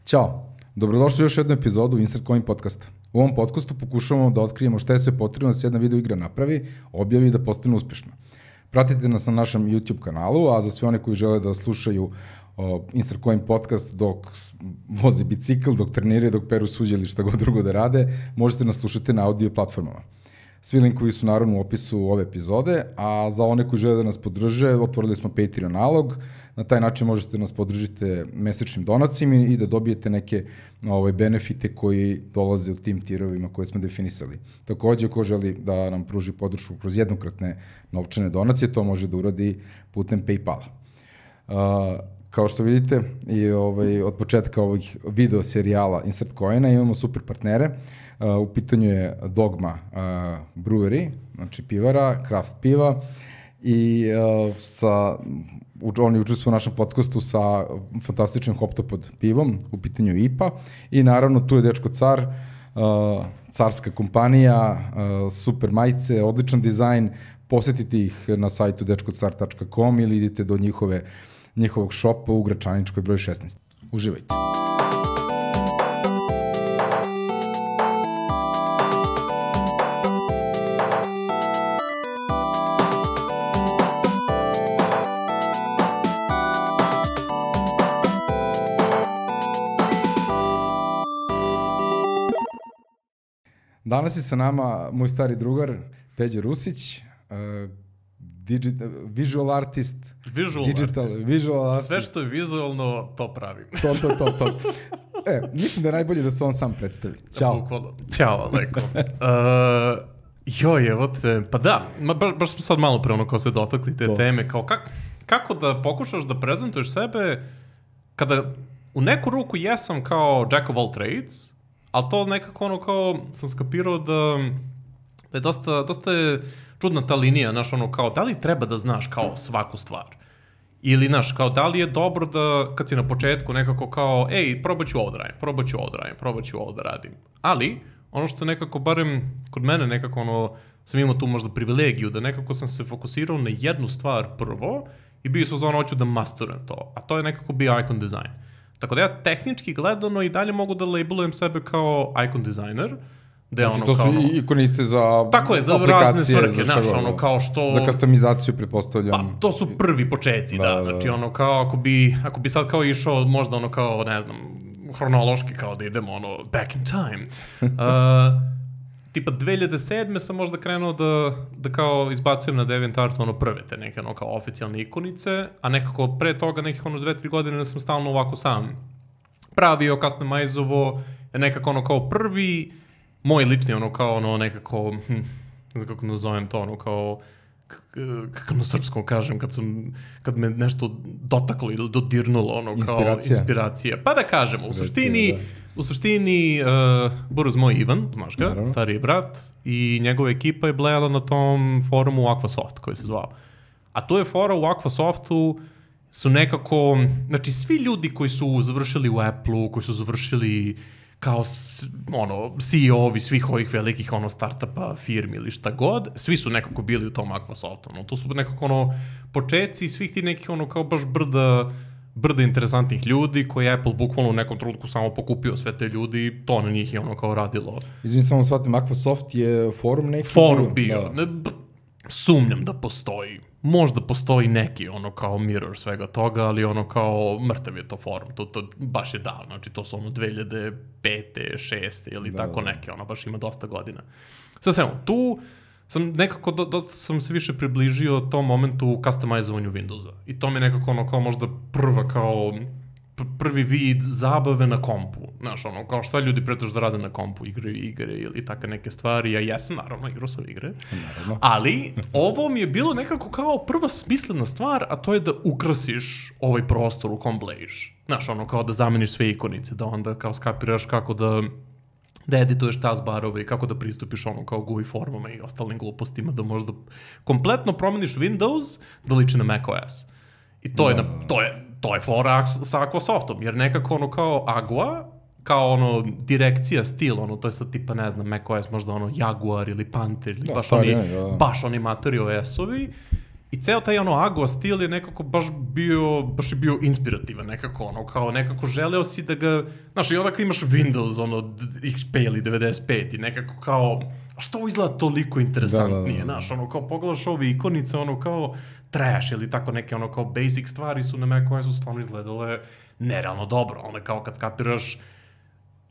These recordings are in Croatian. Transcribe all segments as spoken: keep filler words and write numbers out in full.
Ćao, dobrodošli u još jednu epizodu Insert Coin podcasta. U ovom podcastu pokušavamo da otkrijemo šta je sve potrebno da se jedna video igra napravi, objavi i da postane uspešna. Pratite nas na našem YouTube kanalu, a za sve one koji žele da slušaju o, Insert Coin podcast dok voze bicikl, dok treniraju, dok peru suđe ili šta god drugo da rade, možete nas slušati na audio platformama. Svi linkovi su naravno u opisu ove epizode, a za one koji žele da nas podrže, otvorili smo Patreon nalog. Na taj način možete nas podržiti mesečnim donacijama i da dobijete neke ovaj, benefite koji dolaze u tim tirovima koje smo definisali. Takođe, ko želi da nam pruži podršku kroz jednokratne novčane donacije, to može da uradi putem PayPala. Uh, kao što vidite, i ovaj, od početka ovih video serijala Insert Coina imamo super partnere. Uh, u pitanju je Dogma uh, Brewery, znači pivara, craft piva, i uh, sa, oni učestvuju u našem podcastu sa fantastičnim Hoptopod pivom, u pitanju je I P A, i naravno tu je Dečko Car, uh, carska kompanija, uh, super majice, odličan dizajn, posetite ih na sajtu dečko car tačka com ili idite do njihove, njihovog šopa u Gračaničkoj broj šesnaest. Uživajte! Danas je sa nama moj stari drugar, Peđa Rusić, uh, digital, visual artist, visual digital, artist. Visual artist. Sve što je vizualno, to pravim. To, to, to, to. E, mislim da je najbolje da se on sam predstavi. Ćao. Bukvalno. Ćao, Aleko. Uh, joj, evo te, pa da, ma, baš, baš smo sad malo pre ono kao se dotakli te to. teme, kao kak, kako da pokušaš da prezentuješ sebe kada u neku ruku jesam kao jack of all trades, ali to nekako ono kao sam skapirao da, da je dosta, dosta je čudna ta linija, znaš, ono kao da li treba da znaš kao svaku stvar? Ili, znaš, kao da li je dobro da kad si na početku nekako kao, ej, probat ću ovo da radim, probat ću ovo da radim, probat ću ovo da radim. Ali, ono što nekako, barem kod mene nekako ono, sam imao tu možda privilegiju, da nekako sam se fokusirao na jednu stvar prvo i bio sam za ono, hoću da masterujem to. A to je nekako bio icon design. Tako da ja tehnički gledano i dalje mogu da labelujem sebe kao icon designer. Znači ono to su kao, i ikonice za tako je, za razne svrhe, znaš, ono kao što... Za customizaciju, pretpostavljam. Pa, to su prvi počeci, da, da. Znači ono kao, ako bi, ako bi sad kao išao, možda ono kao, ne znam, hronološki kao da idemo, ono, back in time. Uh, tipa dve hiljade sedme sam možda krenuo da, da kao izbacujem na DeviantArtu ono prve te neke ono kao oficijalne ikonice, a nekako pre toga nekih ono dve, tri godine sam stalno ovako sam pravio, customizovo, nekako ono kao prvi, moj lični ono kao ono nekako, hm, ne znam kako nazovem to, ono kao, kako na srpskom kažem, kad sam, kad me nešto dotaklo ili dodirnulo, ono kao inspiracija. inspiracija. Pa da kažemo, u suštini, da. u suštini uh, Buruz moj Ivan, znaš ga, naravno, stariji brat, i njegova ekipa je blejala na tom forumu Aquasoft koji se zvao. A to je fora u Aquasoftu, su nekako, znači svi ljudi koji su završili u Apple-u, koji su završili kao ono, C E O-ovi svih ovih velikih ono startupa, firmi ili šta god, svi su nekako bili u tom Aquasoftu. No, to su nekako ono početci svih ti nekih ono kao baš brda, brda interesantnih ljudi koji je Apple bukvalno u nekom trenutku samo pokupio sve te ljudi i to na njih je ono kao radilo. Izvim, samo shvatim, Aquasoft je forum neki? Forum bio. Da. Ne, sumnjam da postoji. Možda postoji neki ono kao mirror svega toga, ali ono kao mrtav je to forum. To, to baš je davno. Znači to su ono dve hiljade pete, šeste ili da, tako da. neke. Ono baš ima dosta godina. Sad samo, tu sam nekako, do, dosta sam se više približio tom momentu u customizovanju Windowsa. I to mi je nekako ono kao možda prva kao prvi vid zabave na kompu. Znaš, ono, kao šta ljudi pretežno da rade na kompu, igraju igre ili takve neke stvari. Ja jesam, naravno, igrao sam igre. Naravno. Ali, ovo mi je bilo nekako kao prva smislena stvar, a to je da ukrasiš ovaj prostor u kom blejiš. Znaš, ono, kao da zameniš sve ikonice, da onda kao skapiraš kako da da edituješ taskbarove i kako da pristupiš ono kao G U I formama i ostalim glupostima, da možda kompletno promeniš Windows da liči na macOS. I to, no. je, na, to je to je fora sa Aquasoftom, jer nekako ono kao Agua, kao ono direkcija, stil, ono, to je sad tipa, ne znam, macOS možda ono Jaguar ili Panther ili da, baš, oni, da. baš oni Mater O S-ovi, I ceo taj ono Agua stil je nekako baš bio, baš je bio inspirativan nekako, ono, kao nekako želeo si da ga, znaš, i onda kad imaš Windows, ono, X P ili devedeset pet i nekako kao, a što ovo izgleda toliko interesantnije, znaš, ono, kao pogledaš ove ikonice, ono, kao trash ili tako neke, ono, kao basic stvari su na Macu koje su stvarno izgledale nerealno dobro, ono, kao kad skapiraš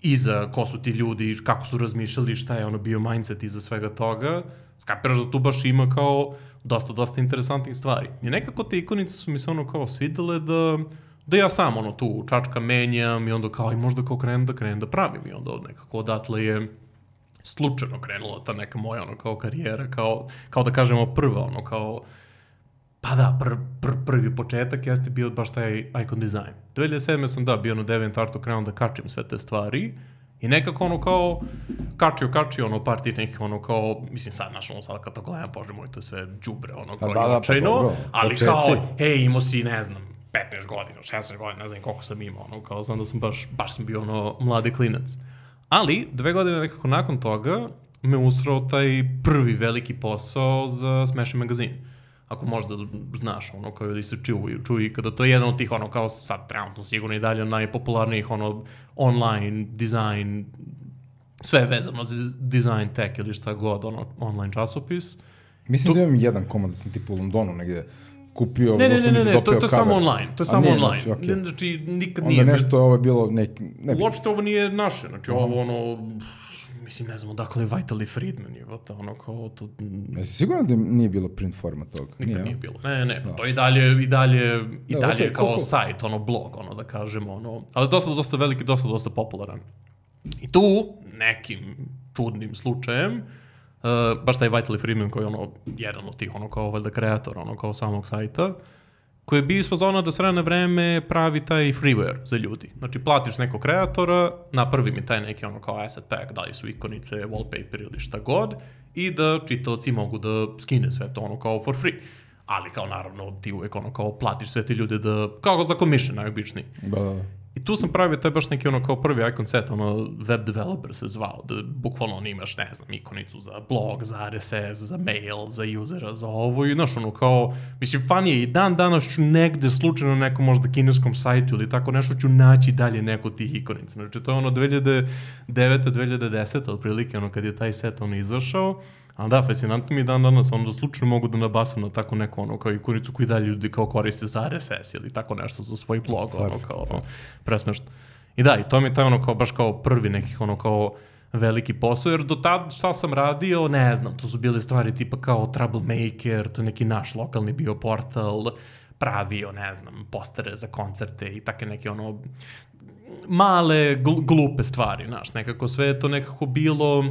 iza ko su ti ljudi, kako su razmišljali, šta je ono bio mindset iza svega toga, skapiraš da tu baš ima kao dosta, dosta interesantnih stvari. I nekako te ikonice su mi se ono kao svidele da, da ja sam ono tu čačka menjam i onda kao i možda kao krenem da krenem da pravim i onda nekako odatle je slučajno krenula ta neka moja ono kao karijera, kao, kao da kažemo prva ono kao pa da, pr, pr, prvi početak jeste bio baš taj icon design. dve hiljade sedme sam da bio na DeviantArtu krenuo da kačim sve te stvari i nekako ono kao kačio, kačio ono par tih nekih ono kao, mislim sad naš ono sad kad to gledam, bože moj, to je sve džubre ono kao da, da, očajno, pa ali počeci. Kao, hej, imao si ne znam, petnaest godina, šesnaest godina, ne znam koliko sam imao, ono kao znam da sam baš, baš sam bio ono mladi klinac. Ali, dve godine nekako nakon toga me usrao taj prvi veliki posao za Smashing Magazine. Ako možda znaš, ono, kao da se čuju, čuju, kada to je jedan od tih, ono, kao sad trenutno sigurno i dalje najpopularnijih, ono, online, design, sve vezano za design tech ili šta god, ono, online časopis. Mislim tu... da imam jedan komad da sam tipu u Londonu negde kupio, ne, ne, zašto ne, mi se ne, dopeo to, to je samo online, to je samo nije, online. Znači, okay. Znači, nikad onda nije... Onda nešto ovo je bilo neki... Ne uopšte ovo nije naše, znači uh-huh. ovo ono... Mislim, ne znam, odakle je Vitaly Friedman, je to ono kao to... Jesi sigurno da nije bilo print forma toga? Nikad nije, nije bilo. Ne, ne, da. To je i dalje, i dalje, i da, dalje okay, kao cool, cool. sajt, ono, blog, ono, da kažemo, ono... Ali dosta, dosta veliki, dosta, dosta popularan. I tu, nekim čudnim slučajem, uh, baš taj Vitaly Friedman koji je ono, jedan od tih, ono, kao valjda kreator, ono, kao samog sajta, koji je bio iz fazona da s vremena vreme pravi taj freeware za ljudi. Znači, platiš nekog kreatora, napravi mi taj neki ono kao asset pack, da li su ikonice, wallpaper ili šta god, i da čitaoci mogu da skine sve to ono kao for free. Ali kao naravno ti uvek ono kao platiš sve te ljude da, kao za commission najobičniji. Da, da. I tu sam pravio taj baš neki ono kao prvi icon set, ono web developer se zvao, da bukvalno on imaš, ne znam, ikonicu za blog, za R S S, za mail, za usera, za ovo i znaš ono kao, mislim, fan je i dan danas ću negde slučajno na nekom možda kineskom sajtu ili tako nešto ću naći dalje neko tih ikonica. Znači to je ono dve hiljade devete dve hiljade desete otprilike, ono kad je taj set ono izašao. Ali da, fascinantno mi je dan danas, ono da slučajno mogu da nabasam na tako neku ono kao ikonicu koju dalje ljudi kao koriste za R S S ili tako nešto za svoj blog, ono kao ono, presmešno. I da, i to mi je taj ono kao baš kao prvi nekih ono kao veliki posao, jer do tad šta sam radio, ne znam, to su bile stvari tipa kao Troublemaker, to je neki naš lokalni bio portal, pravio, ne znam, postere za koncerte i take neke ono male, gl- glupe stvari, znaš, nekako sve je to nekako bilo...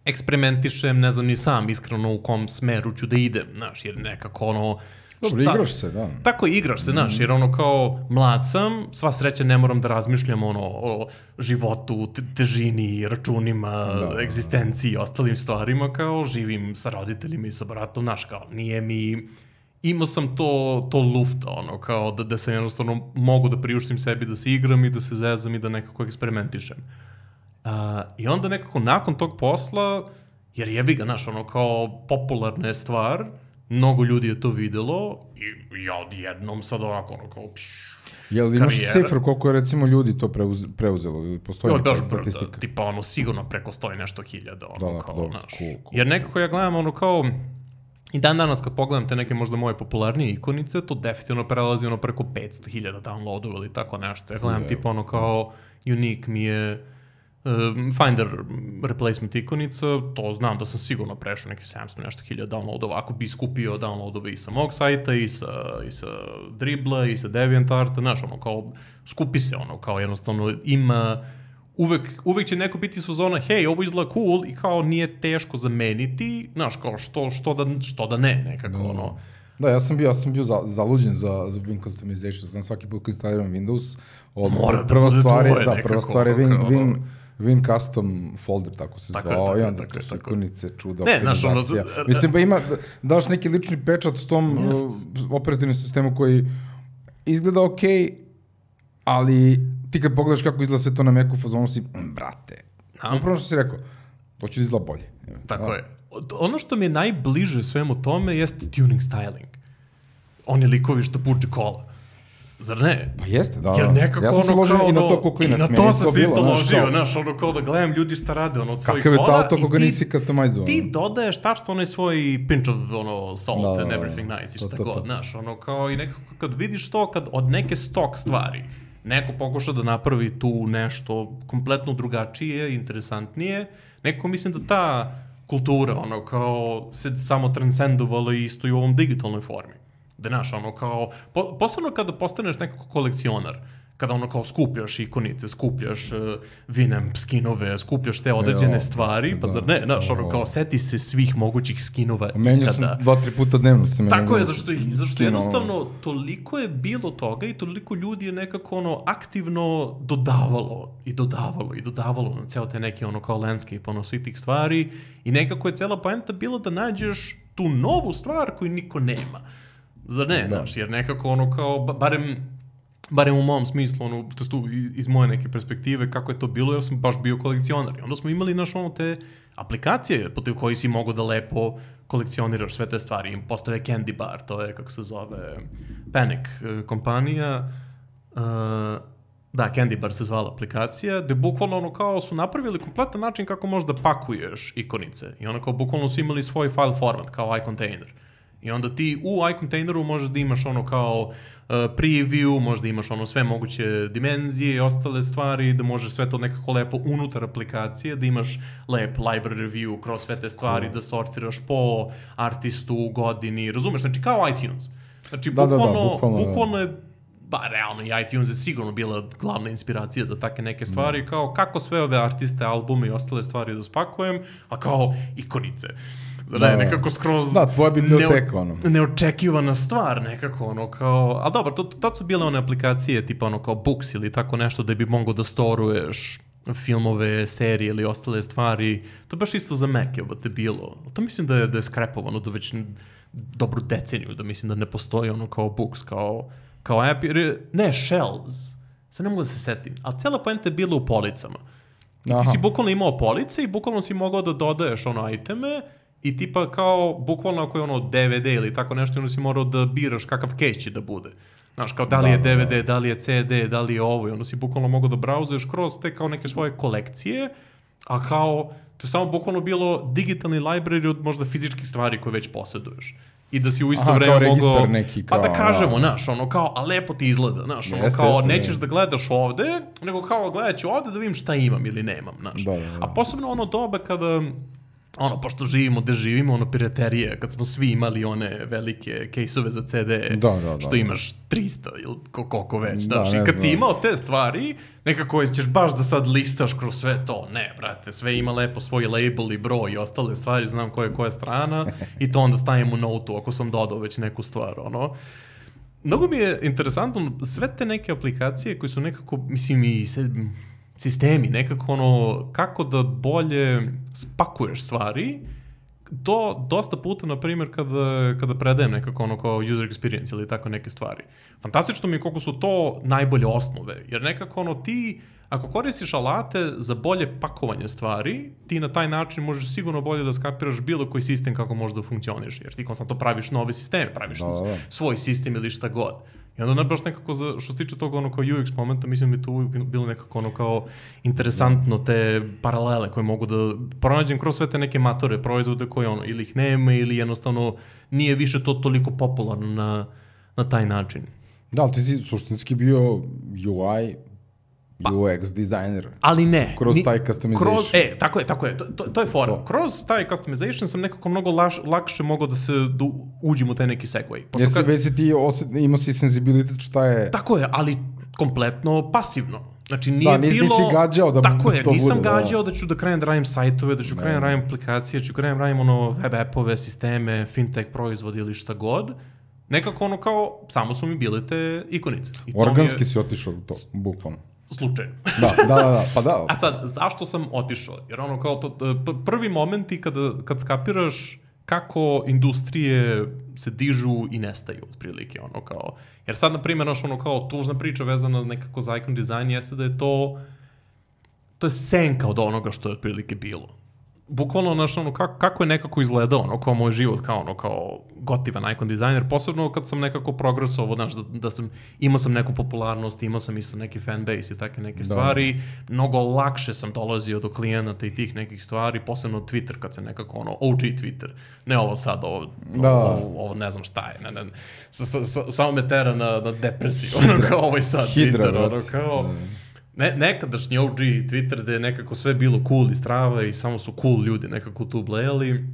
eksperimentišem, ne znam ni sam iskreno u kom smeru ću da idem, znaš, jer nekako ono... Dobro, šta? Igraš se, da. Tako, igraš se, znaš, jer ono kao mlad sam, sva sreća ne moram da razmišljam ono o životu, te, težini, računima, da, egzistenciji i ostalim stvarima, kao živim sa roditeljima i sa bratom, znaš, kao nije mi... Imao sam to, to lufta, ono, kao da, da sam jednostavno mogu da priuštim sebi da se igram i da se zezam i da nekako eksperimentišem. Uh, I onda nekako nakon tog posla, jer jebi ga, znaš, ono kao popularna je stvar, mnogo ljudi je to videlo i ja odjednom sad ovako, ono kao pš, Jel imaš cifru koliko je recimo ljudi to preuz, preuzelo ili postoji neka statistika? Da, tipa ono sigurno preko stoji nešto hiljada, ono da, kao, dobro, znaš. cool, cool. Jer nekako ja gledam ono kao, i dan danas kad pogledam te neke možda moje popularnije ikonice, to definitivno prelazi ono preko petsto hiljada downloadova ili tako nešto. Ja gledam yeah. tipa ono kao unique mi je Um, Finder replacement ikonica, to znam da sam sigurno prešao neki sedamsto nešto hiljada downloadova, ako bi skupio downloadove i sa mog sajta, i sa, i sa Dribbla, i sa DeviantArta, znaš, ono, kao, skupi se, ono, kao, jednostavno, ima, uvek, uvek će neko biti su zona, hej, ovo izgleda cool, i kao, nije teško zameniti, znaš, kao, što, što, da, što da ne, nekako, da. ono. Da, ja sam bio, ja sam bio za, zaluđen za, za Win Customization, znam svaki put kad instaliram Windows, od, Mora prva da stvar je, da, nekako, prva stvar je Win, Win, Win Custom folder, tako se tako zvao, je, i onda tako to je, su tako ikonice, čuda, ne, optimizacija. Ono, mislim, ba ima, daš neki lični pečat tom uh, operativnom sistemu koji izgleda okej, okay, ali ti kad pogledaš kako izgleda sve to na Macu fazonu si, brate, upravo što si rekao, To će da izgleda bolje. Tako da. je. Ono što mi je najbliže svemu tome jeste tuning styling. Oni likovi što puče kola. Zar ne? Pa jeste, da. Jer nekako ja sam se ložio ono, i na to ko klinac. I na to sam se isto ložio, znaš, ono kao da gledam ljudi šta rade, ono, od svojih kola. Kakav je to auto koga nisi customizovan? Ti dodaješ tačno onaj svoj pinch of, ono, salt da, and everything da, nice i to, šta to, god, to. znaš, ono, kao i nekako kad vidiš to, kad od neke stok stvari neko pokuša da napravi tu nešto kompletno drugačije, interesantnije, neko mislim da ta kultura, ono, kao se samo transcendovala isto i u ovom digitalnoj formi. Da, znaš, ono, kao, po, posebno kada postaneš nekako kolekcionar, kada ono kao skupljaš ikonice, skupljaš uh, Winamp skinove, skupljaš te određene stvari, pa zar ne, znaš, ono kao seti se svih mogućih skinova ikada. Menjao sam dva, tri puta dnevno. Se Tako je, zašto, zašto jednostavno toliko je bilo toga i toliko ljudi je nekako ono aktivno dodavalo i dodavalo i dodavalo na ceo te neki ono kao landscape, ono svih tih stvari i nekako je cela poenta bilo da nađeš tu novu stvar koju niko nema. Zar ne, da. Znaš, jer nekako ono kao, barem barem u mom smislu, ono, testu, iz moje neke perspektive, kako je to bilo, jer sam baš bio kolekcionar. I onda smo imali, naš, ono, te aplikacije putem koji si mogao da lepo kolekcioniraš sve te stvari. Postoje Candy Bar, to je, kako se zove, Panic kompanija. Uh, da, Candy Bar se zvala aplikacija, gde bukvalno, ono, kao su napravili kompletan način kako možeš da pakuješ ikonice. I ono, kao, bukvalno su imali svoj file format, kao iContainer. I onda ti u iContaineru možeš da imaš ono kao uh, preview, možeš da imaš ono sve moguće dimenzije i ostale stvari, da možeš sve to nekako lepo unutar aplikacije, da imaš lep library view kroz sve te stvari, cool. Da sortiraš po artistu, godini, razumeš? Znači kao iTunes. Znači da, bukvalno, da, da, bukvalno, bukvalno je, ba realno i iTunes je sigurno bila glavna inspiracija za take neke stvari, da. Kao kako sve ove artiste, albume i ostale stvari da spakujem, a kao ikonice. Da, ne, nekako skroz da, tvoja biblioteka, ono. Neočekivana stvar, nekako, ono, kao, ali dobro, to, tad su bile one aplikacije, tipa, ono, kao Books ili tako nešto, da bi mogao da storuješ filmove, serije ili ostale stvari. To baš isto za Mac je te bilo. To mislim da je, da je skrepovano do već dobru deceniju, da mislim da ne postoji ono kao Books, kao, kao app, jer, ne, Shelves, sad ne mogu da se setim, ali cela poenta je bila u policama. I ti Aha. si bukvalno imao police i bukvalno si mogao da dodaješ ono iteme. I tipa kao, bukvalno ako je ono D V D ili tako nešto, onda si morao da biraš kakav case će da bude. Znaš, kao da li je D V D, da li je C D, da li je ovo, i onda si bukvalno mogao da brauzuješ kroz te kao neke svoje kolekcije, a kao, to je samo bukvalno bilo digitalni library od možda fizičkih stvari koje već posjeduješ. I da si u isto Aha, vreme mogao, neki, kao, pa da kažemo, znaš, ono kao, a lepo ti izgleda, znaš, ono jeste, kao, jeste, nećeš ne. da gledaš ovde, nego kao gledat ću ovde da vidim šta imam ili nemam, znaš. Da, da, da. A posebno ono doba kada, ono, pošto živimo gde živimo, ono, piraterije, kad smo svi imali one velike kejsove za C D, da, da, da, što imaš tristo ili koliko već, da, znaš, i kad si imao te stvari, nekako ćeš baš da sad listaš kroz sve to, ne, brate, sve ima lepo svoj label i broj i ostale stvari, znam koja je koja strana, i to onda stavim u notu ako sam dodao već neku stvar, ono. Mnogo mi je interesantno, sve te neke aplikacije koje su nekako, mislim, i se, sistemi, nekako ono, kako da bolje spakuješ stvari, to dosta puta, na primjer, kada, kada predajem nekako ono kao user experience ili tako neke stvari. Fantastično mi je koliko su to najbolje osnove, jer nekako ono ti, ako koristiš alate za bolje pakovanje stvari, ti na taj način možeš sigurno bolje da skapiraš bilo koji sistem kako može da funkcioniš, jer ti konstantno praviš nove sisteme, praviš da, da. svoj sistem ili šta god. I onda baš nekako, za, što se tiče toga ono kao U X momenta, mislim da bi tu bilo nekako ono kao interesantno te paralele koje mogu da pronađem kroz sve te neke matore, proizvode koje ono, ili ih nema, ili jednostavno nije više to toliko popularno na, na taj način. Da, ali ti si suštinski bio U I, pa, U X dizajner. Ali ne. Kroz ni, taj customization. Kroz, e, tako je, tako je, to, to, to je fora. To. Kroz taj customization sam nekako mnogo laš, lakše mogao da se da uđem u taj neki segway. Jer si već si ti osjet, imao si senzibilitet šta je... Tako je, ali kompletno pasivno. Znači nije da, nis, bilo... nisi gađao da tako je, to nisam bude, gađao da. da ću da krajem da radim sajtove, da ću krajem da radim aplikacije, da ću krajem da radim ono web appove, sisteme, fintech proizvodi ili šta god. Nekako ono kao, samo su mi bile te ikonice. I organski je... si otišao to, bukvalno. Slučajno. Da, da, da, pa da. A sad, zašto sam otišao? Jer ono kao, to, prvi momenti kada, kad skapiraš kako industrije se dižu i nestaju, otprilike, ono kao, jer sad, na primjer, ono kao, tužna priča vezana nekako za icon design jeste da je to, to je senka od onoga što je otprilike bilo. bukvalno, znaš, ono, kako, kako je nekako izgledao, ono, kao moj život, kao, ono, kao gotivan icon dizajner, posebno kad sam nekako progresovao, znaš, da, da sam, imao sam neku popularnost, imao sam isto neki fanbase i take neke da. stvari, mnogo lakše sam dolazio do klijenata i tih nekih stvari, posebno Twitter, kad se nekako, ono, O G Twitter, ne ovo sad, ovo, da. ovo, ovo ne znam šta je, ne, ne, sa, sa, sa, samo me tera na, na depresiju, ono, kao ovaj sad Hidra, Twitter, ono, kao... Ne, nekadašnji O G Twitter gde je nekako sve bilo cool i strava i samo su cool ljudi nekako tu blejali.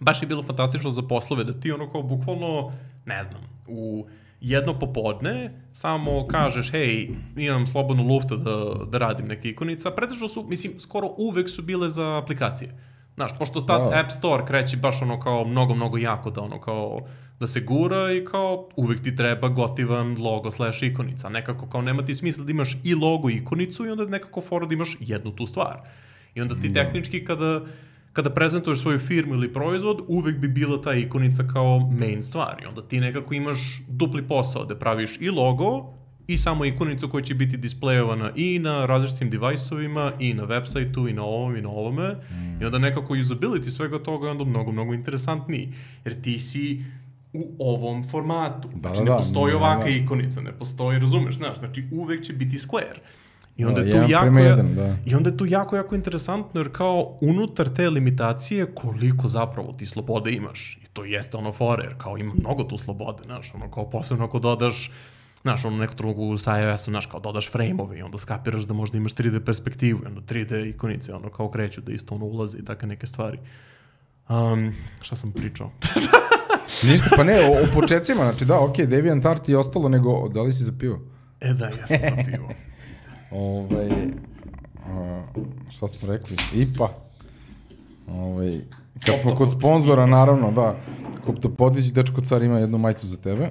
Baš je bilo fantastično za poslove da ti ono kao bukvalno, ne znam, u jedno popodne samo kažeš, hej, imam slobodnu lufta da, da radim neke ikonice, a pretežno su, mislim, skoro uvek su bile za aplikacije. Znaš, pošto ta wow. App Store kreće baš ono kao mnogo, mnogo jako da ono kao da se gura i kao uvek ti treba gotivan logo slash ikonica. Nekako kao nema ti smisla da imaš i logo i ikonicu i onda nekako fora da imaš jednu tu stvar. I onda ti tehnički kada, kada prezentuješ svoju firmu ili proizvod, uvek bi bila ta ikonica kao main stvar. I onda ti nekako imaš dupli posao da praviš i logo i samo ikonicu koja će biti displejovana i na različitim device-ovima, i na websajtu, i na ovom, i na ovome. Mm. I onda nekako usability svega toga je onda mnogo, mnogo interesantniji. Jer ti si u ovom formatu. Da, znači, da, ne postoji da, ovaka da. ikonica, ne postoji, razumeš, znaš, znači uvek će biti square. I onda, da, je tu jako, jedan, da. I onda je tu jako, jako interesantno, jer kao unutar te limitacije koliko zapravo ti slobode imaš. I to jeste ono fore, jer kao ima mnogo tu slobode, znaš, ono kao posebno ako dodaš, znaš, ono neku drugu sa iOS-om, znaš, kao dodaš frame-ove i onda skapiraš da možda imaš tri D perspektivu i onda tri D ikonice, ono kao kreću da isto ono ulaze i takve neke stvari. Um, šta sam pričao? Ništa, pa ne, o, o početcima, znači da, okej, okay, DeviantArt i ostalo, nego da li si za pivo? E da, ja sam za pivo. Ovaj, a, šta smo rekli? I P A. Ovaj, kad smo kod sponzora, naravno, da, Koptopodić, dečko car ima jednu majicu za tebe.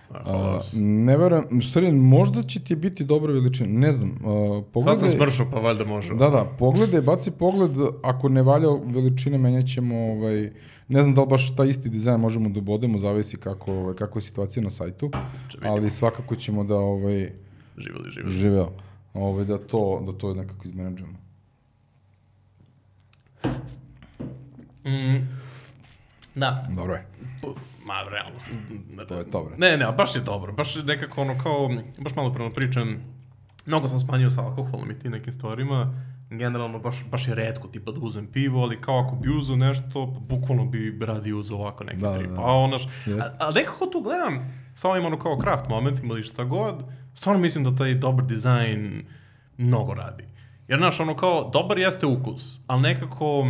A, ne verujem, u stvari, možda će ti biti dobra veličina, ne znam. A, pogledaj, sad sam smršao, pa valjda može. Da, da, pogledaj, baci pogled, ako ne valja veličine, menjat ćemo, ovaj, ne znam da li baš taj isti dizajn možemo da obodemo, zavisi kako, ovaj, kako je situacija na sajtu, ali svakako ćemo da, ovaj, živeli, živeli. živeo, ovaj, da to, da to nekako izmenadžujemo. Mm, da. Dobro je. Ma, realno sam... Ne, to je dobro. Ne, ne, baš je dobro. Baš je nekako ono kao... Baš malo prema pričam. Mnogo sam smanjio sa alkoholom i tim nekim stvarima. Generalno, baš, baš je retko tipa da uzem pivo, ali kao ako bi uzeo nešto, pa bukvalno bi radi uzeo ovako neki da, trip. Da, da. A onaš... Ali nekako tu gledam sa ovim ono kao craft momentima ili šta god. Stvarno mislim da taj dobar dizajn mnogo radi. Jer, znaš, ono kao, dobar jeste ukus, ali nekako...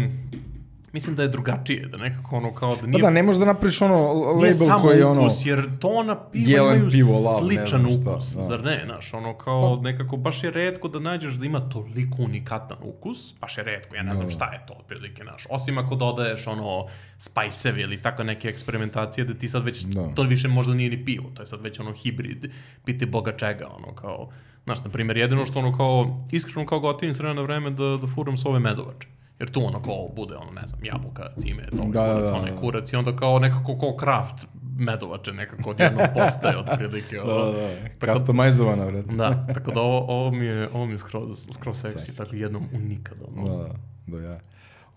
Mislim da je drugačije, da nekako ono kao da nije... Pa da, ne možeš da napriš ono label koji je ono... Nije samo ukus, jer tona piva imaju pivo, lav, sličan šta, ukus, da. zar ne, znaš, ono kao pa. Nekako baš je retko da nađeš da ima toliko unikatan ukus, baš je retko, ja ne znam no. šta je to otprilike, znaš, osim ako dodaješ ono spicevi ili tako neke eksperimentacije da ti sad već, no. to više možda nije ni pivo, to je sad već ono hibrid, piti boga čega, ono kao, znaš, na primjer, jedino što ono kao, iskreno kao gotivim s vremena na vreme da, da furam s ove medovače. Jer tu ono kao bude, ono, ne znam, jabuka, cime, toga, da, kurac, da, onaj kurac i onda kao nekako kao craft medovače nekako odjednom postaje otprilike. Da, da, da, customizovana, vredno. Da, tako da ovo, ovo mi je, ovo mi je skroz, skroz seksi, tako jednom unikada. Da, da, da, ja.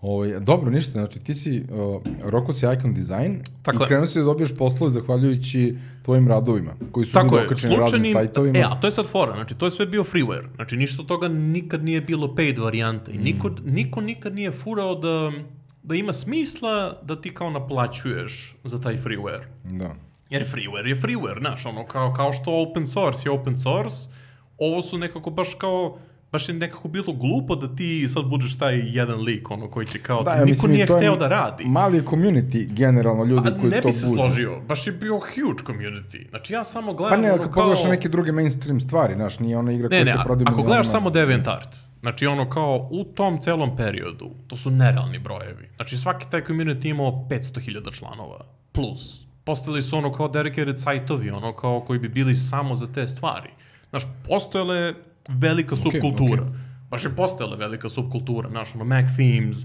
Ovo, dobro, ništa, znači ti si, uh, roko si icon design tako i krenuo si da dobiješ poslove zahvaljujući tvojim radovima, koji su tako bili okačeni raznim sajtovima. E, a to je sad fora, znači to je sve bio freeware, znači ništa od toga nikad nije bilo paid varijanta i niko, mm. niko nikad nije furao da, da ima smisla da ti kao naplaćuješ za taj freeware. Da. Jer freeware je freeware, znaš, ono, kao, kao što open source je open source, ovo su nekako baš kao... baš je nekako bilo glupo da ti sad budeš taj jedan lik, ono, koji će kao, da, ja, niko mislim, nije hteo da radi. Mali community, generalno, ljudi a, koji to budu. Ne bi se složio, baš je bio huge community. Znači, ja samo gledam, pa ne, ono, kad kao... pogledaš neke druge mainstream stvari, znaš, nije ona igra ne, koja ne, se prodaje... ako gledaš samo DeviantArt, znači, ono, kao, u tom celom periodu, to su nerealni brojevi. Znači, svaki taj community imao petsto hiljada članova, plus. Postali su, ono, kao dedicated sajtovi, ono, kao, koji bi bili samo za te stvari. Znaš, postojale velika subkultura. Okay, okay. Baš je postojala velika subkultura, znaš, ono, Mac Themes,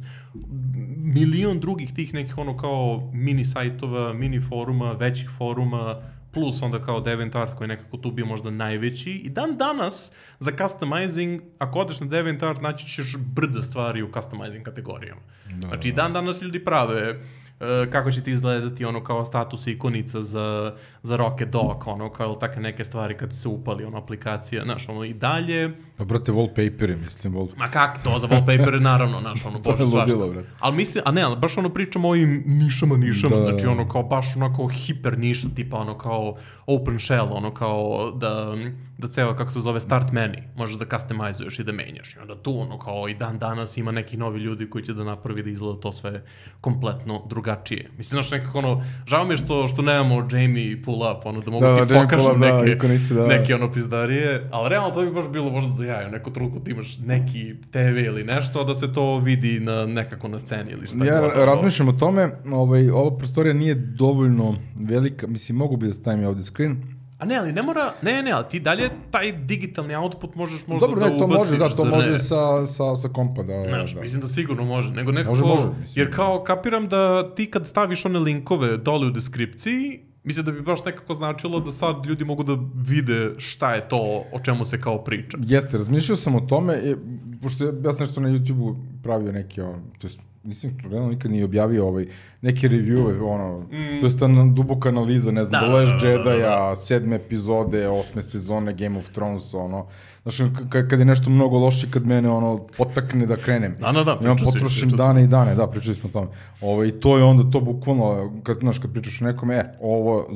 milion drugih tih nekih, ono, kao mini sajtova, mini foruma, većih foruma, plus onda kao DeviantArt koji je nekako tu bio možda najveći. I dan danas za customizing, ako odeš na DeviantArt, naći ćeš brda stvari u customizing kategorijama. Da, znači i dan danas ljudi prave uh, kako će ti izgledati ono kao status ikonica za, za Rocket Dog, ono kao takve neke stvari kad se upali ono aplikacija, znaš, ono i dalje. Pa brate, wallpaperi, mislim, wall... Ma kak to, za wallpapere naravno, znaš, ono, bože svašta. Ali mislim, a ne, ali baš ono pričamo o ovim nišama, nišama, da, znači ono kao baš onako hiper niša, tipa ono kao open shell, ono kao da, da ceo, kako se zove, start menu, možeš da customizuješ i da menjaš. I onda tu ono kao i dan danas ima neki novi ljudi koji će da napravi da izgleda to sve kompletno drugačije. Mislim, znaš, nekako ono, žao mi je što, što nemamo Jamie pull up, ono, da mogu da, ti pokažem neke, da, ikonice, da. neke ono pizdarije, ali realno to bi baš bilo možda da ja, neko trenutku ti imaš neki te ve ili nešto, da se to vidi na, nekako na sceni ili šta. Ja razmišljam o tome, ovaj, ova prostorija nije dovoljno velika, mislim, mogu bi da stavim ovdje screen. A ne, ali ne mora, ne, ne, ali ti dalje taj digitalni output možeš možda dobro, da ne, to ubaciš. Može, da, to za može ne. sa, sa, sa kompa, da. Znaš, da. mislim da sigurno može, nego nekako, može, može, jer kao kapiram da ti kad staviš one linkove dole u deskripciji, mislim da bi baš nekako značilo da sad ljudi mogu da vide šta je to o čemu se kao priča. Jeste, razmišljao sam o tome, je, pošto ja sam nešto na YouTube-u pravio neke, to jest, nisam realno nikad nije objavio ovaj, neke review-eve, ono, mm. to jest duboka analiza, ne znam, da, The Last Jedi-a, sedme epizode, osme sezone Game of Thrones, ono, znaš, kad je nešto mnogo loše, kad mene, ono, potakne da krenem. Da, da, da, ja potrošim dane i dane, da, pričali smo o tome. Ovo, i to je onda to bukvalno, kad, znaš, kad pričaš o nekome, e, ovo,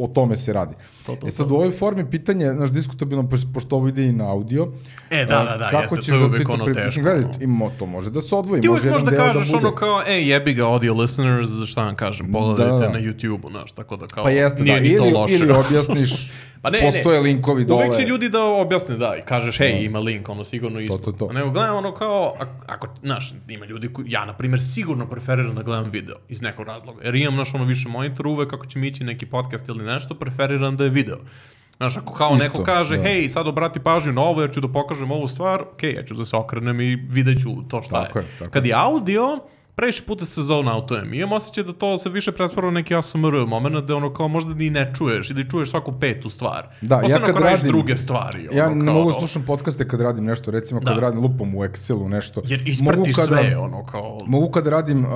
o tome se radi. To, to, e sad, to. U ovoj formi pitanje, znaš, diskutabilno, pošto ovo ide i na audio, e, da, da, da, kako jeste, to je uvijek ono teško. Gledaj, ima, to može da se odvoji. Ti uvijek može možda da kažeš da ono kao, ej, jebi ga audio listeners, šta vam kažem, pogledajte da, na YouTube-u, znaš, tako da kao, pa jeste, nije da, ni to ili, loše. Ili objasniš, pa ne, postoje ne. linkovi dole. Uvijek će ljudi da objasne, da, i kažeš, hej, ima link, ono, sigurno ispod. To, to, to. Nego gledam ono kao, ako, znaš, ima ljudi koji, ja, na primjer, sigurno preferiram da gledam video, iz nekog razloga. Jer imam, znaš, ono, više monitor, uvek ako će mi ići neki podcast ili nešto, preferiram da je video. Znaš, ako kao Isto, neko kaže, da. hej, sad obrati pažnju na ovo, ja ću da pokažem ovu stvar, okej, okay, ja ću da se okrenem i vidjet ću to šta tako je. je tako. Kad je audio, previše puta se zone outujem. Imam osjećaj da to se više pretvara u neki A S M R moment, da ono kao možda ni ne čuješ ili čuješ svaku petu stvar. Da, Posledno ja kad radim druge stvari. Ja ono, ne kao, mogu slušam podcaste kad radim nešto, recimo kad da. radim lupom u Excelu nešto. Jer isprati kada, sve, ono kao... Mogu kad radim uh,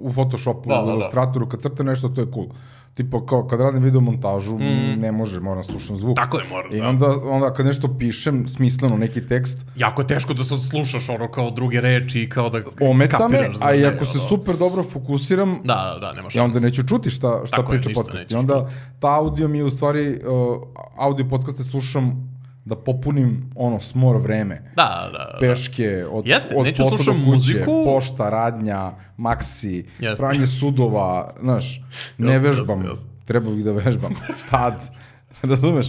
u Photoshopu, da, u Illustratoru, kad crtam nešto, to je cool. Tipo, kao kad radim video montažu, mm. ne može, moram slušam zvuk. Tako je, moram, I da. onda, onda kad nešto pišem, smisleno, neki tekst... Jako je teško da sad slušaš ono kao druge reči i kao da ometa kapiraš me, za a i ne, ako se ono. super dobro fokusiram, da, da, nema ja onda neću čuti šta, šta priča podcast. I onda ta audio mi je u stvari, uh, audio podcaste slušam da popunim ono smor vreme. Da, da, peške, od, Jeste, od posla do kuće, muziku. pošta, radnja, maksi, Jeste. pranje sudova, znaš, ne Jeste, vežbam, jeste, jeste. treba bih da vežbam, pad, razumeš?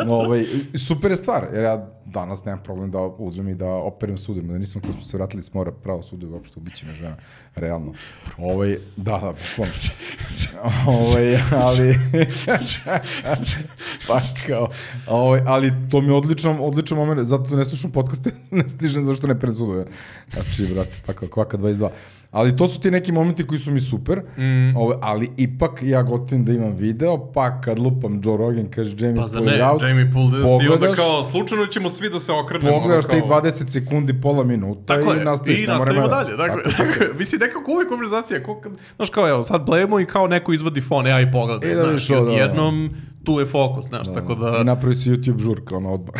No, ovaj, super je stvar, jer ja danas nemam problem da uzmem i da operem sudom, da nisam kad smo se vratili s mora pravo sudu, uopšte ubiće me žena, realno. Ovaj, da, da, bukvalno. Ovaj, ali, baš kao, ovaj, ali to mi je odličan, odličan moment, zato ne slušam podcaste, ne stižem zašto ne perem sudove. Znači, brate, tako, kvaka dvadeset dva. Ali to su ti neki momenti koji su mi super, mm. ovaj, ali ipak ja gotovim da imam video, pa kad lupam Joe Rogan, kaže Jamie pa pull it out, Jamie pull this, i onda kao slučajno ćemo svi da se okrenemo. Pogledaš kao... te dvadeset sekundi, pola minuta tako i nastaviš. I nastavimo dalje. Dakle, tako, tako. Mislim, nekako uvijek konverzacija, znaš kao, evo, sad blejemo i kao neko izvadi fon, ja i pogledaj, da znaš, i odjednom tu je fokus, znaš, da, tako da... I napravi se YouTube žurka, ono odmah.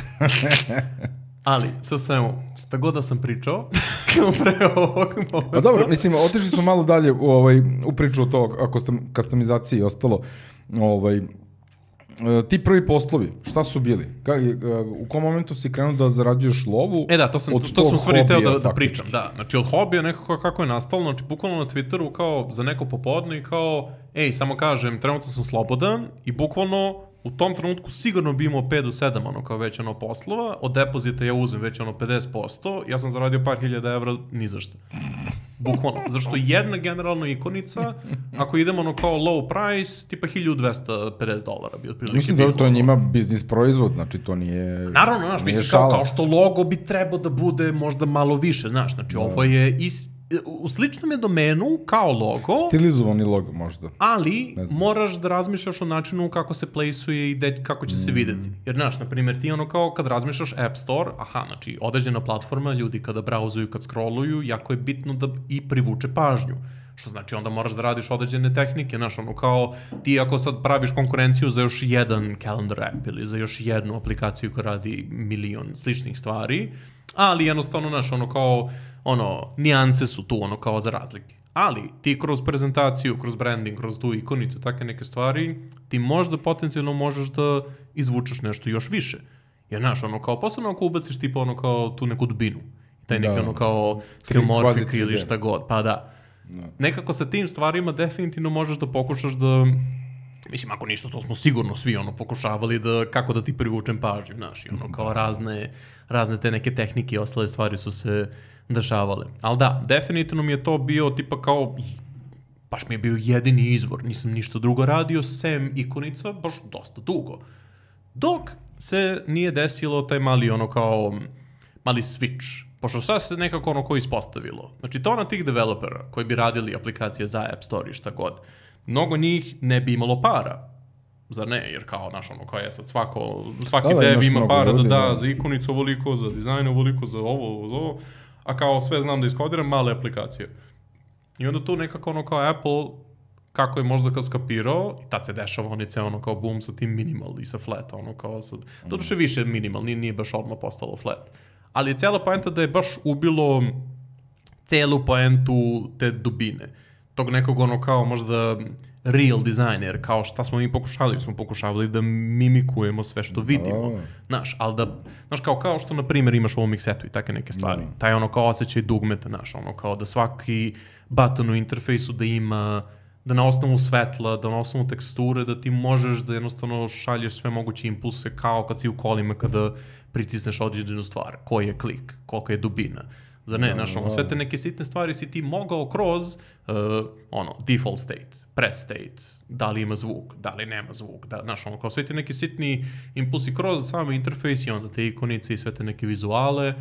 Ali, sve svemu, šta god da sam pričao, pre ovog momenta... Pa dobro, mislim, otišli smo malo dalje u, ovaj, u priču o to, customizaciji i ostalo. Ovaj, ti prvi poslovi, šta su bili? Ka, u kom momentu si krenuo da zarađuješ lovu? E da, to sam, to, to sam stvari teo da, da pričam. Da, znači od hobija nekako kako je nastalo, znači bukvalno na Twitteru kao za neko popodne i kao, ej, samo kažem, trenutno sam slobodan i bukvalno u tom trenutku sigurno bi imao pet do sedam ono kao već ono poslova, od depozita ja uzem već ono pedeset posto, ja sam zaradio par hiljada evra ni za šta. Bukvalno, zašto jedna generalna ikonica, ako idemo ono kao low price, tipa hiljadu dvesta pedeset dolara bi otprilike. Mislim da to je njima biznis proizvod, znači to nije... Naravno, znaš, mislim kao, kao što logo bi trebao da bude možda malo više, znaš, znači da. Ovo je ist u sličnom je domenu kao logo. Stilizovani logo možda. Ali moraš da razmišljaš o načinu kako se placeuje i de, kako će se videti. Jer, znaš, na primjer, ti ono kao kad razmišljaš App Store, aha, znači, određena platforma, ljudi kada brauzuju, kad scrolluju, jako je bitno da i privuče pažnju. Što znači, onda moraš da radiš određene tehnike, znaš, ono kao, ti ako sad praviš konkurenciju za još jedan calendar app ili za još jednu aplikaciju koja radi milion sličnih stvari, ali jednostavno, znaš, ono kao, ono, nijanse su tu, ono, kao za razlike. Ali, ti kroz prezentaciju, kroz branding, kroz tu ikonicu, takve neke stvari, ti možda potencijalno možeš da izvučeš nešto još više. Jer, znaš, ono, kao, posebno ako ubaciš tipa, ono, kao tu neku dubinu. Taj neki, da, ono, kao, skillmorphic ili šta god. Pa da. No. Nekako sa tim stvarima definitivno možeš da pokušaš da, mislim, ako ništa, to smo sigurno svi ono pokušavali da, kako da ti privučem pažnju, znaš, i ono kao razne, razne te neke tehnike i ostale stvari su se dešavale. Ali da, definitivno mi je to bio tipa kao, baš mi je bio jedini izvor, nisam ništa drugo radio, sem ikonica, baš dosta dugo. Dok se nije desilo taj mali ono kao, mali switch. Pošto sad se nekako ono koji ispostavilo. Znači, to na tih developera koji bi radili aplikacije za App Store i šta god, mnogo njih ne bi imalo para. Zar ne? Jer kao, znaš, ono, kao je sad svako, svaki da, dev ima para ljudi, da da, da za ikonicu ovoliko, za dizajn ovoliko, za ovo, za ovo, a kao sve znam da iskodiram male aplikacije. I onda tu nekako ono kao Apple, kako je možda kad skapirao, i tad se dešava oni ceo ono kao boom sa tim minimal i sa flat, ono kao sad, mm. to duše više minimal, nije, nije baš odmah postalo flat. Ali je cijela poenta da je baš ubilo celu poentu te dubine. Tog nekog ono kao možda real designer, kao šta smo mi pokušali, smo pokušavali da mimikujemo sve što vidimo. Znaš, ali da, znaš, kao, kao što na primjer imaš u ovom mixetu i takve neke stvari. No. Taj ono kao osjećaj dugmeta, znaš, ono kao da svaki button u interfejsu da ima, da na osnovu svetla, da na osnovu teksture, da ti možeš da jednostavno šalješ sve moguće impulse kao kad si u kolima kada pritisneš određenu stvar, koji je klik, koliko je dubina. Zar ne, znaš, ono, sve te neke sitne stvari si ti mogao kroz, uh, ono, default state, press state, da li ima zvuk, da li nema zvuk, da, znaš, ono, kao sve te neki sitni impulsi kroz sami interfejs i onda te ikonice i sve te neke vizuale.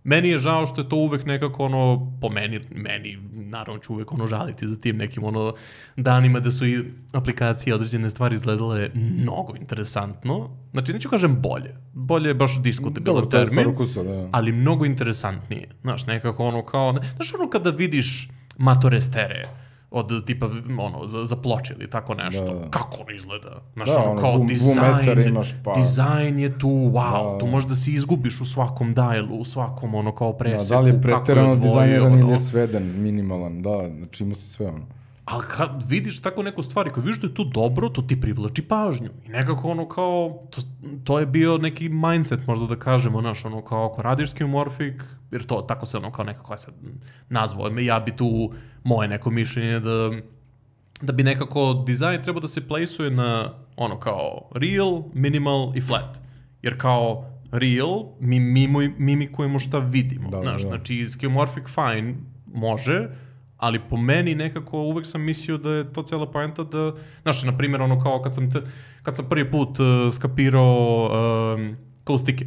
Meni je žao što je to uvek nekako ono, po meni, meni naravno ću uvek ono žaliti za tim nekim ono danima da su i aplikacije određene stvari izgledale mnogo interesantno. Znači, neću kažem bolje. Bolje je baš diskutabilan termin, ukusa, da. Ali mnogo interesantnije. Znaš, nekako ono kao, znaš ono kada vidiš Matorestere od tipa, ono, za, za ploče ili tako nešto. Da. Kako on izgleda? Znaš, da, ono, kao vu, dizajn, imaš, pa. Dizajn je tu, wow, da. Tu možda se izgubiš u svakom dialu, u svakom, ono, kao preseku. Da, da li je preterano dizajniran ono, ili je sveden, minimalan, da, znači ima se sve ono. Ali kad vidiš tako neku stvar i kad vidiš da je to dobro, to ti privlači pažnju. I nekako ono kao, to, to je bio neki mindset, možda da kažemo, znaš, ono kao ako radiš skeuomorphic, jer to tako se ono kao nekako je sad nazvao, ja bi tu moje neko mišljenje da, da bi nekako dizajn trebao da se placeuje na ono kao real, minimal i flat. Jer kao real, mi mimo, mimikujemo šta vidimo. Da, znaš, da. Znači skeuomorphic fine može, ali po meni nekako uvek sam mislio da je to cijela poenta da, znaš, na primjer, ono kao kad sam, te, kad sam prvi put uh, skapirao um, kaustike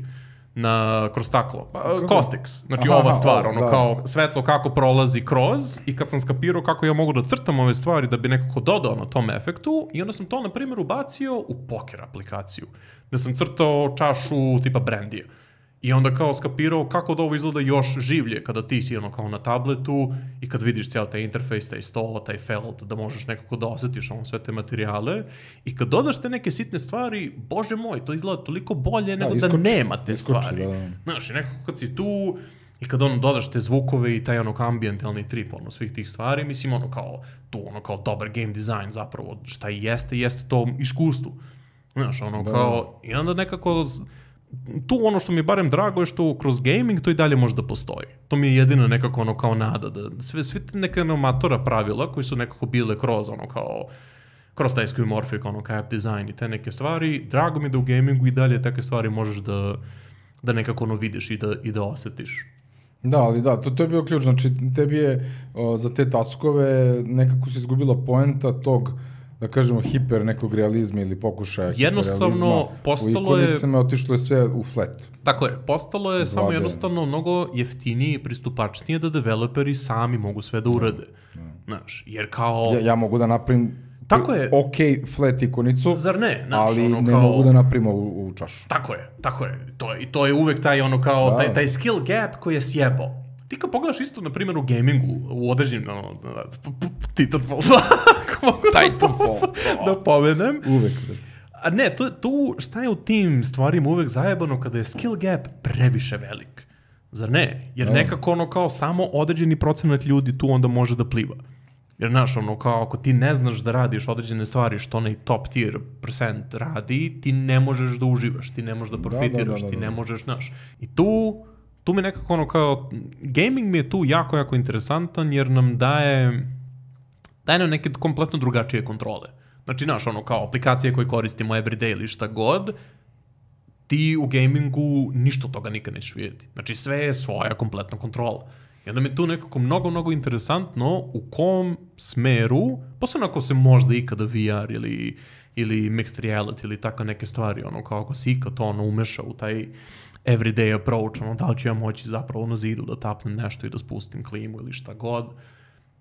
na, kroz staklo, uh, Costix, znači aha, ova stvar, aha, ono da. Kao svetlo kako prolazi kroz i kad sam skapirao kako ja mogu da crtam ove stvari da bi nekako dodao na tom efektu i onda sam to, na primjer, ubacio u poker aplikaciju, da sam crtao čašu tipa brandija. I onda kao skapirao kako da ovo izgleda još življe kada ti si ono kao na tabletu i kad vidiš cijel taj interfejs, taj sto, taj felt, da možeš nekako da osjetiš ono sve te materijale i kad dodaš te neke sitne stvari, bože moj, to izgleda toliko bolje nego da, iskoči, da nema te iskoči, stvari. Da. Znaš, i nekako kad si tu i kad ono dodaš te zvukove i taj ono ambientalni trip ono svih tih stvari, mislim ono kao tu ono kao dobar game design zapravo šta i jeste, jeste to iskustvo. Znaš, ono da. Kao i onda nekako tu ono što mi je barem drago je što kroz gaming to i dalje može da postoji. To mi je jedino nekako ono kao nada da sve, sve neke amatora pravila koji su nekako bile kroz ono kao kroz taj skeuomorphic, ono kao app design i te neke stvari, drago mi da u gamingu i dalje takve stvari možeš da, da nekako ono vidiš i da, i da osjetiš. Da, ali da, to, to je bio ključ, znači tebi je o, za te taskove nekako se izgubila poenta tog da kažemo, hiper nekog realizma ili pokušaja jednostavno postalo u ikonicama, je... otišlo je sve u flat. Tako je, postalo je Vlade. Samo jednostavno mnogo jeftinije i pristupačnije da developeri sami mogu sve da urade. Ja, ja. Znaš, jer kao... Ja, ja mogu da napravim tako je. ok flat ikonicu, zar ne? Znaš, ali ono ne kao... mogu da napravim u, u čašu. Tako je, tako je. To je, i to je uvek taj ono kao, da. taj, taj skill gap koji je sjebao. Ti kad pogledaš isto, na primjer, u gamingu, u određenim, no, Titanfall dva, ako mogu Titanfall. da, da pomenem. Uvek. A ne, tu, tu šta je u tim stvarima uvek zajebano kada je skill gap previše velik. Zar ne? Jer nekako ono kao samo određeni procenat ljudi tu onda može da pliva. Jer znaš, ono kao ako ti ne znaš da radiš određene stvari što onaj top tier percent radi, ti ne možeš da uživaš, ti ne možeš da profitiraš, da, da, da, da. ti ne možeš, znaš. I tu... Tu mi nekako ono kao, gaming mi je tu jako, jako interesantan jer nam daje, daje nam neke kompletno drugačije kontrole. Znači, znaš, ono kao aplikacije koje koristimo everyday ili šta god, ti u gamingu ništa od toga nikad nećeš vidjeti. Znači, sve je svoja kompletna kontrola. I onda mi je tu nekako mnogo, mnogo interesantno u kom smeru, posebno ako se možda ikada V R ili, ili mixed reality ili tako neke stvari, ono kao ako se ikad to ono umeša u taj everyday approach, ono, da li ću ja moći zapravo na zidu da tapnem nešto i da spustim klimu ili šta god.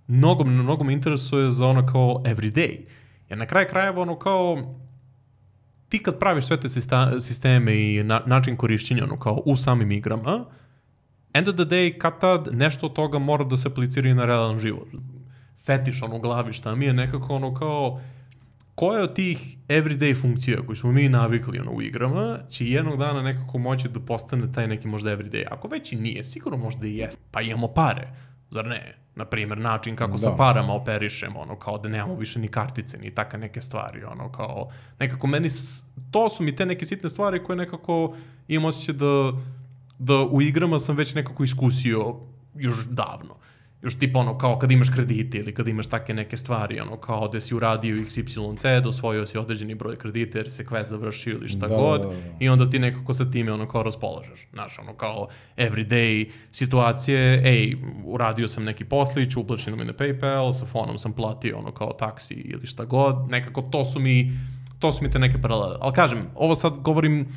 Mnogo, mnogo me interesuje za ono kao everyday. Jer na kraju krajeva ono kao ti kad praviš sve te sisteme i na, način korišćenja ono kao u samim igrama, end of the day, kad tad nešto od toga mora da se aplicira i na realan život. Fetiš ono u glavi šta mi je nekako ono kao koje od tih everyday funkcija koje smo mi navikli ono, u igrama će jednog dana nekako moći da postane taj neki možda everyday. Ako već i nije, sigurno možda i jeste. Pa imamo pare, zar ne? Naprimjer, način kako da. sa parama operišemo, ono, kao da nemamo više ni kartice, ni taka neke stvari, ono, kao, nekako meni, to su mi te neke sitne stvari koje nekako imam osjećaj da, da u igrama sam već nekako iskusio još davno. Još tipa ono kao kad imaš kredite ili kad imaš take neke stvari, ono kao da si uradio iks ipsilon zed, osvojio si određeni broj kredita jer se quest završio ili šta da, god da, da. I onda ti nekako sa time ono kao raspolažeš. Znaš, ono kao everyday situacije, ej, uradio sam neki poslić, uplaćeno mi na PayPal, sa fonom sam platio ono kao taksi ili šta god, nekako to su mi, to su mi te neke paralele. Ali kažem, ovo sad govorim,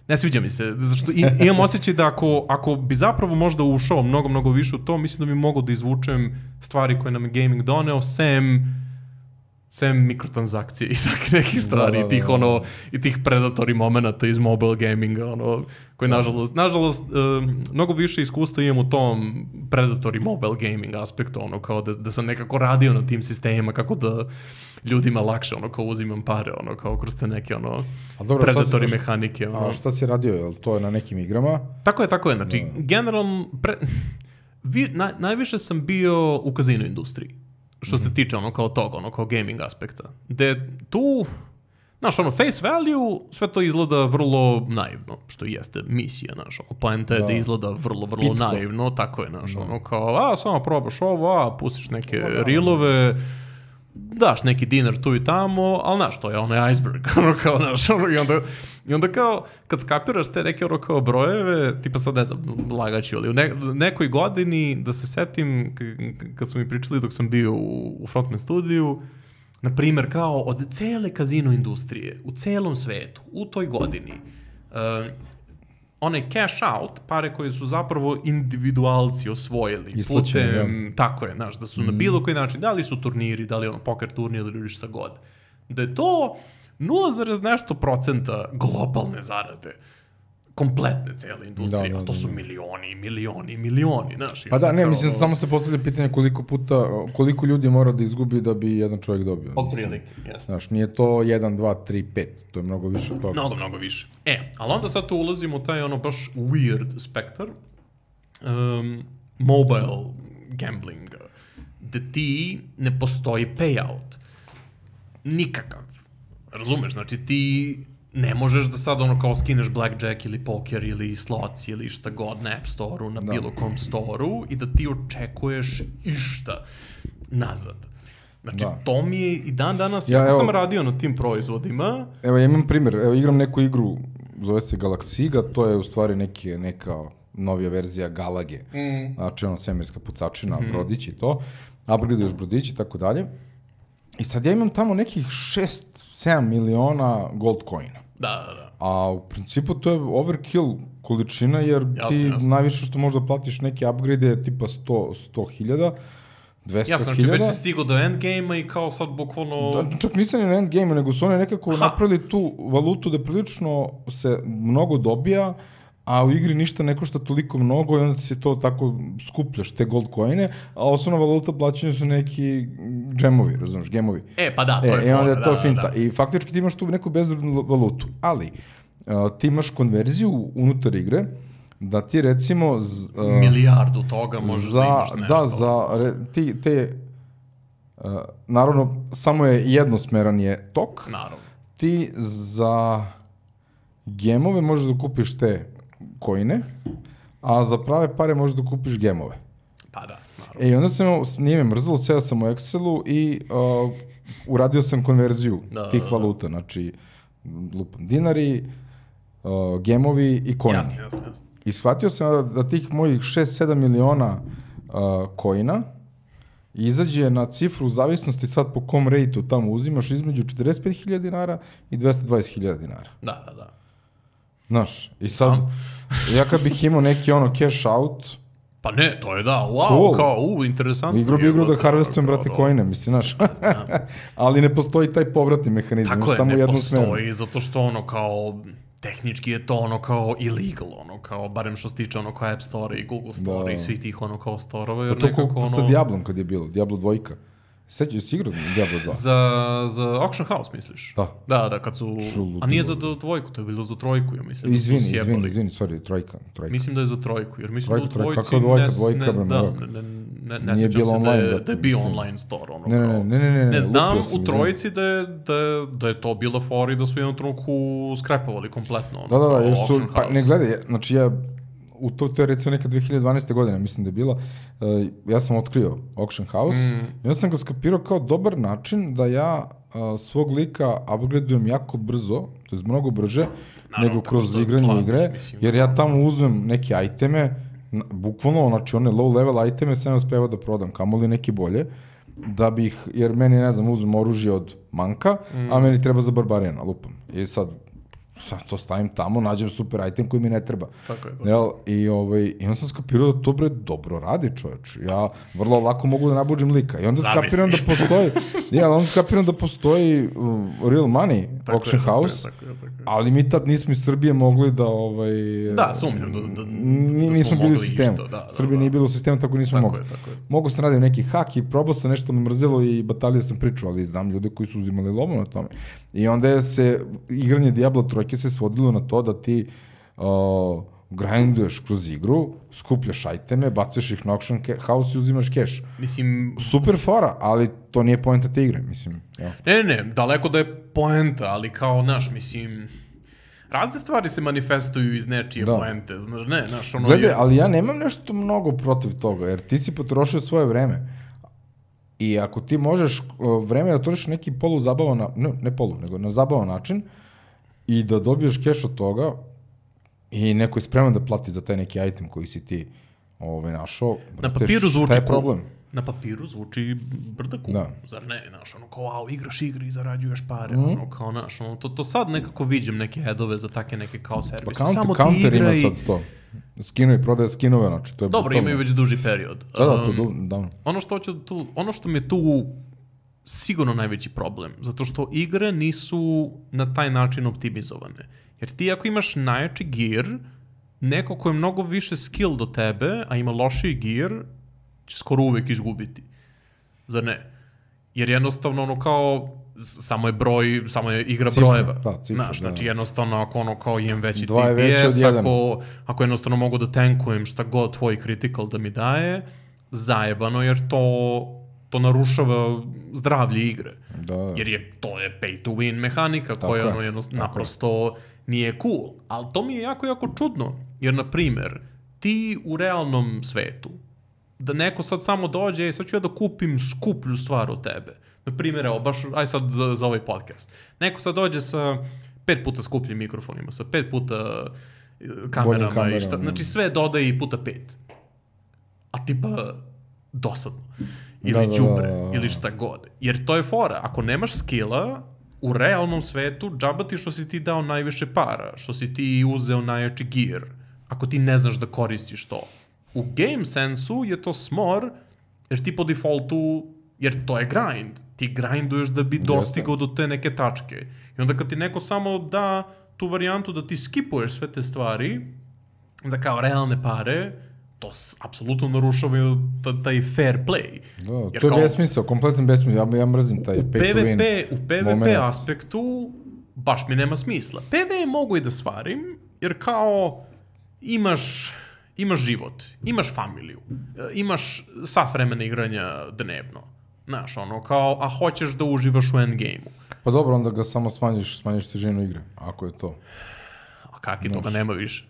ne sviđa mi se, zato imam osjećaj da ako, ako bi zapravo možda ušao mnogo, mnogo više u to, mislim da bi mogao da izvučem stvari koje nam je gaming doneo, sem, sem mikrotransakcije i takve nekih stvari, da, da, da. I tih, ono, i tih predatory momenata iz mobile gaminga, ono, koji nažalost, nažalost, um, mnogo više iskustva imam u tom predatory mobile gaming aspektu, ono, kao da, da sam nekako radio na tim sistemima, kako da ljudima lakše, ono, kao uzimam pare, ono, kao kroz te neke, ono, dobro, predatori si, mehanike, ono. A šta si radio, je li to je na nekim igrama? Tako je, tako je, znači, no. generalno, pre, vi, na, najviše sam bio u kazino industriji, što mm-hmm. se tiče, ono, kao toga, ono, kao gaming aspekta, gde tu, znaš, ono, face value, sve to izgleda vrlo naivno, što i jeste misija, znaš, ono, poenta je da. da izgleda vrlo, vrlo Pitko. naivno, tako je, znaš, da. ono, kao, a, samo probaš ovo, a, pustiš neke da, rilove, daš neki dinar tu i tamo, ali znaš, to je onaj iceberg, ono kao, znaš, ono, i onda, i onda kao, kad skapiraš te neke, ono, kao brojeve, tipa sad ne znam, lagaću, ali u ne, nekoj godini, da se setim, k- kad su mi pričali dok sam bio u, u Frontman studiju, na primjer, kao od cele kazino industrije, u celom svetu, u toj godini, uh, onaj cash out, pare koje su zapravo individualci osvojili. Isplaćeni, putem, ja. Tako je, znaš, da su mm. na bilo koji način, da li su turniri, da li ono poker turnir ili šta god. Da je to nula zarez nešto procenta globalne zarade. Kompletne cele industrije, da, da, a to su milioni, milioni, milioni, znaš. Pa da, ne, kao, mislim, samo se postavlja pitanje koliko puta, koliko ljudi mora da izgubi da bi jedan čovjek dobio. Od prilike, jesno. Znaš, nije to jedan, dva, tri, pet, to je mnogo više od toga. Mnogo, mnogo više. E, ali onda sad tu ulazimo u taj ono baš weird spektar, um, mobile gambling, da ti ne postoji payout. Nikakav. Razumeš, znači ti ne možeš da sad ono kao skineš blackjack ili poker ili slots ili šta god na App Store-u, na da. bilo kom store-u i da ti očekuješ išta nazad. Znači, da. to mi je i dan danas, ja, ja sam radio na tim proizvodima. Evo, ja imam primjer, evo, igram neku igru, zove se Galaxiga, to je u stvari neki, neka novija verzija Galage. Mm. Znači, ono, svemirska pucačina, mm. brodić i to. Upgradeuješ brodić i tako dalje. I sad ja imam tamo nekih šest sedam miliona gold coina. Da, da, da. A u principu to je overkill količina, jer jasno, ti jasno. najviše što možda platiš neke upgrade je tipa sto hiljada, dvesta jasno, hiljada. Jasno, znači već si stigao do endgame-a i kao sad bukvalno... Da, čak nisam ni na endgame-u, nego su one nekako ha. napravili tu valutu da prilično se mnogo dobija, a u igri ništa ne košta toliko mnogo i onda se to tako skupljaš, te gold coine, a osnovna valuta plaćanja su neki džemovi, razumiješ, gemovi. E, pa da, to e, je fora, onda je to da, finta. Da, da. I faktički ti imaš tu neku bezvrednu valutu, ali uh, ti imaš konverziju unutar igre, da ti recimo... Z, uh, milijardu toga možeš za, da imaš nešto. Da, za re, ti, te... Uh, naravno, samo je jednosmeran je tok. Naravno. Ti za gemove možeš da kupiš te coine, a za prave pare možeš da kupiš gemove. Pa da, naravno. E, i onda sam, nije me mrzalo, seo sam u Excelu i uh, uradio sam konverziju da, tih da, da. valuta, znači lupam dinari, uh, gemovi i coini. Jasno, jasno, jasno. I shvatio sam da tih mojih šest sedam miliona uh, coina izađe na cifru u zavisnosti sad po kom rejtu tamo uzimaš između četrdeset pet hiljada dinara i dvesta dvadeset hiljada dinara. Da, da, da. Znaš, i sad, ja kad bih imao neki ono cash out... Pa ne, to je da, wow, cool. Kao, u, interesantno. Igro bi igru da harvestujem, brate, coine, mislim, znaš. Ali ne postoji taj povratni mehanizam, tako je, samo ne jednu postoji, smeru. zato što ono kao... Tehnički je to ono kao illegal, ono kao, barem što se tiče ono kao App Store i Google Store da. I svih tih ono kao storova, jer to nekako ko, ono... sa Diablom kad je bilo, Diablo dva. Sećaš si igrao Diablo dva? Za, za Auction House, misliš? Da. Da, da, kad su... Čulu, a nije za dvojku, to je bilo za trojku, ja mislim. Izvini, da izvini, izvini, sorry, trojka, trojka. Mislim da je za trojku, jer mislim trojka, da u dvojci... Kako dvojka, dvojka, ne, bro, da, ne, ne, ne, ne sjećam se online, da je, brate, da je bio mislim. online store, ono ne, kao... Ne, ne, ne, ne, ne, ne znam sam, u trojici da je, da, je, da je to bila fora i da su jednom trenutku skrepovali kompletno, ono, da, da, da, jer su, Auction pa House. ne gledaj, znači ja, u to, to je recimo neka dve hiljade dvanaeste. godine, mislim da je bila, uh, ja sam otkrio Auction House mm. i onda sam ga skapirao kao dobar način da ja uh, svog lika upgradujem jako brzo, to je mnogo brže, naravno, nego kroz igranje planiš, igre, mislim, jer ja tamo uzmem neke iteme, na, bukvalno, znači one low level iteme sam uspevao da prodam, kamoli neki bolje, da bih, jer meni, ne znam, uzmem oružje od manka, mm. a meni treba za barbarijana, lupam. I sad, sad to stavim tamo, nađem super item koji mi ne treba. Tako je. Tako. Jel? I, ovaj, I onda sam skapirao da to bre dobro radi, čoveč. Ja vrlo lako mogu da nabuđem lika. I onda Zamisliš. skapiram da postoji, ja, onda skapiram da postoji uh, real money, tako auction je, house, tako je, tako je, tako je. Ali mi tad nismo iz Srbije mogli da... Ovaj, da, sumnjam da, da, da nismo bili u sistemu. Išto, da, Srbija da, da. nije bilo u sistemu, tako nismo tako mogli. Je, tako je. Mogu sam radio neki hak i probao sam nešto me mrzelo i batalio sam priču, ali znam ljude koji su uzimali lovu na tome. I onda je se, igranje Diablo trojke se svodilo na to da ti uh, grinduješ kroz igru, skupljaš iteme, bacaš ih na auction house i uzimaš cash. Mislim... Super fora, ali to nije poenta te igre, mislim. Ja. Ne, ne, daleko da je poenta, ali kao, znaš, mislim... Razne stvari se manifestuju iz nečije da. Poente, znaš, ne, znaš, ono... Gledaj, je... ali ja nemam nešto mnogo protiv toga, jer ti si potrošio svoje vreme. I ako ti možeš vreme da trošiš neki poluzabavan, ne, ne polu, nego na zabavan način i da dobiješ keš od toga i neko je spreman da plati za taj neki item koji si ti ovaj, našao, na papiru zvuči šta je problem? Na papiru zvuči brda cool, da. Zar ne, znaš, ono, kao, wow, igraš igre i zarađuješ pare, mm. ono, kao, znaš, ono, to, to sad nekako viđem neke headove za take neke kao servise. Pa counter, samo counter ti igra ima i... sad to. Skinovi, prodaje skinove, znači, to je... Dobro, brutalno. imaju već duži period. Da, da, to du, davno. Ono što, hoću tu, ono što mi je tu sigurno najveći problem, zato što igre nisu na taj način optimizovane. Jer ti ako imaš najjači gear, neko ko je mnogo više skill do tebe, a ima lošiji gear, će skoro uvek izgubiti. Zar ne? Jer jednostavno ono kao, samo je broj, samo je igra cifra, brojeva. Da, cifra, znaš, znači da. Jednostavno ako ono kao imam veći T P S, ako, ako jednostavno mogu da tankujem šta god tvoj critical da mi daje, zajebano jer to, to narušava zdravlje igre. Da. Jer je, to je pay to win mehanika tako koja ono jednostavno naprosto nije cool. Ali to mi je jako, jako čudno. Jer, na primer, ti u realnom svetu, da neko sad samo dođe, sad ću ja da kupim skuplju stvar od tebe. Na primjer, evo, baš, aj sad za, za ovaj podcast. Neko sad dođe sa pet puta skupljim mikrofonima, sa pet puta kamerama, kamerama i šta, znači sve dodaje i puta pet. A tipa, dosadno. ili da, đubre, da, da, da. ili šta god. Jer to je fora, ako nemaš skilla, u realnom svetu, džaba ti što si ti dao najviše para, što si ti uzeo najjači gear, ako ti ne znaš da koristiš to. U game sensu je to smor, jer ti po defaultu, jer to je grind. Ti grinduješ da bi dostigao do te neke tačke. I onda kad ti neko samo da tu varijantu da ti skipuješ sve te stvari za kao realne pare, to apsolutno narušava taj fair play. Da, jer to je kao, besmisao, kompletan besmisao. Ja, ja mrzim taj pay P V P, to win. U P V P moment. Aspektu baš mi nema smisla. P V E mogu i da svarim, jer kao imaš, imaš život, imaš familiju, imaš sat vremena igranja dnevno. Znaš, ono, kao, a hoćeš da uživaš u endgame-u. Pa dobro, onda ga samo smanjiš, smanjiš težinu igre, ako je to. A kak je, toga nema više.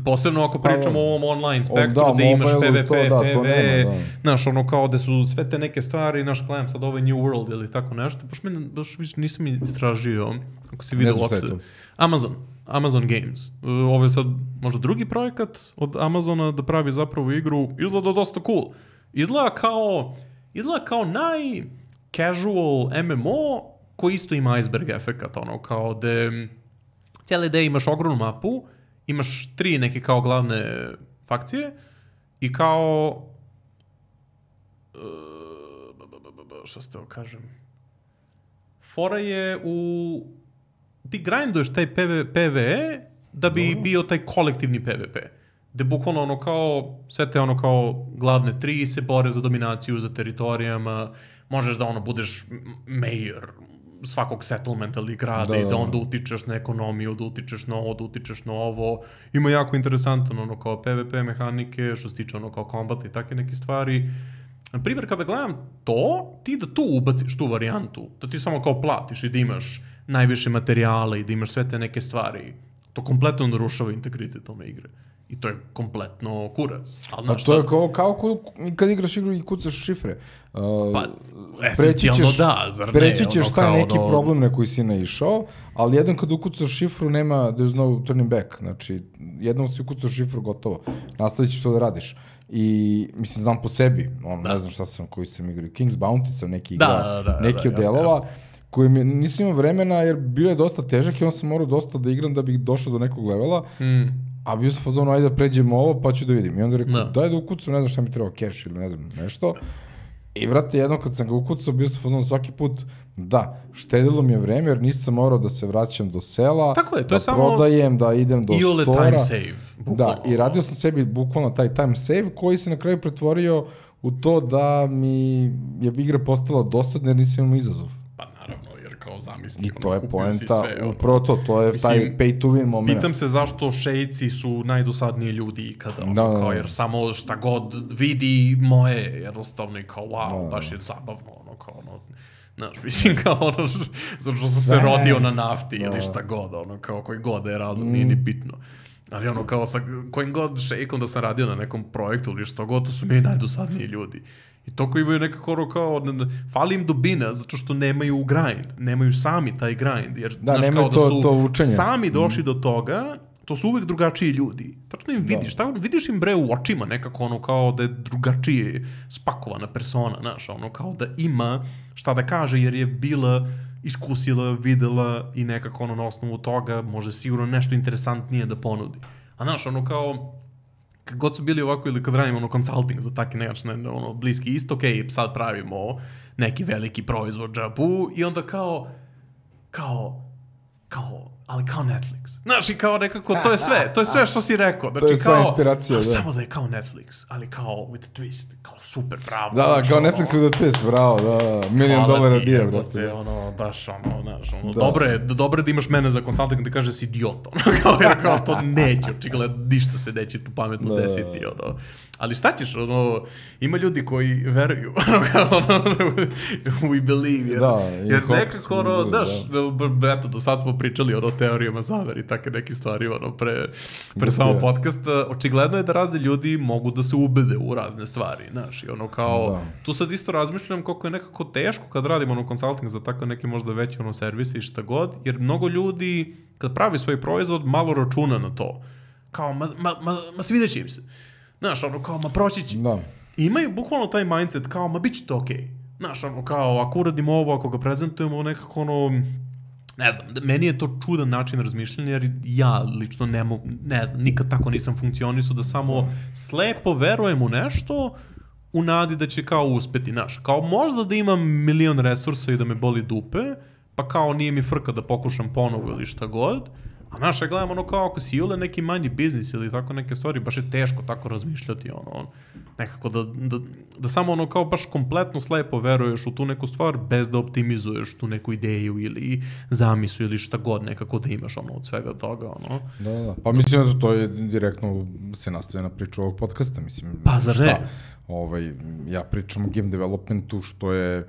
Posebno ako pričamo pa, o ovom online spektru, da, gde imaš P V P, to, da, P V E, nema, da. Znaš, ono kao da su sve te neke stvari, naš gledam sad ovaj New World ili tako nešto, baš, mi, baš nisam istražio, ako si vidio uopšte. Amazon, Amazon Games. Ovo je sad možda drugi projekat od Amazona da pravi zapravo igru, izgleda dosta cool. Izgleda kao, izgleda kao naj-casual M M O koji isto ima iceberg efekat, ono, kao da cijela ideja imaš ogromnu mapu, imaš tri neke kao glavne fakcije i kao uh, što ste ovo kažem fora je u ti grinduješ taj P V E da bi no. bio taj kolektivni P V P. Gde bukvalno ono kao sve te ono kao glavne tri se bore za dominaciju, za teritorijama, možeš da ono budeš mayor svakog settlementa ili grada da, i da onda utičeš na ekonomiju, da utičeš na ovo, da utičeš na ovo. Ima jako interesantan ono kao P V P mehanike, što se tiče ono kao kombata i takve neke stvari. Na primjer, kada gledam to, ti da tu ubaciš tu varijantu, da ti samo kao platiš i da imaš najviše materijala i da imaš sve te neke stvari, to kompletno narušava integritet one igre. I to je kompletno kurac. Ali, znaš, a to je kao, kao kad igraš igru i kucaš šifre. Uh, pa, esencijalno ćeš, da, zar ne? Preći ćeš ono, taj neki ono... problem na koji si naišao, ali jedan kad ukucaš šifru nema, there's no turning back. Znači, jednom si ukucaš šifru, gotovo. Nastavit ćeš to da radiš. I, mislim, znam po sebi, on, ne znam šta sam, koji sam igrao, King's Bounty sam neki igra, da, da, da, neki da, od delova, koji mi, nisam imao vremena jer bio je dosta težak i on sam morao dosta da igram da bih došao do nekog levela. Mm. A bio sam fazonu, ajde da pređemo ovo, pa ću da vidim. I onda rekao, daj da ukucam, ne znam šta mi treba, cash ili ne znam, nešto. I brate, jedno kad sam ga ukucao, bio sam fazonu svaki put, da, štedilo mi je vreme, jer nisam morao da se vraćam do sela, tako je, to da je prodajem, da idem do iole stora. Time save, da, i radio sam sebi bukvalno taj time save, koji se na kraju pretvorio u to da mi je igra postala dosadna jer nisam imao izazov. Kao zamisli. I to je poenta, upravo to, to je Mislim, taj pay to win moment. Pitam se zašto šejci su najdosadniji ljudi ikada, ono, da, kao, jer samo šta god vidi moje, jednostavno i kao, wow, da, baš je zabavno, ono, kao, ono, znaš, mislim, kao, ono, zato što sam se rodio na nafti da. Ili šta god, ono, kao, koji god je razum, mm. nije ni bitno. Ali ono, kao, sa kojim god šejkom da sam radio na nekom projektu ili što god, to su mi najdosadniji ljudi. I to koji imaju nekako kao, fali im dubina, zato što nemaju grind, nemaju sami taj grind, jer da, znaš, kao to, da su to sami došli mm. do toga, to su uvek drugačiji ljudi. Tačno im vidiš, da. Tako, vidiš im bre u očima nekako ono kao da je drugačije spakovana persona, znaš, ono kao da ima šta da kaže jer je bila, iskusila, videla i nekako ono na osnovu toga može sigurno nešto interesantnije da ponudi. A znaš, ono kao, kad god su bili ovako ili kad radimo ono consulting za takve nečne ono, bliski istok, ok, sad pravimo neki veliki proizvod džabu i onda kao, kao, kao, ali kao Netflix. Znaš, i kao nekako, to je sve, to je sve što si rekao. Znači, to je sva kao, inspiracija, da. Samo da je kao Netflix, ali kao with a twist, kao super, bravo. Da, da, kao ono, Netflix with a twist, bravo, da, milion dolara dija, brate. Ono, baš, ono, znaš, ono, da. dobro je, dobro je da imaš mene za consulting da kaže si idiot, ono, kao, jer kao to neće, očigledno, ništa se neće tu pametno da. desiti, ono. Ali šta ćeš, ono, ima ljudi koji veruju, ono, kao, ono, we believe, jer, da, jer nekako, ono, znaš, da. eto, do sad smo pričali, ono, teorijama zavere i takve neke stvari, ono, pre, pre samo podcasta, očigledno je da razni ljudi mogu da se ubede u razne stvari, znaš, i ono, kao, da. Tu sad isto razmišljam koliko je nekako teško kad radimo, ono, consulting za tako neke možda veće, ono, servise i šta god, jer mnogo ljudi, kad pravi svoj proizvod, malo računa na to, kao, ma, ma, ma, ma svidjet će im se. Znaš, ono kao, ma proći će. Da. imaju bukvalno taj mindset kao, ma bit će to okej. Okay. Znaš, ono, kao, ako uradimo ovo, ako ga prezentujemo, nekako, ono, ne znam, meni je to čudan način razmišljanja, jer ja lično ne mogu, ne znam, nikad tako nisam funkcionisao da samo slepo verujem u nešto, u nadi da će kao uspeti, znaš, kao možda da imam milion resursa i da me boli dupe, pa kao nije mi frka da pokušam ponovo ili šta god, a znaš, ja gledam ono kao ako si jule neki manji biznis ili tako neke stvari, baš je teško tako razmišljati, ono, nekako da, da, da samo ono kao baš kompletno slepo veruješ u tu neku stvar bez da optimizuješ tu neku ideju ili zamislu ili šta god nekako da imaš ono od svega toga, ono. Da, da, pa mislim da to je direktno se nastavlja na priču ovog podcasta, mislim. Pa zar ne? Ovaj, ja pričam o game developmentu što je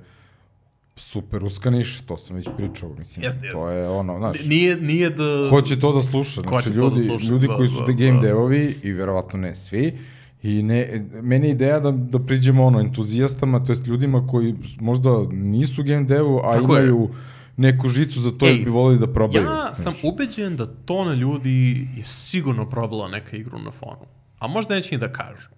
super uska niša, to sam već pričao, mislim, jest, to je ono, znaš, nije, nije da... Ko će to da sluša, znači ljudi, da sluša, ljudi da, koji su da, da game da. devovi i verovatno ne svi, i ne, meni je ideja da, da priđemo ono entuzijastama, to jest ljudima koji možda nisu game devu, a tako imaju je. neku žicu za to Ej, i bi volili da probaju. Ja sam znaš. ubeđen da tona ljudi je sigurno probala neka igru na fonu, a možda neće ni da kažu.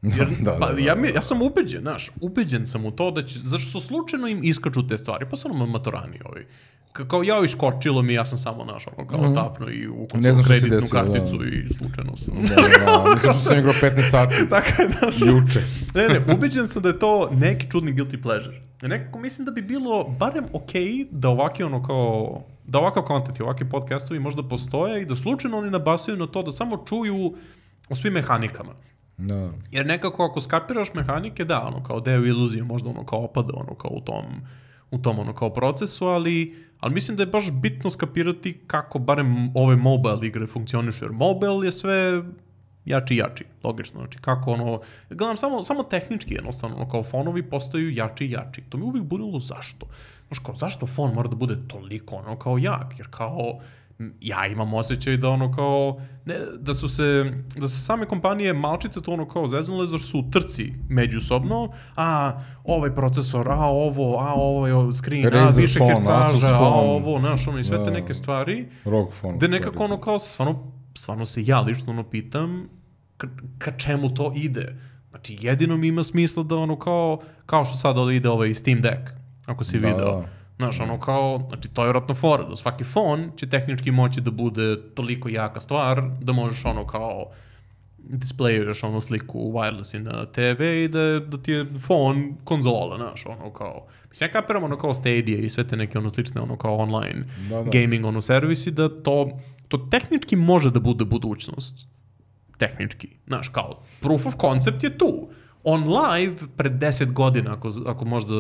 Jer, da, da, pa, da, ja, da, mi, da. ja sam ubeđen, znaš, ubeđen sam u to da će, zašto slučajno im iskaču te stvari, pa sam maturani ovi. Ka, kao ja iskočilo mi, ja sam samo našao, kao mm-hmm. tapno i ukončao kreditnu desilo, karticu da. I slučajno sam. Da, da, mislim što sam igrao petnaest sati. Tako je, znaš. Juče. Ne, ne, ubeđen sam da je to neki čudni guilty pleasure. Nekako mislim da bi bilo barem okej okay da ovaki ono kao, da ovakav content i ovakvi podcastovi možda postoje i da slučajno oni nabasaju na to da samo čuju o svim mehanikama. Da. Jer nekako ako skapiraš mehanike, da, ono kao deo iluzije možda ono kao opada ono kao u tom, u tom ono kao procesu, ali, ali mislim da je baš bitno skapirati kako barem ove mobile igre funkcionišu, jer mobile je sve jači i jači, logično, znači kako ono, gledam samo, samo tehnički jednostavno, ono kao fonovi postaju jači i jači, to mi uvijek budilo zašto, znaš kao zašto fon mora da bude toliko ono kao jak, jer kao ja imam osjećaj da ono kao, ne, da su se, da su same kompanije malčice to ono kao zeznule, zašto su u trci međusobno, a ovaj procesor, a ovo, a ovaj screen, Razer a više phone, hercaža, a ovo, znaš, ono i sve te neke stvari, ROG Phone, gde nekako ono kao, stvarno, stvarno se ja lično ono pitam, ka, ka čemu to ide? Znači, jedino mi ima smisla da ono kao, kao što sada ide ovaj Steam Deck, ako si da, video. Da. Znaš, ono kao, znači to je vjerojatno fora, da svaki fon će tehnički moći da bude toliko jaka stvar, da možeš ono kao displejuješ ono sliku wireless na te ve i da, da ti je fon konzola, znaš, ono kao, mislim, ja kapiram ono kao Stadia i sve te neke ono slične ono kao online da, da. gaming ono servisi, da to, to tehnički može da bude budućnost. Tehnički, znaš, kao, proof of concept je tu. On live pred deset godina, ako, ako možda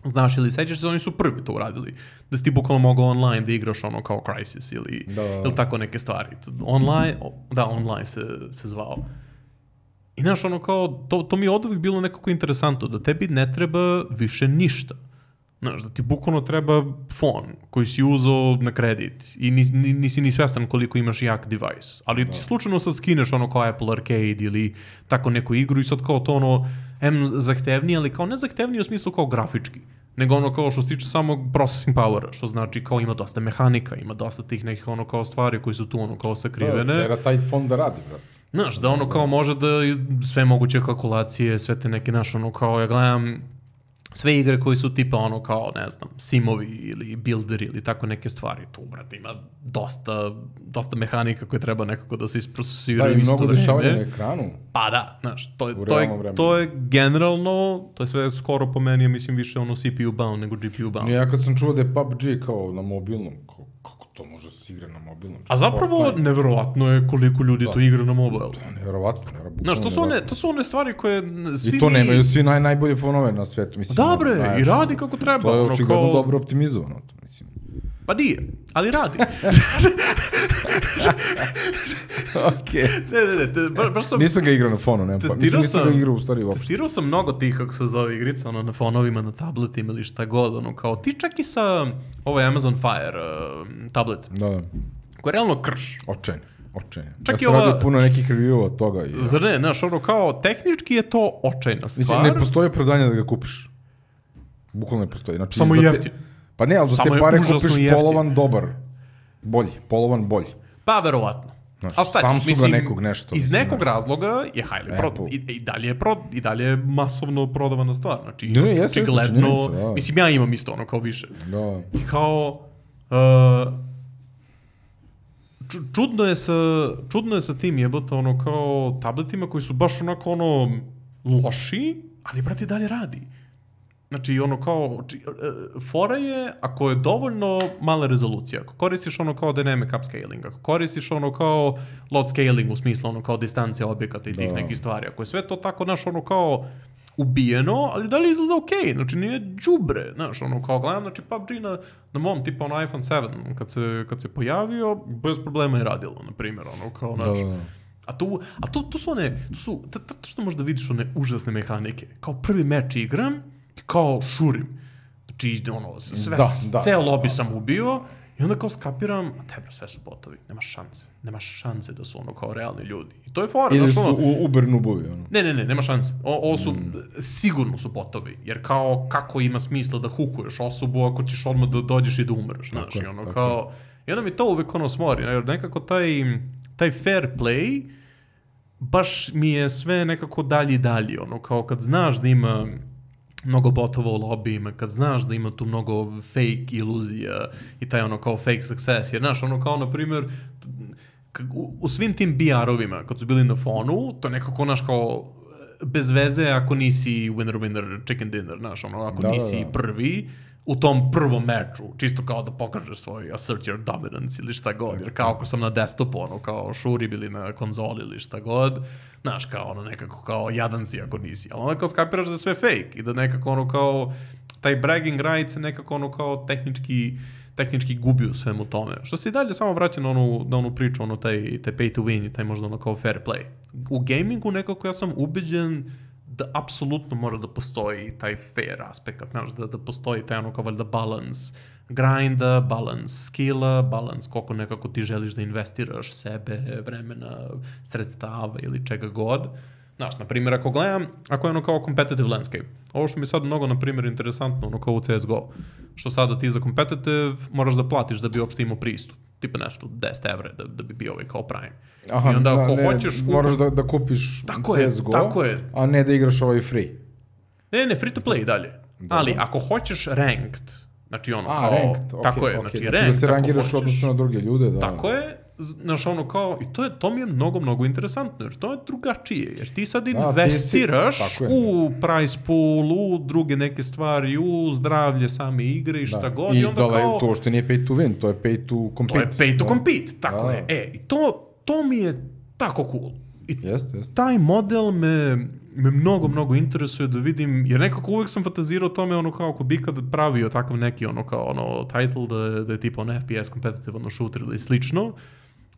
znaš ili sećaš se, oni su prvi to uradili. Da si ti bukvalno mogao online da igraš ono kao Crysis ili, da. ili tako neke stvari. Online, da, online se, se zvao. I znaš, ono kao, to, to mi je od uvijek bilo nekako interesantno, da tebi ne treba više ništa. Znaš, da ti bukvalno treba fon koji si uzeo na kredit i nis, nisi ni svjestan koliko imaš jak device. Ali da. Ti slučajno sad skineš ono kao Apple Arcade ili tako neku igru i sad kao to ono, em zahtevnije, ali kao ne zahtevnije u smislu kao grafički, nego ono kao što se tiče samog processing powera, što znači kao ima dosta mehanika, ima dosta tih nekih ono kao stvari koji su tu ono kao sakrivene. Da, treba taj fond da radi, brate. Znaš, da ono kao može da sve moguće kalkulacije, sve te neke naš ono kao, ja gledam sve igre koji su tipa ono kao, ne znam, simovi ili builderi ili tako neke stvari. Tu, brate, ima dosta, dosta mehanika koje treba nekako da se isprocesiraju. Da, i mnogo dešavanja na ekranu. Pa da, znaš, to je, to je, to je generalno, to je sve skoro po meni, ja mislim, više ono C P U bound nego G P U bound. Ja kad sam čuo da je P U B G kao na mobilnom, kao, kako to može da se igra na mobilnom? A zapravo, neverovatno je koliko ljudi da. To igra na mobile. Da, neverovatno. neverovatno znaš, to su, one, to su one stvari koje svi I to nemaju svi naj, najbolje fonove na svetu. Mislim, dobre, najjače, i radi kako treba. To je ono, očigledno kao... dobro optimizovano. To, mislim. Pa nije, ali radi. Okej. Ne, ne, ne. Te, baš, baš sam... Nisam ga igrao na fonu, nema pa. Mislim, nisam ga igrao u stvari uopšte. Testirao sam mnogo tih, kako se zove igrica, ono, na fonovima, na tabletima ili šta god, ono, kao ti čak i sa ovaj Amazon Fire uh, tablet. Da, da. Koji je realno krš. Očajno. Očajno. Čak ja sam ova... radio puno nekih review od toga. I, Zar ne, znaš, ono kao, tehnički je to očajna stvar. Mislim, ne postoji opravdanje da ga kupiš. Bukvalno ne postoji. Znači, samo jeftin. Pa ne, ali za te pare kupiš polovan dobar. Bolji, polovan bolji. Pa, verovatno. Znaš, ali šta ćeš, Samsunga mislim, nekog nešto. iz mislim, nekog znaš. razloga je highly pro, i, i, dalje je pro, i dalje je masovno prodavana stvar. Znači, Ne, jeste, jeste, očigledno, činjenica, da. mislim, ja imam isto ono kao više. Da. I kao, uh, ču- čudno je sa, čudno je sa tim jebote, ono kao tabletima koji su baš onako ono loši, ali brate dalje radi. Znači, ono kao, či, uh, fora je, ako je dovoljno mala rezolucija, ako koristiš ono kao dynamic upscaling, ako koristiš ono kao load scaling u smislu ono kao distancija objekata i tih Da. nekih stvari, ako je sve to tako, znaš, ono kao ubijeno, ali da li izgleda okej, okay? Znači nije đubre, znaš, ono kao gledam, znači P U B G na, na mom tipa ono iPhone sedam, kad se, kad se pojavio, bez problema je radilo, na primjer, ono kao, Da, znači, da, da. a tu, a tu, tu su one, tu su, to, to što možda vidiš one užasne mehanike, kao prvi meč igram, kao šurim, znači ono, sve, Da, da, ceo da, lobby da. sam ubio, i onda kao skapiram, a te bro, sve su botovi, nema šanse, nema šanse da su ono kao realni ljudi. I to je fora, Ili znaš, su ono, u, Uber nubovi, ono. Ne, ne, ne, nema šanse. O, ovo su, mm. sigurno su botovi. Jer kao, kako ima smisla da hukuješ osobu ako ćeš odmah da dođeš i da umreš, znaš. Tako, I ono tako. kao, i onda mi to uvek ono smori. Jer nekako taj, taj fair play, baš mi je sve nekako dalje i dalje. Ono kao kad znaš da ima mnogo botova u lobijima, kad znaš da ima tu mnogo fake iluzija i taj ono kao fake success. Jer znaš, ono kao, na primjer, u, u svim tim B R-ovima, kad su bili na fonu, to je nekako, znaš, kao, bez veze ako nisi winner, winner, chicken dinner, znaš, ono, ako Da, nisi da, da. prvi u tom prvom meču, čisto kao da pokažeš svoj assert your dominance ili šta god, jer kao ako sam na desktopu, ono, kao šuri bili na konzoli ili šta god, znaš, kao ono, nekako kao jadan si ako nisi, ali onda kao skapiraš da je sve fake i da nekako ono kao, taj bragging rights je nekako ono kao tehnički, tehnički gubi u svemu tome. Što se i dalje samo vraća na onu, na onu priču, ono, taj, taj pay to win i taj možda ono kao fair play. U gamingu nekako ja sam ubeđen da apsolutno mora da postoji taj fair aspekt, znaš, da, da postoji taj ono kao valjda balans grinda, balans skilla, balans koliko nekako ti želiš da investiraš sebe, vremena, sredstava ili čega god. Znaš, na primjer, ako gledam, ako je ono kao competitive landscape, ovo što mi je sad mnogo, na primjer, interesantno, ono kao u C S G O, što sada ti za competitive moraš da platiš da bi uopšte imao pristup, tipa nešto deset evra da, da bi bio ovaj kao Prime. Aha, I onda ako ne, hoćeš... moraš da, da kupiš Tako je, C S G O, tako je. a ne da igraš ovaj free. Ne, ne, free to play i dalje. Dobro. Ali ako hoćeš ranked, znači ono A, kao... ranked, ok, tako je, ok. znači, Znači ranked, da se ako rangiraš hoćeš. odnosno na druge ljude, da. Tako je, znaš ono kao, i to, je, to mi je mnogo, mnogo interesantno, jer to je drugačije, jer ti sad ti si- investiraš tako je. u price pool, u druge neke stvari, u zdravlje same igre i šta Da. god, I, i onda dole, kao... to što nije pay to win, to je pay to To compete. je pay to da. compete, tako Da. je. E, i to, to mi je tako cool. I Jeste, jeste. taj model me, me mnogo, mnogo interesuje da vidim, jer nekako uvek sam fantazirao o tome, ono kao ako bi kad pravio takav neki ono kao ono title da je, da je tipa ono F P S competitive ono shooter ili slično,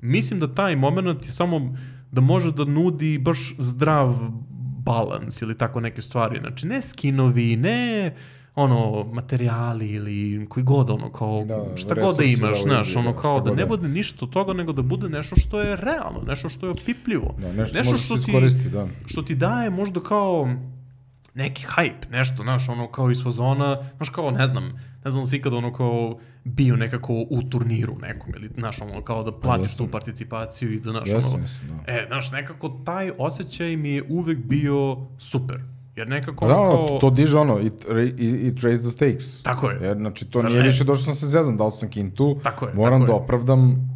mislim da taj moment je samo da može da nudi baš zdrav balans ili tako neke stvari. Znači, ne skinovi, ne ono, materijali ili koji god, ono, kao, Da, šta god da resursi imaš, da znaš, vidi, ono, da, kao šta da god ne da. bude ništa od toga, nego da bude nešto što je realno, nešto što je opipljivo. Da, nešto možeš se iskoristiti, da. Što ti daje možda kao neki hype, nešto, znaš, ono, kao iz fazona, znaš, kao, ne znam, ne znam si ikad ono kao bio nekako u turniru nekom, ili, znaš, ono, kao da platiš jesam. tu participaciju i da, znaš, Jesam, ono, jesam, da. e, znaš, nekako taj osjećaj mi je uvek bio super. Jer nekako Da, ono ono, kao... to diže ono, it, it, it raise the stakes. Tako je. Jer, znači, to Zar nije ne? više došao sam se zezam, dao sam kintu, Tako je, moram tako da je. opravdam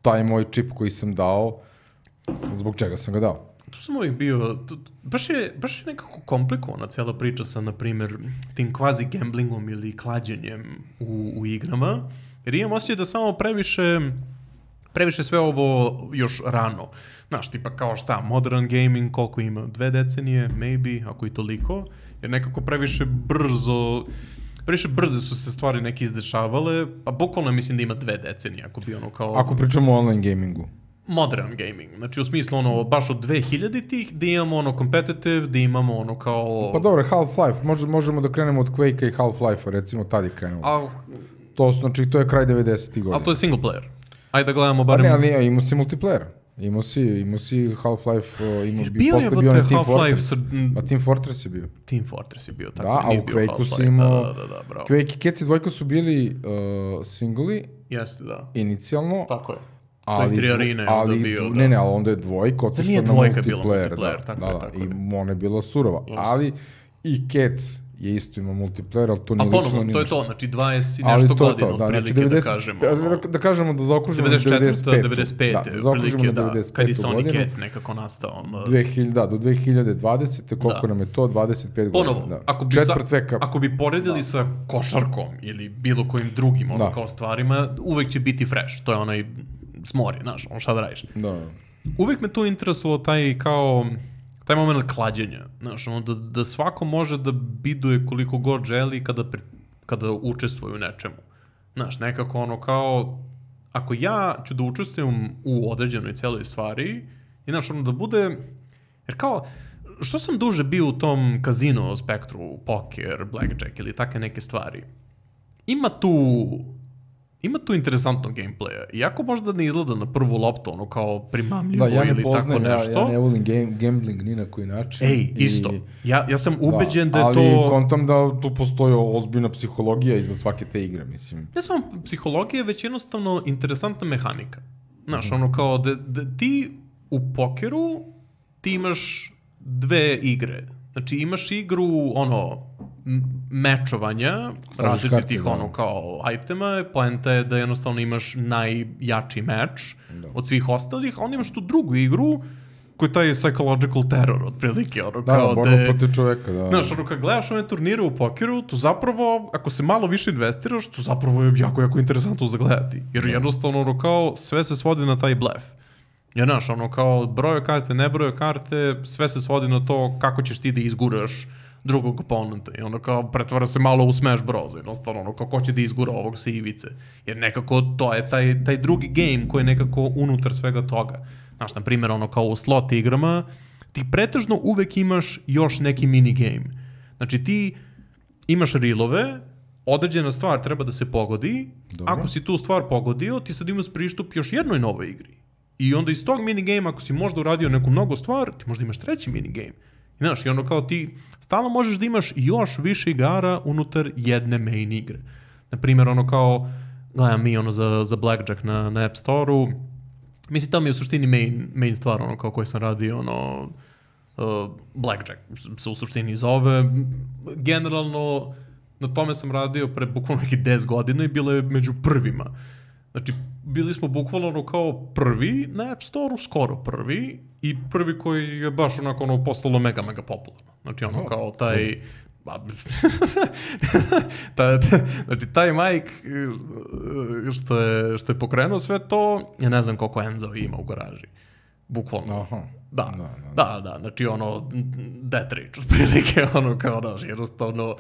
taj moj čip koji sam dao, zbog čega sam ga dao. Tu sam uvijek bio, tu, baš, je, baš je nekako komplikovana cijela priča sa, na primjer, tim kvazi gamblingom ili klađenjem u, u igrama, jer imam osjećaj da samo previše, previše sve ovo još rano. Znaš, tipa kao šta, modern gaming, koliko ima? Dve decenije, maybe, ako i toliko, jer nekako previše brzo... Previše brze su se stvari neke izdešavale, pa bukvalno mislim da ima dve decenije, ako bi ono kao... Ako pričamo o online gamingu. Modern gaming, znači u smislu ono baš od dve hiljaditih da imamo ono competitive, da imamo ono kao... Pa dobro, Half-Life, Može, možemo da krenemo od Quake-a i Half-Life-a, recimo tad je krenulo. Al, To, su, znači, to je kraj devedesetih godina. ali to je single player. Ajde da gledamo Pa barem... ne, ali nije, imao si multiplayer. Imao si, imao si Half-Life, o, imao bi, Bio je posle bio onaj Team Half-Life Fortress. sa... A Team Fortress je bio. Team Fortress je bio tako. Da, a nije u bio Quake-u si Half-Life, imao... Da, da, da, bravo. Quake i Keci dvojka su bili uh, singli, Jeste, da. inicijalno, Tako je. ali, tri arene ali, onda bio, ne, ne, ali onda je dvojka otišla na dvojka bila multiplayer, multiplayer, da, tako da, je, da, tako i je. ona je bila surova, ali i Cats je isto ima multiplayer, ali to nije A lično ponovo, ni to je ništa. to, znači dvadeset i Ali nešto to je godina, to, da, otprilike, znači devedeset, da kažemo. da, Ono, da kažemo da zaokružimo devedeset četvrte. devedeset pete. devedeset pete. Da, da zaokružimo na da, devedeset kad je petu Sonic godinu. Cats nekako nastao. Ono, dve hiljade, da, do dve hiljade dvadesete. koliko Da. nam je to, dvadeset pet Ponovo, godina. Da. ako bi, Četvrt sa, veka. ako bi poredili Da. sa košarkom ili bilo kojim drugim ono, Da. kao stvarima, uvek će biti fresh. To je onaj smori, znaš, ono šta da radiš. Da. Uvek me tu interesovao taj kao taj moment klađenja, znaš, ono, da, da svako može da biduje koliko god želi kada, pre, kada učestvuje u nečemu. Znaš, nekako ono kao, ako ja ću da učestvujem u određenoj celoj stvari, i znaš, ono da bude, jer kao, što sam duže bio u tom kazino, spektru, poker, blackjack ili takve neke stvari, ima tu ima tu interesantnog gameplaya. Iako možda ne izgleda na prvu loptu, ono kao primamljivo Da, ja ne ili poznajem, tako ja, nešto. ja ne volim game, gambling ni na koji način. Ej, i, isto. Ja, ja sam ubeđen da, da je ali to... Ali kontam da tu postoji ozbiljna psihologija iza svake te igre, mislim. Ne samo psihologija, već jednostavno interesantna mehanika. Znaš, ono kao da, da ti u pokeru ti imaš dve igre. Znači imaš igru, ono, mečovanja, različitih ono kao itema, poenta je da jednostavno imaš najjači meč da. Od svih ostalih, a onda imaš tu drugu igru koji je taj psychological terror, otprilike, ono da, kao da... borba protiv čoveka, da. Znaš, ono kad gledaš one turnire u pokeru, to zapravo, ako se malo više investiraš, to zapravo je jako, jako interesantno za gledati. Jer da. Jednostavno, ono kao, sve se svodi na taj blef. Jer, znaš, ono kao, broje karte, ne broje karte, sve se svodi na to kako ćeš ti da izguraš drugog oponenta. I ono kao, pretvara se malo u Smash Bros. Jednostavno, ono kao, ko će da izgura ovog sa ivice. Jer nekako, to je taj, taj drugi game koji je nekako unutar svega toga. Znaš, na primjer, ono kao u slot igrama, ti pretežno uvek imaš još neki minigame. Znači, ti imaš rilove, određena stvar treba da se pogodi, dobro. Ako si tu stvar pogodio, ti sad imaš pristup još jednoj novoj igri. I onda iz tog minigame, ako si možda uradio neku mnogo stvar, ti možda imaš treći minigame. I znaš, i ono kao ti stalno možeš da imaš još više igara unutar jedne main igre. Naprimjer, ono kao, gledam mi ono za, za Blackjack na, na App Store-u, mislim, to mi je u suštini main, main stvar, ono kao koji sam radio, ono, uh, Blackjack se u suštini zove. Generalno, na tome sam radio pre bukvalno nekih deset godina i bilo je među prvima. Znači, bili smo bukvalno ono kao prvi na App Store-u, skoro prvi, i prvi koji je baš onako ono postalo mega, mega popularno. Znači, ono kao taj... ta, ta, znači, taj Mike što je, što je pokrenuo sve to, ja ne znam koliko Enzo ima u garaži. Bukvalno. Aha. Da, da, da, da, da, znači ono, death rage, otprilike, ono kao, daš, jednostavno,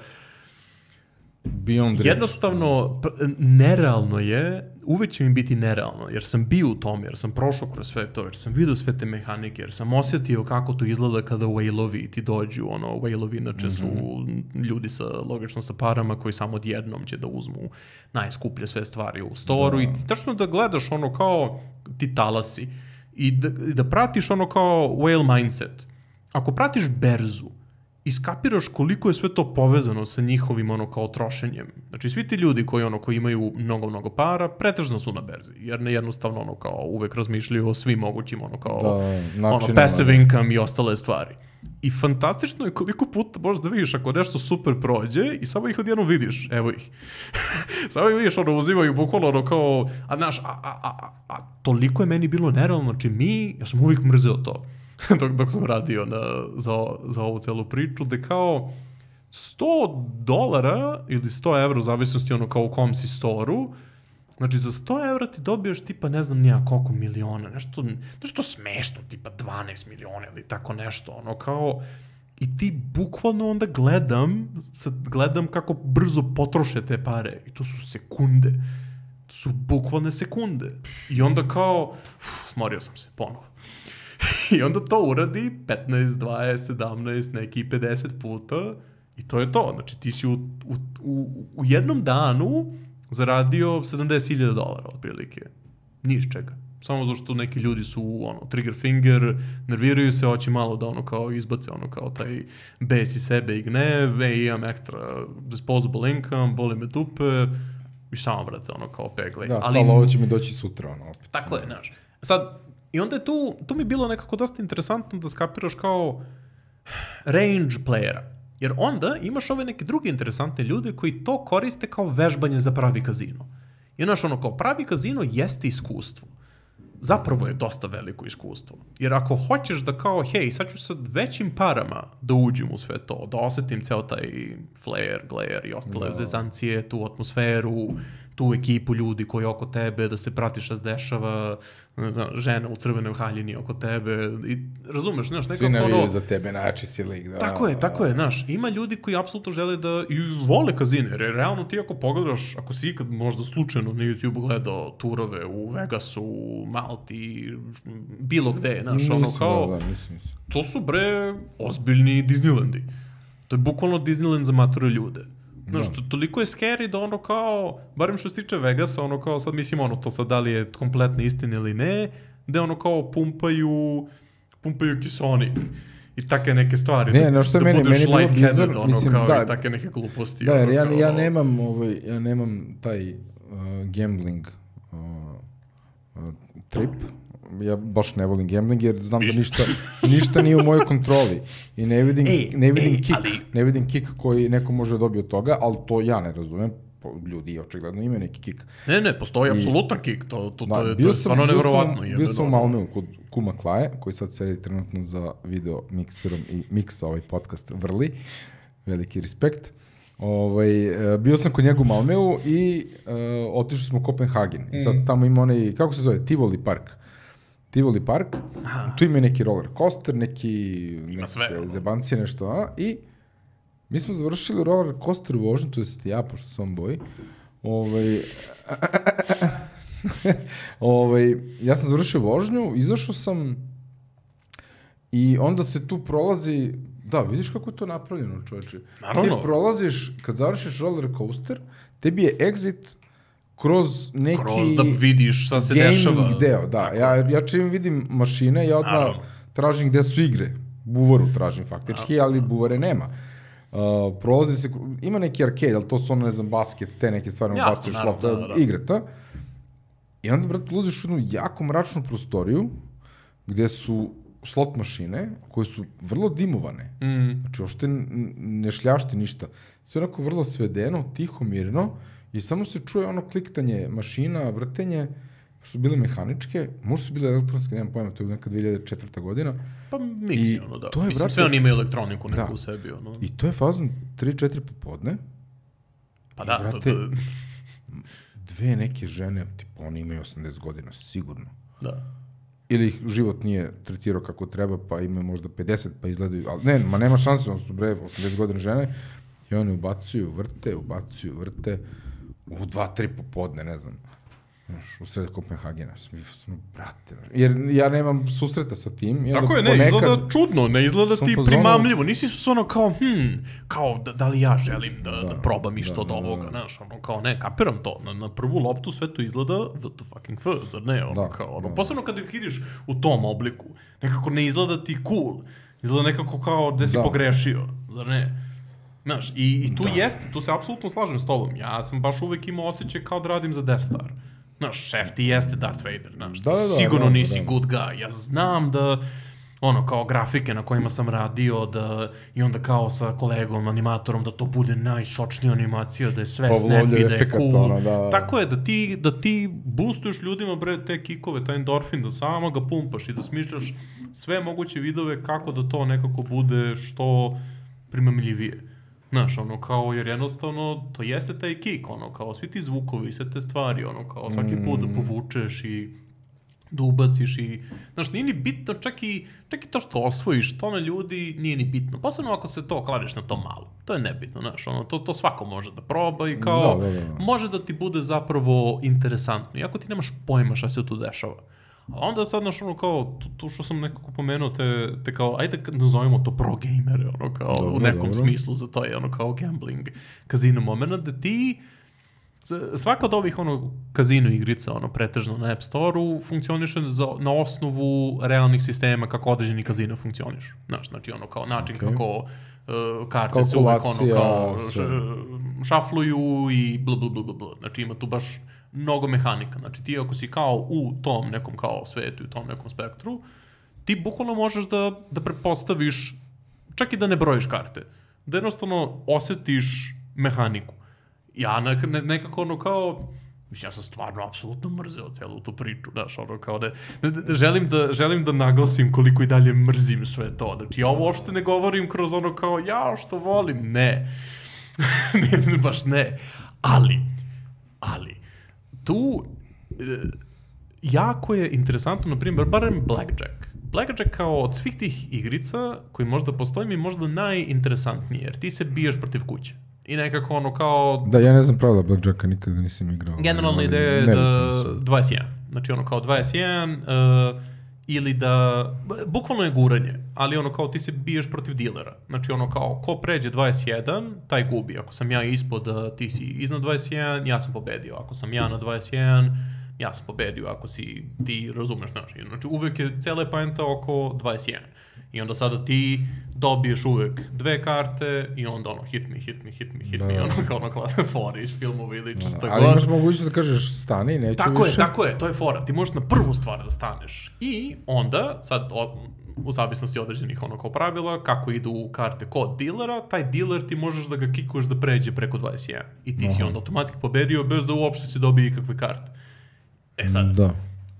Beyond jednostavno, nerealno je, uvek će mi biti nerealno, jer sam bio u tom, jer sam prošao kroz sve to, jer sam vidio sve te mehanike, jer sam osjetio kako to izgleda kada whale-ovi ti dođu, ono, whale-ovi inače su mm-hmm. ljudi sa, logično sa parama koji samo odjednom će da uzmu najskuplje sve stvari u storu da. I ti tačno da gledaš ono kao ti talasi i da, i da pratiš ono kao whale mindset. Ako pratiš berzu, iskapiraš koliko je sve to povezano sa njihovim ono kao trošenjem. Znači svi ti ljudi koji ono koji imaju mnogo mnogo para pretežno su na berzi, jer ne jednostavno ono kao uvek razmišljaju o svim mogućim ono kao da, ono passive income i ostale stvari. I fantastično je koliko puta možeš da vidiš ako nešto super prođe i samo ih odjednom vidiš, evo ih. Samo ih vidiš, ono uzimaju bukvalno ono kao, a znaš, a, a, a, a toliko je meni bilo nerealno, znači mi, ja sam uvijek mrzeo to. dok, dok sam radio na, za, za ovu celu priču, da kao sto dolara ili sto evra, u zavisnosti ono kao u kom si storu, znači za sto evra ti dobijaš tipa ne znam nija koliko miliona, nešto, nešto smešno, tipa dvanaest miliona ili tako nešto, ono kao, i ti bukvalno onda gledam, sad gledam kako brzo potroše te pare i to su sekunde, to su bukvalne sekunde i onda kao, uf, smorio sam se ponovo. I onda to uradi petnaest, dvadeset, sedamnaest, neki pedeset puta i to je to. Znači ti si u, u, u, u jednom danu zaradio sedamdeset hiljada dolara otprilike. Ni iz čega. Samo zato što neki ljudi su ono, trigger finger, nerviraju se, hoće malo da ono kao izbace ono kao taj bes iz sebe i gnev, e, imam ekstra disposable income, boli me dupe, i samo, brate, ono, kao peglej. Da, ali, ali ovo će mi doći sutra, ono, opet. Tako je, znaš. Sad, i onda je tu, tu mi je bilo nekako dosta interesantno da skapiraš kao range playera. Jer onda imaš ove neke druge interesantne ljude koji to koriste kao vežbanje za pravi kazino. I znaš, ono, kao pravi kazino jeste iskustvo. Zapravo je dosta veliko iskustvo. Jer ako hoćeš da kao, hej, sad ću sa većim parama da uđem u sve to, da osetim ceo taj flare, glare i ostale no. zezancije, tu atmosferu, tu ekipu ljudi koji oko tebe, da se prati šta se dešava, žena u crvenoj haljini oko tebe, i razumeš, znaš, nekako ono... Svi navijaju za tebe, najjači si lik, da. Tako je, tako je, znaš, ima ljudi koji apsolutno žele da, i vole kazine, jer realno ti ako pogledaš, ako si ikad možda slučajno na YouTube gledao turove u Vegasu, u Malti, bilo gde, znaš, nisam, ono kao, da, da, nisam, nisam. To su bre ozbiljni Disneylandi. To je bukvalno Disneyland za mature ljude. Znaš, to, toliko je scary da ono kao, barem što se tiče Vegasa, ono kao, sad mislim ono, to sad da li je kompletna istina ili ne, da ono kao pumpaju, pumpaju kisonik i take neke stvari. Ne, no što da, je meni, budeš meni bilo bizar, ono, mislim, kao da. I take neke gluposti. Da, jer ono, ja, kao, ja nemam, ovaj, ja nemam taj uh, gambling uh, uh, trip. Ja baš ne volim gambling jer znam da ništa, ništa nije u mojoj kontroli i ne vidim, ej, ne vidim ej, kick, ali... ne vidim kick koji neko može dobiti od toga, ali to ja ne razumem. Ljudi očigledno imaju neki kick. Ne, ne, postoji I, apsolutan kick, to, to, da, to je, to je stvarno nevjerovatno. Bio sam u Malmeu kod kuma Klaje, koji sad sedi trenutno za video mikserom i miksa ovaj podcast vrli. Veliki respekt. Ovaj, bio sam kod njega u Malmeu i uh, otišli smo u Kopenhagen. Mm. I sad tamo ima onaj, kako se zove, Tivoli park. Tivoli park, aha. Tu ima neki roller coaster, neki zebancije, nešto, a, i mi smo završili roller coaster u vožnju, to jest ja, pošto sam boji, ovaj, ovaj, ja sam završio vožnju, izašao sam i onda se tu prolazi, da, vidiš kako je to napravljeno, čovječe. Naravno. Ti prolaziš, kad završiš roller coaster, tebi je exit kroz neki kroz da vidiš šta se dešava. Gaming deo, da. Ja, ja čim vidim mašine, ja odmah naravno. Tražim gde su igre. Buvaru tražim faktički, naravno. Ali buvare nema. Uh, prolazi se, ima neki arcade, ali to su ono, ne znam, basket, te neke stvari, ja, basket, šlop, igre, ta. I onda, brate, ulaziš u jednu jako mračnu prostoriju, gde su slot mašine, koje su vrlo dimovane. Mm. Znači, ošte ne šljašti ništa. Sve onako vrlo svedeno, tiho, mirno, i samo se čuje ono kliktanje mašina, vrtenje, što su bile mehaničke, možda su bile elektronske, nemam pojma, to je neka dve hiljade četvrta godina. Pa miksi, ono da. To je, Mislim, brate, sve oni imaju elektroniku neku da. U sebi. Ono. I to je fazon tri četiri popodne. Pa da, brate, to, to... dve neke žene, tipa, oni imaju osamdeset godina, sigurno. Da. Ili ih život nije tretirao kako treba, pa imaju možda pedeset, pa izgledaju, ali ne, ma nema šanse, on su bre, osamdeset godina žene, i oni ubacuju, vrte, ubacuju, vrte, u dva, tri popodne, ne znam, u sred Kopenhagena, sam, brate, jer ja nemam susreta sa tim. Tako je, ne, ponekad, izgleda čudno, ne izgleda ti primamljivo, nisi su ono kao, hm, kao, da, da li ja želim da, da, da probam išto da, od ovoga, znaš, ono, kao, ne, kapiram to, na, na prvu loptu sve to izgleda what the fucking fuck, zar ne, ono, da, kao, ono, da, posebno kada ih vidiš u tom obliku, nekako ne izgleda ti cool, izgleda nekako kao da si da. Pogrešio, zar ne? Znaš, i, i tu da. Jeste, tu se apsolutno slažem s tobom. Ja sam baš uvek imao osjećaj kao da radim za Death Star. Znaš, šef ti jeste Darth Vader, znaš, da, da, sigurno da, nisi da. Good guy. Ja znam da, ono, kao grafike na kojima sam radio, da, i onda kao sa kolegom, animatorom, da to bude najsočnija animacija, da je sve snappy, da je cool. Ono, da, da. Tako je, da ti, da ti boostuješ ljudima, bre, te kikove, taj endorfin, da samo ga pumpaš i da smišljaš sve moguće vidove kako da to nekako bude što primamljivije. Znaš, ono, kao, jer jednostavno, to jeste taj kick, ono, kao, svi ti zvukovi, sve te stvari, ono, kao, svaki put da povučeš i da ubaciš i, znaš, nije ni bitno, čak i, čak i to što osvojiš, to na ljudi nije ni bitno, posebno ako se to kladiš na to malo, to je nebitno, znaš, ono, to, to svako može da proba i kao, da, da, da. Može da ti bude zapravo interesantno, iako ti nemaš pojma šta se tu dešava. A onda sad, znaš, ono, kao, tu, tu što sam nekako pomenuo, te, te kao, ajde nazovimo to pro gamere, ono, kao, dobro, u nekom dobro. Smislu za to je, ono, kao gambling, kazino moment, da ti, svaka od ovih, ono, kazino igrica, ono, pretežno na App Store-u, funkcioniše za, na osnovu realnih sistema kako određeni kazino funkcioniš. Znaš, znači, ono, kao način okay. kako, uh, karte se uvek ono kao š, šafluju i bla bla bla bla. Znači ima tu baš mnogo mehanika. Znači ti ako si kao u tom nekom kao svetu i u tom nekom spektru, ti bukvalno možeš da, da pretpostaviš, čak i da ne brojiš karte, da jednostavno osetiš mehaniku. Ja ne, nekako ono kao, mislim, ja sam stvarno apsolutno mrzeo celu tu priču, znaš, ono kao ne, ne, ne želim, da, želim da naglasim koliko i dalje mrzim sve to, znači ja ovo uopšte ne govorim kroz ono kao, ja što volim, ne, ne, baš ne, ali, ali, tu, jako je interesantno, na primjer, barem Blackjack. Blackjack kao od svih tih igrica koji možda postoji mi možda najinteresantnije, jer ti se biješ protiv kuće. I nekako ono kao... Da, ja ne znam pravila Blackjacka, nikada nisam igrao. Generalna ideja je da dvadeset jedan. Znači ono kao dvadeset jedan uh, ili da... Bukvalno je guranje, ali ono kao ti se biješ protiv dilera. Znači ono kao ko pređe dvadeset jedan, taj gubi. Ako sam ja ispod, uh, ti si iznad dvadeset jedan, ja sam pobedio. Ako sam ja na dvadeset jedan, ja sam pobedio. Ako si ti razumeš, znači, znači uvek je cela poenta oko dvadeset jedan. I onda sada ti dobiješ uvek dve karte i onda ono hit me, hit me, hit me, hit da. me i ono kao ono klada fora iz filmova ili čista god. Ali imaš mogućnost da kažeš stani, neću tako više. Tako je, tako je, to je fora. Ti možeš na prvu stvar da staneš. I onda, sad od, u zavisnosti određenih ono kao pravila, kako idu karte kod dilera, taj diler ti možeš da ga kikuješ da pređe preko dvadeset jedan. I ti Aha. si onda automatski pobedio bez da uopšte si dobije ikakve karte. E sad, da.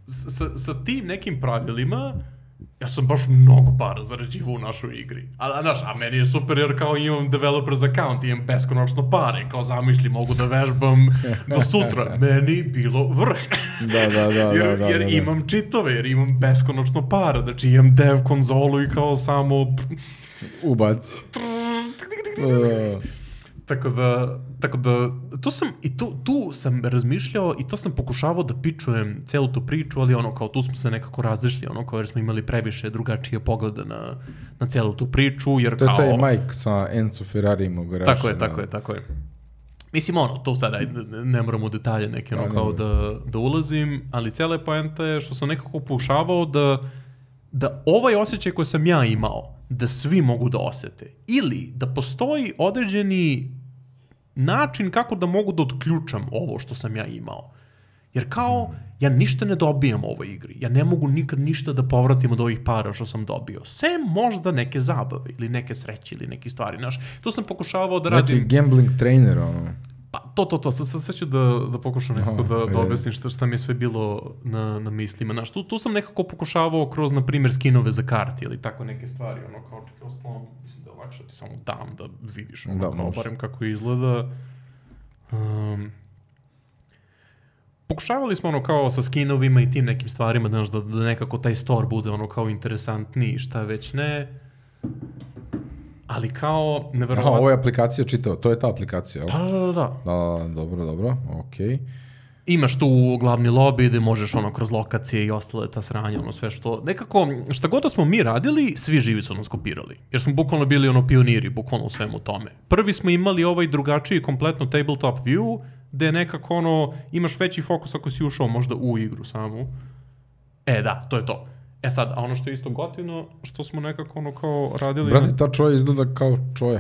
sa, sa tim nekim pravilima, ja sam baš mnogo para zarađivao u našoj igri. A, znaš, a meni je super jer kao imam developers account, imam beskonačno pare, kao zamišlji, mogu da vežbam do sutra. Meni bilo vrh. Da, da, da. jer da, jer da, da. imam čitove, jer imam beskonačno para. Znači imam dev konzolu i kao samo... Ubaci. uh. Tako da, tako da, tu sam, i tu, tu sam razmišljao i to sam pokušavao da pičujem celu tu priču, ali ono, kao tu smo se nekako razišli, ono, kao jer smo imali previše drugačije poglede na, na celu tu priču, jer to kao... To je taj Mike sa Enzo Ferrarijem u garaži. Tako je, tako da. je, tako je. Mislim, ono, to sada ne, ne moram u detalje neke, ono, da, kao da, da ulazim, ali cijela poenta je što sam nekako pokušavao da, da ovaj osjećaj koji sam ja imao, da svi mogu da osete, ili da postoji određeni način kako da mogu da otključam ovo što sam ja imao. Jer kao, ja ništa ne dobijam u ovoj igri. Ja ne mogu nikad ništa da povratim od ovih para što sam dobio. Sem možda neke zabave ili neke sreće ili neke stvari. Znaš, tu sam pokušavao da radim... Neki gambling trainer, ono. Pa, to, to, to. Sad, sad, sad ću da, da pokušam nekako no, da, da objasnim šta, šta mi je sve bilo na, na mislima. Znaš, tu, tu sam nekako pokušavao kroz, na primjer, skinove za karti ili tako neke stvari. Ono, kao čekaj, osnovom, mislim da je lakše ti samo dam da vidiš ono, da, kao, barem kako izgleda. Um, pokušavali smo ono kao sa skinovima i tim nekim stvarima, znaš, da, da nekako taj store bude ono kao interesantniji, šta već ne. Ali kao, neverovatno... Aha, ovo je aplikacija čitao, to je ta aplikacija, da, da, da, da. Da, dobro, dobro, okej. Okay. Imaš tu glavni lobby gde možeš ono kroz lokacije i ostale ta sranja, ono sve što... Nekako, šta god da smo mi radili, svi živi su nas kopirali. Jer smo bukvalno bili ono pioniri, bukvalno u svemu tome. Prvi smo imali ovaj drugačiji kompletno tabletop view, gde nekako ono, imaš veći fokus ako si ušao možda u igru samu. E da, to je to. E sad, a ono što je isto gotivno, što smo nekako ono kao radili... Brate, ta čoja izgleda kao čoja.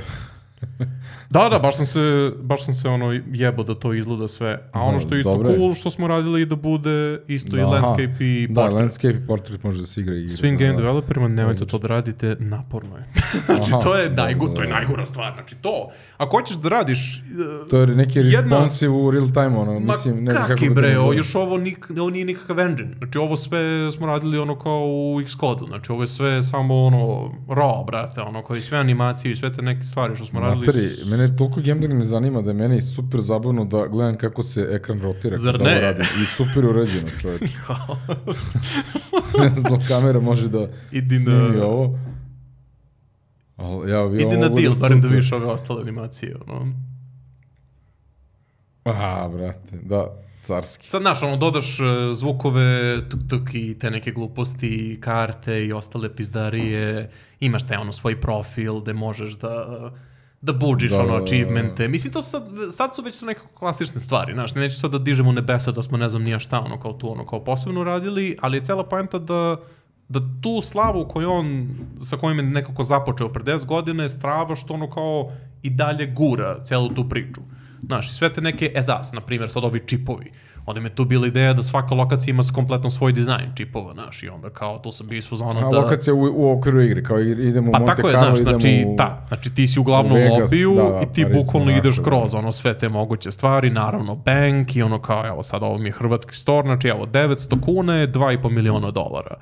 Da, da, baš sam se, baš sam se ono jebo da to izgleda sve. A ono što je isto dobre. Cool, što smo radili da bude isto da, i landscape i da, portrait. Da, landscape i portrait može da se igra i igra. Svim da, game da. developerima nemojte to da radite, naporno je. Znači, aha, to, je najgo, da, to je najgora stvar. Znači, to, ako hoćeš da radiš... Uh, to je neki responsive u real time, ono, ma mislim, ne znam kako bi bre, o, još ovo, nik, ovo nije nikakav engine. Znači, ovo sve smo radili ono kao u Xcode-u. Znači, ovo je sve samo ono, raw, brate, ono, koji sve animacije i sve te neke stvari što smo radili... Materi, mene toliko gambling ne zanima da je meni super zabavno da gledam kako se ekran rotira. Zar da ne? Radim. I super uređeno, čoveč. Ne znam da kamera može da Idi snimi na... ovo. Ali, ja, Idi na deal, barem da vidiš ove ostale animacije. Ono. Aha, brate, da, carski. Sad, znaš, ono, dodaš uh, zvukove, tuk-tuk i te neke gluposti, karte i ostale pizdarije. Imaš te, ono, svoj profil gde možeš da... da budžiš, da, ono, achievemente. Mislim, to sad, sad su već su nekako klasične stvari, znaš, neću sad da dižemo nebesa da smo ne znam nija šta, ono, kao tu, ono, kao posebno radili, ali je cela poenta da, da tu slavu koju on, sa kojim je nekako započeo pre deset godina je strava što ono kao i dalje gura celu tu priču. Znaš, i sve te neke E Z A S, na primjer, sad ovi čipovi. Onda mi je tu bila ideja da svaka lokacija ima kompletno svoj dizajn čipova, znaš, i onda kao to sam bio isfuzano da... A lokacija u, u okviru igre, kao idemo u pa Monte Carlo, Carlo, idemo znači, u... Da, znači ti si uglavnom u lobiju da, da, i ti Paris, bukvalno ideš da, kroz ono sve te moguće stvari, naravno bank i ono kao, evo sad ovo mi je hrvatski store, znači evo devetsto kuna je dva i po miliona dolara.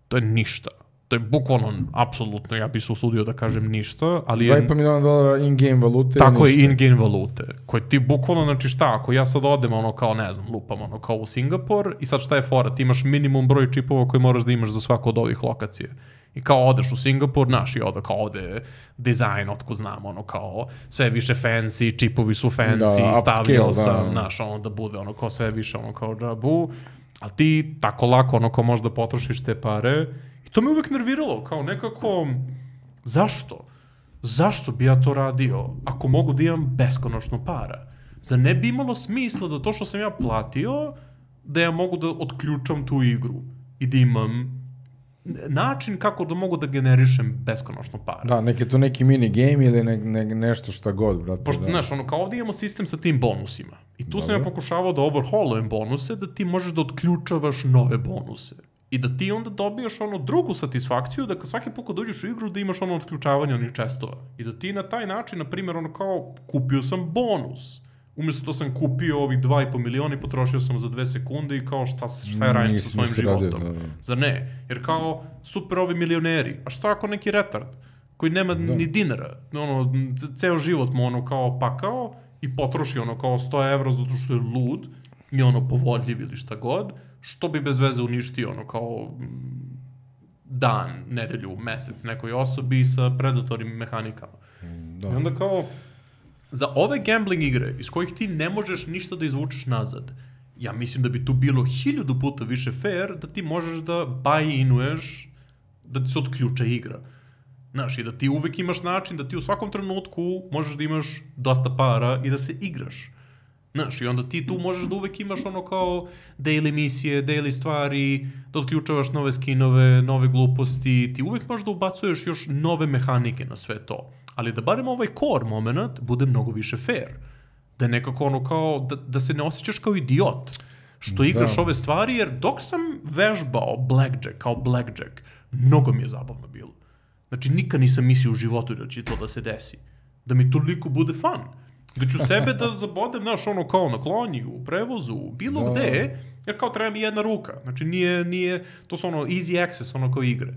To je ništa. To je bukvalno, apsolutno, ja bih se usudio da kažem ništa, ali je... dva i po miliona dolara in-game valute. Tako je, in-game valute. Koje ti bukvalno, znači šta, ako ja sad odem ono kao, ne znam, lupam ono kao u Singapur i sad šta je fora, ti imaš minimum broj čipova koji moraš da imaš za svaku od ovih lokacije. I kao odeš u Singapur, znaš, i onda kao ovde dizajn, otko znam, ono kao sve više fancy, čipovi su fancy, da, stavio sam, znaš, ono da bude ono kao sve više, ono kao džabu, ali ti tako lako ono kao možda potrošiš te pare. To me uvek nerviralo, kao nekako, zašto? Zašto bi ja to radio ako mogu da imam beskonačno para? Zar ne bi imalo smisla da to što sam ja platio, da ja mogu da otključam tu igru i da imam način kako da mogu da generišem beskonačno para. Da, neki to neki mini game ili ne, ne, nešto šta god, brate. Pošto, da. znaš, ono, kao ovdje imamo sistem sa tim bonusima. I tu Dobre. sam ja pokušavao da overhaulujem bonuse, da ti možeš da otključavaš nove bonuse. I da ti onda dobijaš ono drugu satisfakciju, da svaki put kad dođeš u igru da imaš ono otključavanje onih čestova. I da ti na taj način, na primjer, ono kao, kupio sam bonus. Umjesto da sam kupio ovih dva i po miliona i potrošio sam za dve sekunde i kao šta, šta je radim sa svojim životom. Radio, da, da. Zar ne? Jer kao, super ovi milioneri. A šta ako neki retard koji nema da. ni dinara, ono, ceo život mu ono kao pakao i potroši ono kao sto evra zato što je lud i ono povodljiv ili šta god, što bi bez veze uništio ono kao dan, nedelju, mesec nekoj osobi sa predatornim mehanikama. Da. I onda kao, za ove gambling igre iz kojih ti ne možeš ništa da izvučeš nazad, ja mislim da bi tu bilo hiljadu puta više fair da ti možeš da buy-inuješ, da ti se otključa igra. Znaš, i da ti uvek imaš način da ti u svakom trenutku možeš da imaš dosta para i da se igraš. Znaš, i onda ti tu možeš da uvek imaš ono kao daily misije, daily stvari, da otključavaš nove skinove, nove gluposti, ti uvek možeš da ubacuješ još nove mehanike na sve to. Ali da barem ovaj core moment bude mnogo više fair. Da je nekako ono kao, da, da se ne osjećaš kao idiot što igraš da. ove stvari, jer dok sam vežbao blackjack kao blackjack, mnogo mi je zabavno bilo. Znači, nikad nisam mislio u životu da će to da se desi. Da mi toliko bude fun. Da ću sebe da zabodem, znaš, ono kao na klonji, u prevozu, bilo da. gde, jer kao treba mi jedna ruka. Znači, nije, nije, to su ono easy access, ono kao igre.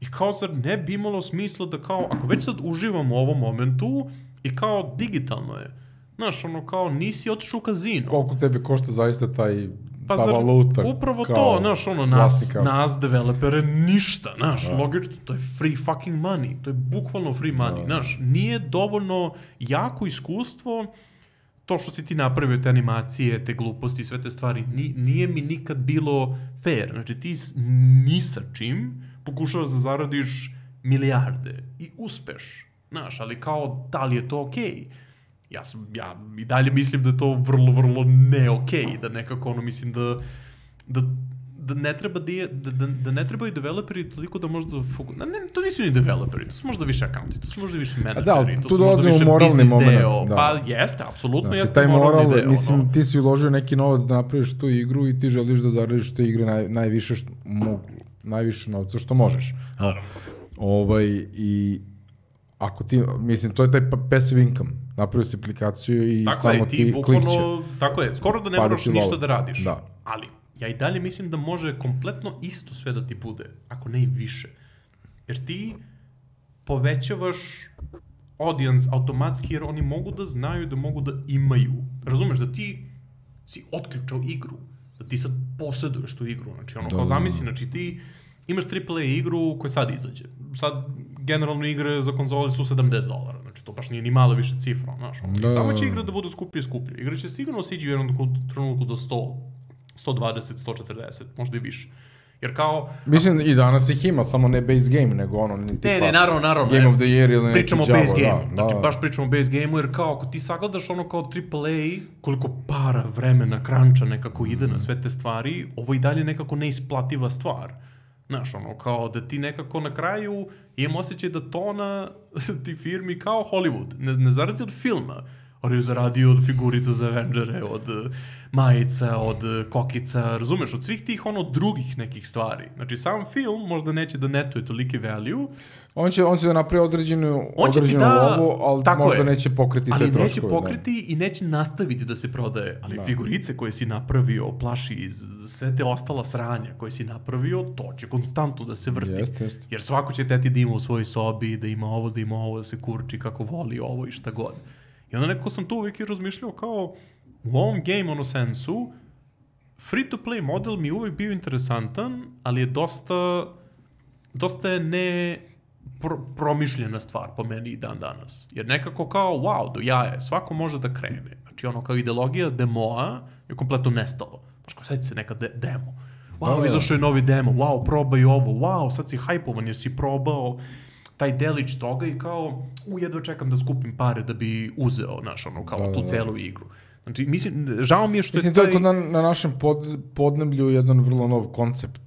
I kao, zar ne bi imalo smisla da kao, ako već sad uživam u ovom momentu, i kao digitalno je. Znaš, ono kao, nisi otišao u kazino. Koliko tebe košta zaista taj, pa ta zar, valuta? Upravo to, znaš, ono, nas, nas developere ništa, znaš, da. logično, to je free fucking money, to je bukvalno free money, da. znaš, nije dovoljno jako iskustvo, to što si ti napravio, te animacije, te gluposti, sve te stvari, nije mi nikad bilo fair, znači ti ni sa čim pokušavaš da zaradiš milijarde i uspeš, znaš, ali kao, da li je to okej? Okay? Ja, sam, ja i dalje mislim da je to vrlo, vrlo ne okej, okay, da nekako ono mislim da, da, da ne treba da, da, da ne trebaju developeri toliko da možda fokus... Ne, ne, to nisu ni developeri, to su možda više accounti, to su možda više menadžeri, da, to su možda više business deo. Da. Pa jeste, apsolutno znači, jeste taj moralni moral, deo. Mislim, no. ti si uložio neki novac da napraviš tu igru i ti želiš da zaradiš te igre naj, najviše, što mogu, najviše novca što možeš. Naravno. Ovaj, i ako ti, mislim, to je taj passive income. Napravio si aplikaciju i tako samo je, ti, ti klikće. Tako je, skoro da ne moraš ništa da radiš. Da. Ali, ja i dalje mislim da može kompletno isto sve da ti bude, ako ne i više. Jer ti povećavaš audience automatski, jer oni mogu da znaju da mogu da imaju. Razumeš, da ti si otključao igru, da ti sad posjeduješ tu igru. Znači, ono, da, kao zamisli, znači ti imaš triple A igru koja sad izađe. Sad, generalno igre za konzoli su sedamdeset dolara, znači to baš nije ni malo više cifra, znaš, da. Samo će igra da bude skuplje i skuplje. Igra će sigurno siđi u jednom trenutku do sto, sto dvadeset, sto četrdeset, možda i više. Jer kao... Mislim, i danas ih ima, samo ne base game, nego ono... Tipa, ne, ne, naravno, naravno. Game of the Year ili neki pričamo Java, base game. Da, znači, da. baš pričamo o base gameu, jer kao, ako ti sagledaš ono kao triple A, koliko para, vremena, kranča nekako ide mm. na sve te stvari, ovo i dalje nekako neisplativa stvar. Znaš, ono, kao da ti nekako na kraju imam osjećaj da tona ti firmi kao Hollywood, ne, ne zaradi od filma, ali je zaradio od figurica za Avengere, od uh, majica, od uh, kokica, razumeš, od svih tih ono drugih nekih stvari. Znači, sam film možda neće da netuje toliki value. On će, on će da napravi određenu, određenu da, lovu, ali možda je. neće pokriti sve troškove. Ali neće pokriti da. i neće nastaviti da se prodaje. Ali da. figurice koje si napravio, plaši iz sve te ostala sranja koje si napravio, to će konstantno da se vrti. Jest, jest. Jer svako će teti da ima u svojoj sobi, da ima ovo, da ima ovo, da se kurči kako voli ovo i šta god. I onda nekako sam tu uvijek i razmišljao kao u ovom game ono sensu free to play model mi je uvijek bio interesantan, ali je dosta dosta je ne pro, promišljena stvar po meni i dan danas. Jer nekako kao wow, do jaje, svako može da krene. Znači ono kao ideologija demoa je kompletno nestalo. Znači kao sad se neka de, demo. Wow, izašao je novi demo, wow, probaj ovo, wow, sad si hajpovan jer si probao taj delić toga i kao, u, jedva čekam da skupim pare da bi uzeo, znaš, ono, kao da, tu da, celu da. igru. Znači, mislim, žao mi je što mislim, je taj... Mislim, to je na, na našem pod, podneblju jedan vrlo nov koncept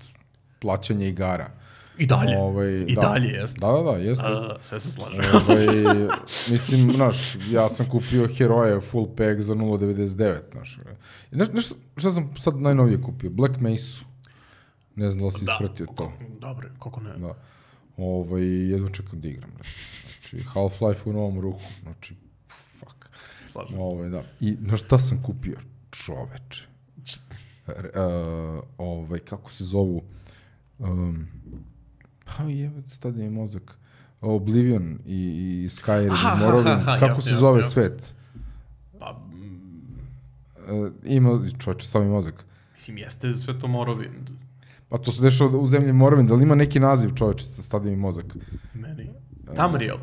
plaćanja igara. I dalje, ovaj, i da. dalje jeste. Da, da, da, jeste. A, sve se slaže. Ovaj, mislim, znaš, ja sam kupio heroje full pack za nula devedeset devet, znaš. Znaš, znaš šta sam sad najnovije kupio? Black Mesa. Ne znam da li si ispratio to. Dobre, kako ne. Da. Ovaj, jedva čekam da igram. Znači, Half-Life u novom ruhu. Znači, fuck. Slažem se. Ovaj, da. I na šta sam kupio? Čoveče. Uh, ovaj, kako se zovu? Um, pa jebate, stadi mi mozak. Oblivion i, i Skyrim i Morrowind. Kako jasne, se jasne, zove jasne. svet? Pa... Uh, ima, čoveče, stavi mi mozak. Mislim, jeste sve to Morrowind. Pa to se dešava u zemlji Morrowind, da li ima neki naziv, čoveče, stadi mi mozak? Meni? Tamriel.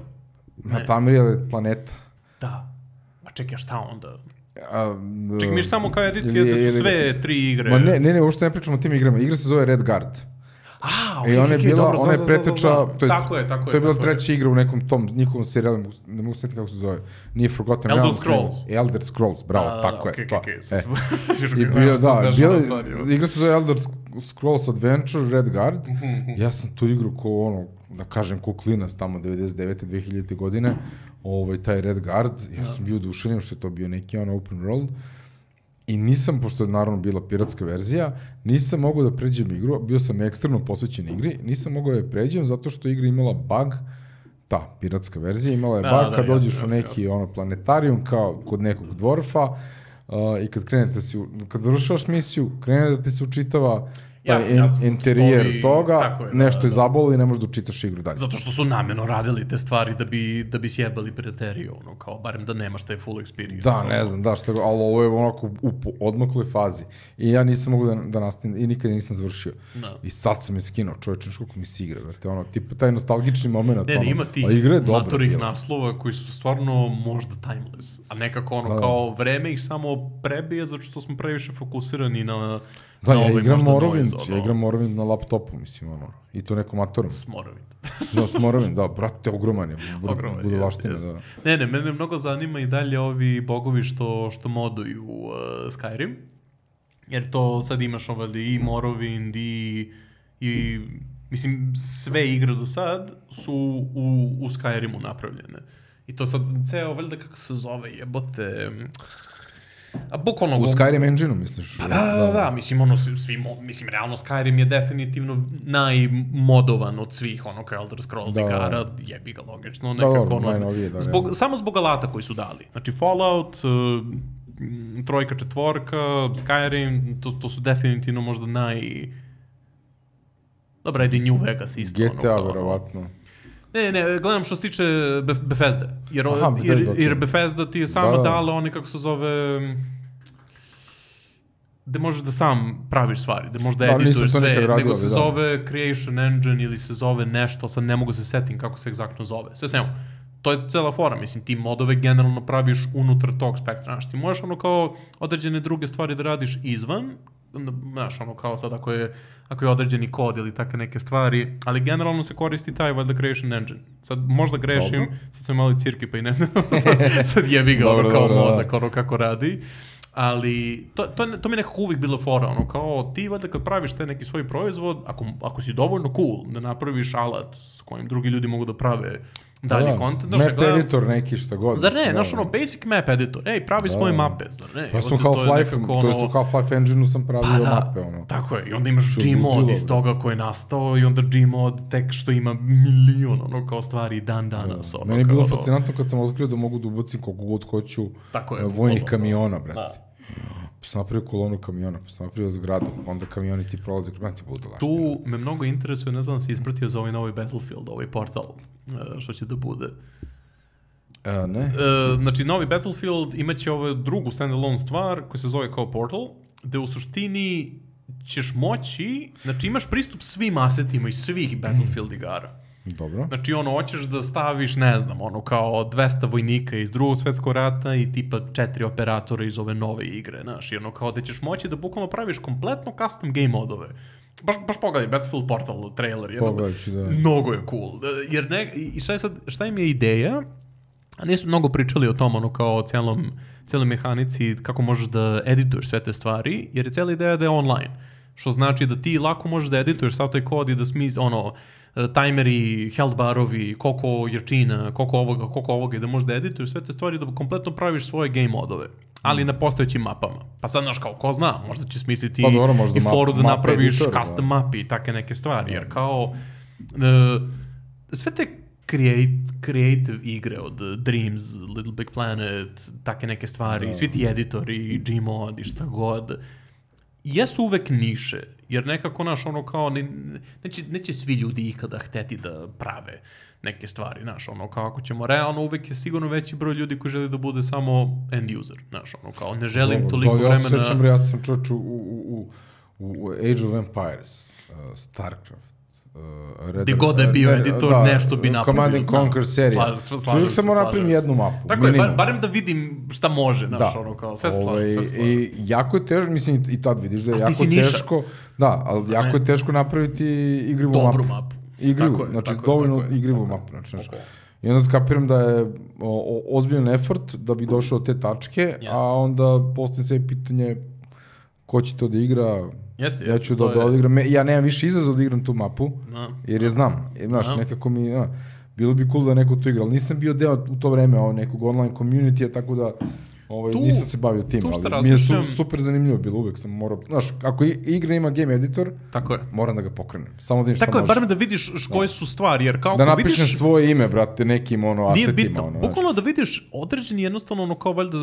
Uh, Tamriel je planeta. Da. A čekaj, šta onda? A, čekaj, miš samo kao edicija da su sve tri igre. Ma ne, ne, ne, uopšte ne pričamo o tim igrama. Igra se zove Red Guard. A, okej, I ona je okej, bila, dobro, ona je za, preteča, za, za, za. to je, tako je, tako je. To je bila je. treća igra u nekom tom njihovom serijalu, ne mogu setiti kako se zove. Nije Forgotten Elder Scrolls. Elder Scrolls, bravo, a, tako okay, je. To. Okay, okay. E. I bio, da, bila, igra se zove Elder Scrolls Adventure, Red Guard. Ja sam tu igru ko ono, da kažem, ko klinac tamo devedeset devete dve hiljadite godine, ovaj, taj Red Guard, ja sam bio oduševljen što je to bio neki ono open world. I nisam, pošto je naravno bila piratska verzija, nisam mogao da pređem igru, bio sam ekstremno posvećen igri, nisam mogao da je pređem zato što igra imala bug, ta piratska verzija imala je da, bug da, kad dođeš jasno, u neki jasno. ono planetarijum kao kod nekog dvorfa uh, i kad krenete si, kad završavaš misiju, krene da ti se učitava taj jasno, in, interijer ovi, toga, je, nešto da, je zabolo i ne možeš da učitaš igru dalje. Zato što su namjerno radili te stvari da bi, da bi sjebali pirateriju, ono, kao barem da nemaš taj full experience. Da, ne znam, da, što, ali ovo je onako u odmakloj fazi. I ja nisam mogu da, da nastavim, i nikada nisam završio. No. I sad sam je skinuo, čovječe, koliko mi se igra, vrte, ono, tipa taj nostalgični moment. Ne, ono, ne, ima tih matorih naslova koji su stvarno možda timeless, a nekako ono, da. kao vreme ih samo prebije, zato što smo previše fokusirani na... Da, ja igram Morrowind, ono... ja igram Morrowind na laptopu, mislim, ono, i to nekom matorom. S Morrowind. No, s Morrowind, da, brate, ogroman je, ogroman, bude laština, jest. da. Ne, ne, mene mnogo zanima i dalje ovi bogovi što, što moduju uh, Skyrim, jer to sad imaš ovdje i Morrowind i, i, mislim, sve igre do sad su u, u Skyrimu napravljene. I to sad, ceo, valjda kako se zove, jebote... A bukvalno... U Skyrim engine-u, misliš? Pa da, da, da, da, mislim, ono, svi, mislim, realno Skyrim je definitivno najmodovan od svih, ono, kao Elder Scrolls da, igara, jebi ga logično, nekako, da, ono, najnovije, da, zbog, samo zbog alata koji su dali. Znači, Fallout, uh, trojka, četvorka, Skyrim, to, to su definitivno možda naj... Dobra, ajde New Vegas isto. G T A, ono, verovatno. Ne, ne, gledam što se tiče Bethesda. Jer, Aha, Bethesda, jer, jer Bethesda ti je sama da, da. dala one, kako se zove, da možeš da sam praviš stvari, da možeš da, da edituješ sve, radio, nego se da. zove Creation Engine ili se zove nešto, sad ne mogu se setim kako se egzaktno zove. Sve svemu. To je cela fora, mislim, ti modove generalno praviš unutar tog spektra. Znaš, ti možeš ono kao određene druge stvari da radiš izvan, znaš, ono kao sad ako je, ako je određeni kod ili takve neke stvari, ali generalno se koristi taj valjda Creation Engine. Sad možda grešim, dobro. Sad sam imali cirki pa i ne, sad, sad jebi ga ono kao dobro, mozak, ono kako radi. Ali, to, to, to mi je nekako uvijek bilo fora, ono, kao ti valjda kad praviš te neki svoj proizvod, ako, ako si dovoljno cool da napraviš alat s kojim drugi ljudi mogu da prave dalje content. Map gledam, editor neki šta god. Zar ne, znaš ono, basic map editor, ej, pravi svoje mape, zar ne? Ja sam Half-Life, to, to jest u Half-Life Engine-u sam pravio pa da, mape, ono. Tako je, i onda imaš Gmod iz toga koji je nastao i onda Gmod tek što ima milion, ono, kao stvari dan danas. Da. Ono, meni je bilo fascinantno kad sam otkrio da mogu da ubacim koliko god hoću vojnih kamiona, brate. Pa sam napravio kolonu kamiona, pa sam napravio zgradu, onda kamioni ti prolaze, kada ti bude lašte. Tu me mnogo interesuje, ne znam da si ispratio za ovaj novi Battlefield, ovaj portal, što će da bude. A, ne. E, znači, novi Battlefield imaće ovu drugu standalone stvar koja se zove kao Portal, gde u suštini ćeš moći, znači imaš pristup svim asetima iz svih Battlefield igara. Dobro. Znači, ono, hoćeš da staviš, ne znam, ono, kao dvesta vojnika iz drugog svetskog rata i tipa četiri operatora iz ove nove igre, znaš, i ono, kao da ćeš moći da bukvalno praviš kompletno custom game modove. Baš, baš pogledaj, Battlefield Portal trailer, jedno, Pogledajući, da. Mnogo je cool. Jer ne, i šta je sad, šta im je ideja, a nisu mnogo pričali o tom, ono, kao o cijelom, cijeloj mehanici, kako možeš da edituješ sve te stvari, jer je cijela ideja da je online, što znači da ti lako možeš da edituješ sav taj kod i da smis, ono, tajmeri, health barovi, koliko jerčina, koliko ovoga, koliko ovoga i da možeš da edituješ sve te stvari da kompletno praviš svoje game modove, ali na postojećim mapama. Pa sad, znaš, kao, ko zna, možda će smisliti pa dobro, možda i foru da map, napraviš editor, custom da. mapi i take neke stvari, jer kao uh, sve te create, creative igre od Dreams, Little Big Planet, take neke stvari, da. Svi ti editori, Gmod i šta god, jesu uvek niše, jer nekako, naš, ono, kao, ne, neće, neće svi ljudi ikada hteti da prave neke stvari, znaš, ono, kao, ako ćemo realno, uvek je sigurno veći broj ljudi koji želi da bude samo end user, znaš, ono, kao, ne želim Dobro, toliko da, vremena... Ja se sjećam, ja sam čovječ u, u, u, u Age of Empires, uh, Starcraft, Uh, Gde god je bio editor, da, nešto bi napravio. Command and Conquer serija. Čovjek samo napravim jednu mapu. Tako minimum. je, bar, barem da vidim šta može, znaš, da. ono kao, sve se slažem, sve se slažem. I jako je teško, mislim, i tad vidiš da je A jako teško, da, ali Zna jako ne? je teško napraviti igrivu mapu. Dobru mapu. Igrivu, tako je, znači tako dovoljno tako igrivu tako mapu. Znači, znači. Okay. I onda skapiram da je o, o, ozbiljan effort da bi došao do te tačke, Jeste. a onda postoji sve pitanje ko će to da igra. Jeste, ja ću da, da odigram, ja nemam više izazov da igram tu mapu, no. jer je znam, znaš, no. nekako mi, ja, bilo bi cool da neko to igra, ali nisam bio deo u to vreme ovo, nekog online community-a, tako da ovaj, tu, nisam se bavio tim, ali mi je su, super zanimljivo bilo, uvek sam morao, znaš, ako igra ima game editor, tako je. moram da ga pokrenem, samo da vidim šta tako može. Tako je, barem da vidiš koje su stvari, jer kao da napišem vidiš, svoje ime, brate, nekim ono, asetima. Nije bitno, ono, bukvalno da vidiš određeni jednostavno ono kao valjda,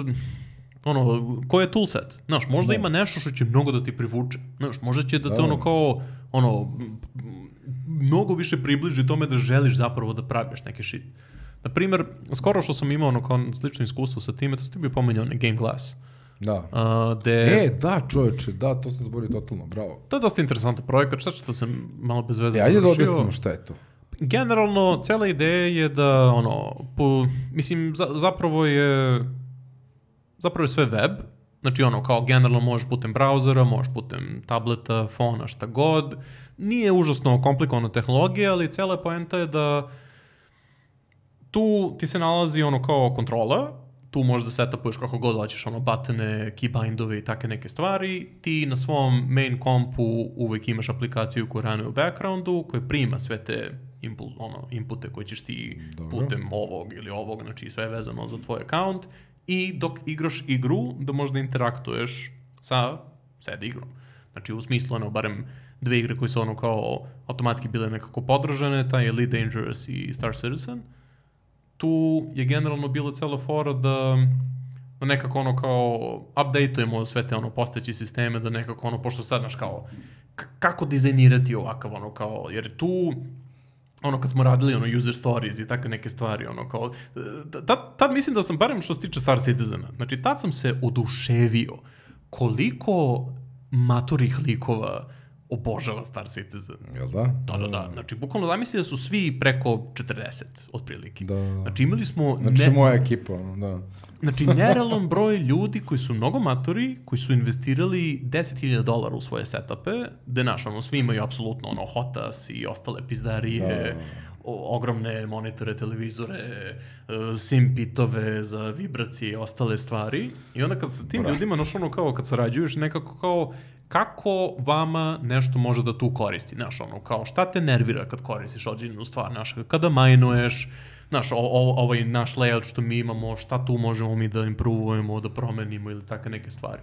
ono, koji je toolset, znaš, možda no. ima nešto što će mnogo da ti privuče, znaš, možda će da te da. ono kao, ono, mnogo više približi tome da želiš zapravo da praviš neke shit. Naprimer, skoro što sam imao ono kao slično iskustvo sa time, to ste bio pomenjao onaj Game Glass. Da. Uh, de... E, da, čovječe, da, to sam zaborio totalno, bravo. To je dosta interesantan projekat, šta što sam malo bez veze e, ajde završio. Ajde da objasnimo šta je to. Generalno, cela ideja je da, ono, po, mislim, za, zapravo je zapravo je sve web, znači ono, kao generalno možeš putem brauzera, možeš putem tableta, fona, šta god. Nije užasno komplikovana tehnologija, ali cela poenta je da tu ti se nalazi ono kao kontrola, tu možeš da setupuješ kako god hoćeš, ono, batene, keybindove i take neke stvari. Ti na svom main kompu uvek imaš aplikaciju koja ranuje u backgroundu, koja prima sve te impul, ono, inpute koje ćeš ti Dobro. putem ovog ili ovog, znači sve je vezano za tvoj account. I dok igraš igru, da možda interaktuješ sa sed igrom. Znači, u smislu, ono, barem dve igre koje su ono kao automatski bile nekako podržane, taj Elite Dangerous i Star Citizen. Tu je generalno bilo celo fora da, da nekako ono kao updateujemo sve te ono postojeće sisteme, da nekako ono, pošto sad, znaš, kao, k- kako dizajnirati ovakav, ono, kao, jer tu, ono, kad smo radili, ono, user stories i tako neke stvari, ono, kao, tad, tad mislim da sam, barem što se tiče Star Citizena, znači, tad sam se oduševio koliko maturih likova obožava Star Citizen. Jel da? Da, da, da. Znači, bukvalno zamisli da su svi preko četrdeset, otprilike. Da. Znači, imali smo... Znači, ne... moja ekipa, da. Znači, nerealan broj ljudi koji su mnogo matori, koji su investirali deset hiljada dolara u svoje setupe, gde, naš, ono, svi imaju apsolutno, ono, Hotas i ostale pizdarije, ogromne monitore, televizore, sim pitove za vibracije i ostale stvari. I onda kad sa tim Bra. ljudima, znaš ono kao kad sarađuješ, nekako kao kako vama nešto može da tu koristi, znaš ono kao šta te nervira kad koristiš određenu stvar, znaš kada majnuješ, znaš o, o, ovaj naš layout što mi imamo, šta tu možemo mi da improvujemo, da promenimo ili takve neke stvari.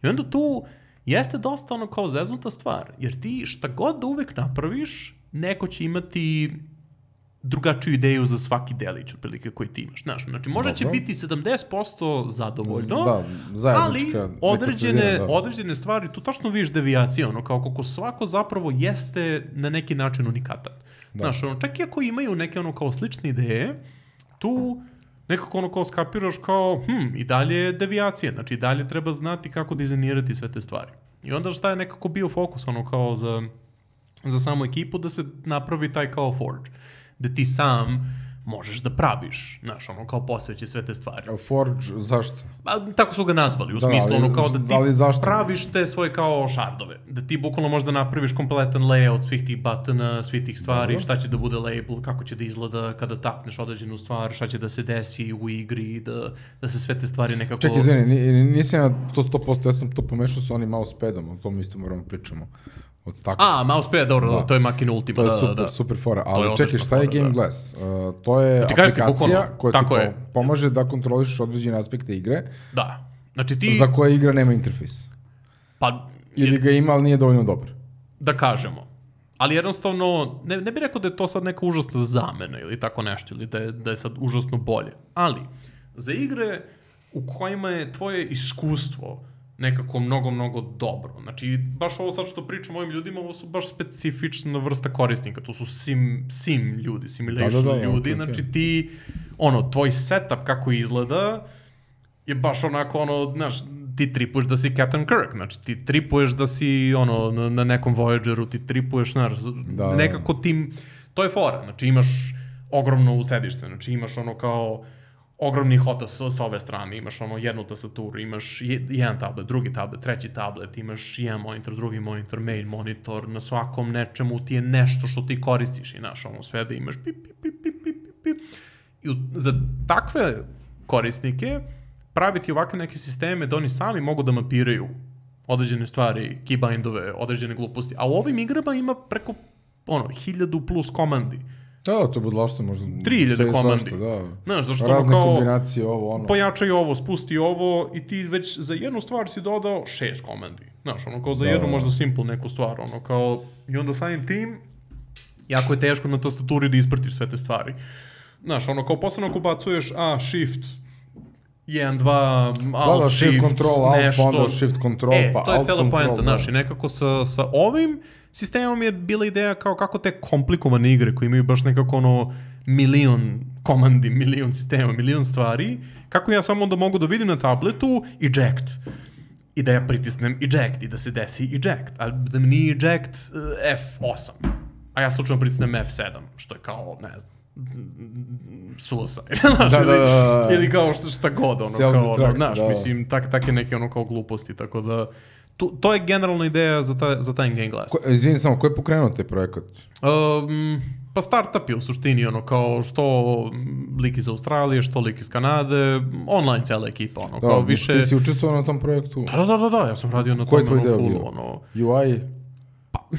I onda tu jeste dosta ono kao zeznuta stvar, jer ti šta god da uvek napraviš, neko će imati drugačiju ideju za svaki delić otprilike koji ti imaš. Znaš, znači možda će biti sedamdeset posto zadovoljno, da, ali određene, sredina, da. određene stvari, tu tačno vidiš devijacije, ono, kao kako svako zapravo jeste na neki način unikatan. Da. Znaš, ono, čak i ako imaju neke ono kao slične ideje, tu nekako ono kao skapiraš kao, hm, i dalje je devijacija, znači i dalje treba znati kako dizajnirati sve te stvari. I onda šta je nekako bio fokus, ono kao za, za samu ekipu, da se napravi taj kao Forge, da ti sam možeš da praviš, znaš, ono, kao posveći sve te stvari. Forge, zašto? A, tako su ga nazvali, u da, smislu, ono, kao da ti praviš te svoje kao šardove, da ti bukvalno možda napraviš kompletan layout svih tih buttona, svih tih stvari, Dobro. šta će da bude label, kako će da izgleda kada tapneš određenu stvar, šta će da se desi u igri, da, da se sve te stvari nekako... Čekaj, izvini, nisam ja to sto posto, ja sam to pomešao sa onim mousepadom, o tom isto moramo pričamo. A, mousepad, dobro, da. to je Machin Ultima. To je super, da, da. super fora. Ali čekaj, šta je Game da. Glass? Uh, to je ti aplikacija ti koja ti je. pomaže da kontroliš određene aspekte igre, da. Znači ti... za koje igra nema interfejs. Pa, Ili ga ima, ali nije dovoljno dobar. Da kažemo. Ali jednostavno, ne, ne bih rekao da je to sad neka užasna zamena ili tako nešto, ili da je, da je sad užasno bolje. Ali, za igre u kojima je tvoje iskustvo nekako mnogo, mnogo dobro. Znači, baš ovo sad što pričam ovim ljudima, ovo su baš specifična vrsta korisnika. To su sim, sim ljudi, simulation da, da, da, ljudi. Okay, znači, okay. ti, ono, tvoj setup kako izgleda je baš onako, ono, znaš, ti tripuješ da si Captain Kirk. Znači, ti tripuješ da si, ono, na, na nekom Voyageru, ti tripuješ, znaš, da, nekako tim... To je fora. Znači, imaš ogromno usedište. Znači, imaš ono kao... ogromni hota sa, sa ove strane, imaš ono jednu tastaturu, imaš jedan tablet, drugi tablet, treći tablet, imaš jedan monitor, drugi monitor, main monitor, na svakom nečemu ti je nešto što ti koristiš i znaš, ono sve da imaš pip, pip, pip, pip, pip, pip. I za takve korisnike praviti ovakve neke sisteme da oni sami mogu da mapiraju određene stvari, keybindove, određene gluposti, a u ovim igrama ima preko ono, hiljadu plus komandi. Da, to je budlašto možda... tri hiljade komandi. Da. Znaš, zašto razne ono kao... kombinacije, ovo, ono... Pojačaj ovo, spusti ovo i ti već za jednu stvar si dodao šest komandi. Znaš, ono kao za da, jednu da. možda simple neku stvar, ono kao... I onda samim tim, jako je teško na tastaturi da ispratiš sve te stvari. Znaš, ono kao posebno ako bacuješ A, shift, jedan, dva, alt, da, da, shift, shift control, nešto... Alt, onda shift control, e, pa to je alt cela control, poenta, znaš, i nekako sa, sa ovim sistemom je bila ideja kao kako te komplikovane igre koje imaju baš nekako ono milion komandi, milion sistema, milion stvari, kako ja samo onda mogu da vidim na tabletu eject i da ja pritisnem eject i da se desi eject, a da mi nije eject uh, F osam, a ja slučajno pritisnem F sedam, što je kao, ne znam, suicide, znaš, da, ili, da, da, da. ili kao šta, šta god, ono, kao, ono, znaš, da. mislim, tak, take neke ono kao gluposti, tako da, to, to je generalna ideja za, ta, za taj Game Glass. Ko, izvini samo, ko je pokrenuo taj projekat? Um, pa startup je u suštini, ono, kao što lik iz Australije, što lik iz Kanade, online cela ekipa, ono, da, kao više... Ti si učestvovao na tom projektu? Da, da, da, da, ja sam radio na Koji tom, ono, full, ono... U I? Pa,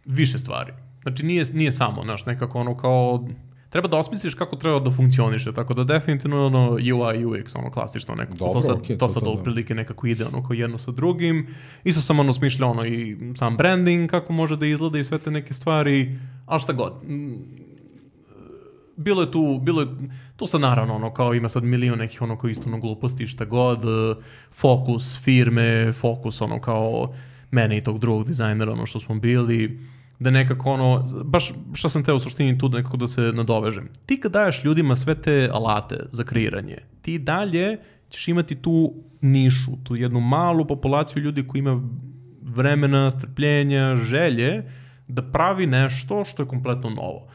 više stvari. Znači, nije, nije samo, znaš, nekako ono kao... Treba da osmisliš kako treba da funkcioniše, tako da definitivno ono U I, U X, ono klasično nekako, Dobro, to sad, okay, to sad otprilike nekako ide ono kao jedno sa drugim. Isto sam ono smišljao ono i sam branding, kako može da izgleda i sve te neke stvari, ali šta god. Bilo je tu, bilo je, tu sad naravno ono kao ima sad milion nekih ono kao isto ono gluposti, šta god, fokus firme, fokus ono kao mene i tog drugog dizajnera, ono što smo bili, da nekako ono, baš šta sam teo u suštini tu nekako da se nadovežem. Ti kad daješ ljudima sve te alate za kreiranje, ti dalje ćeš imati tu nišu, tu jednu malu populaciju ljudi koji ima vremena, strpljenja, želje da pravi nešto što je kompletno novo.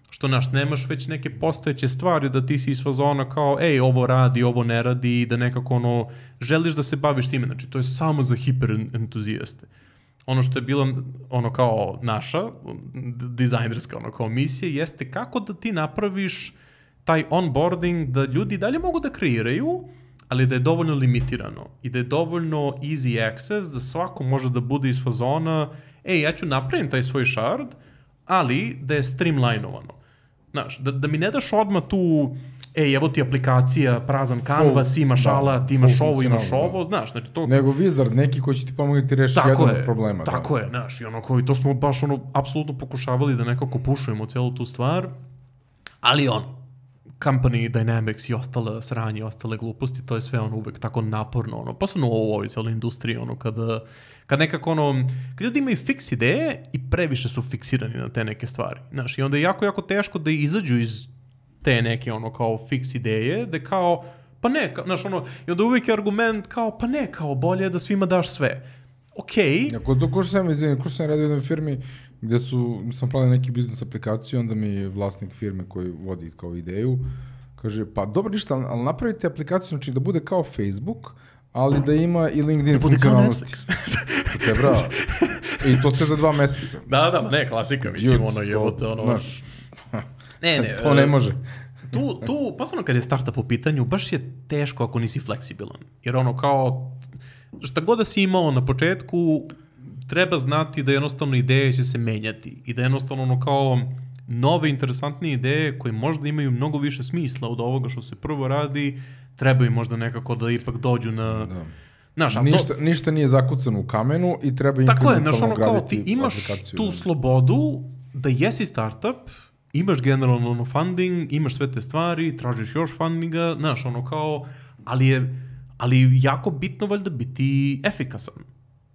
Što, znaš, nemaš već neke postojeće stvari da ti si iz fazona kao, ej, ovo radi, ovo ne radi, da nekako ono, želiš da se baviš time, znači to je samo za hiper entuzijaste. ono što je bila ono kao naša dizajnerska ono kao misija jeste kako da ti napraviš taj onboarding da ljudi dalje mogu da kreiraju, ali da je dovoljno limitirano i da je dovoljno easy access da svako može da bude iz fazona ej, ja ću napravim taj svoj shard, ali da je streamlinovano. Znaš, da, da mi ne daš odmah tu ej, evo ti aplikacija, prazan canvas, imaš alat, imaš ovo, imaš ovo, znaš, znači to... Nego wizard, neki koji će ti pomoći ti reši jedan od problema. Tako je, znaš, i ono koji, to smo baš ono, apsolutno pokušavali da nekako pušujemo cijelu tu stvar, ali ono, company dynamics i ostale sranje i ostale gluposti, to je sve ono uvek tako naporno, ono, posebno u ovoj cijeloj industriji, ono, kada, kad nekako ono, kad ljudi imaju fiks ideje i previše su fiksirani na te neke stvari, znaš, i onda je jako, jako teško da izađu iz te neke ono kao fiks ideje, da kao, pa ne, ka, znaš ono, i onda uvijek je argument kao, pa ne, kao bolje da svima daš sve. Okej. Okay. Ako to ko što sam izvijem, ko što sam radio u jednoj firmi gde su, sam pravio neki biznis aplikaciju, onda mi vlasnik firme koji vodi kao ideju, kaže, pa dobro ništa, ali napravite aplikaciju, znači da bude kao Facebook, ali da ima i LinkedIn funkcionalnosti. To je bravo. I to sve za dva meseca. Da, da, ne, klasika, mislim, ono je od, ono... Znaš, ne, ne, to ne može. Tu, tu, posebno kad je startup u pitanju, baš je teško ako nisi fleksibilan. Jer ono kao, šta god da si imao na početku, treba znati da jednostavno ideje će se menjati. I da jednostavno ono kao nove, interesantne ideje koje možda imaju mnogo više smisla od ovoga što se prvo radi, trebaju možda nekako da ipak dođu na... Da. Znaš, ništa, to... ništa nije zakucano u kamenu i treba implementalno ono, graditi aplikaciju. Ti imaš tu slobodu da jesi startup, imaš generalno ono funding, imaš sve te stvari, tražiš još fundinga, znaš, ono kao, ali je ali jako bitno valjda biti efikasan.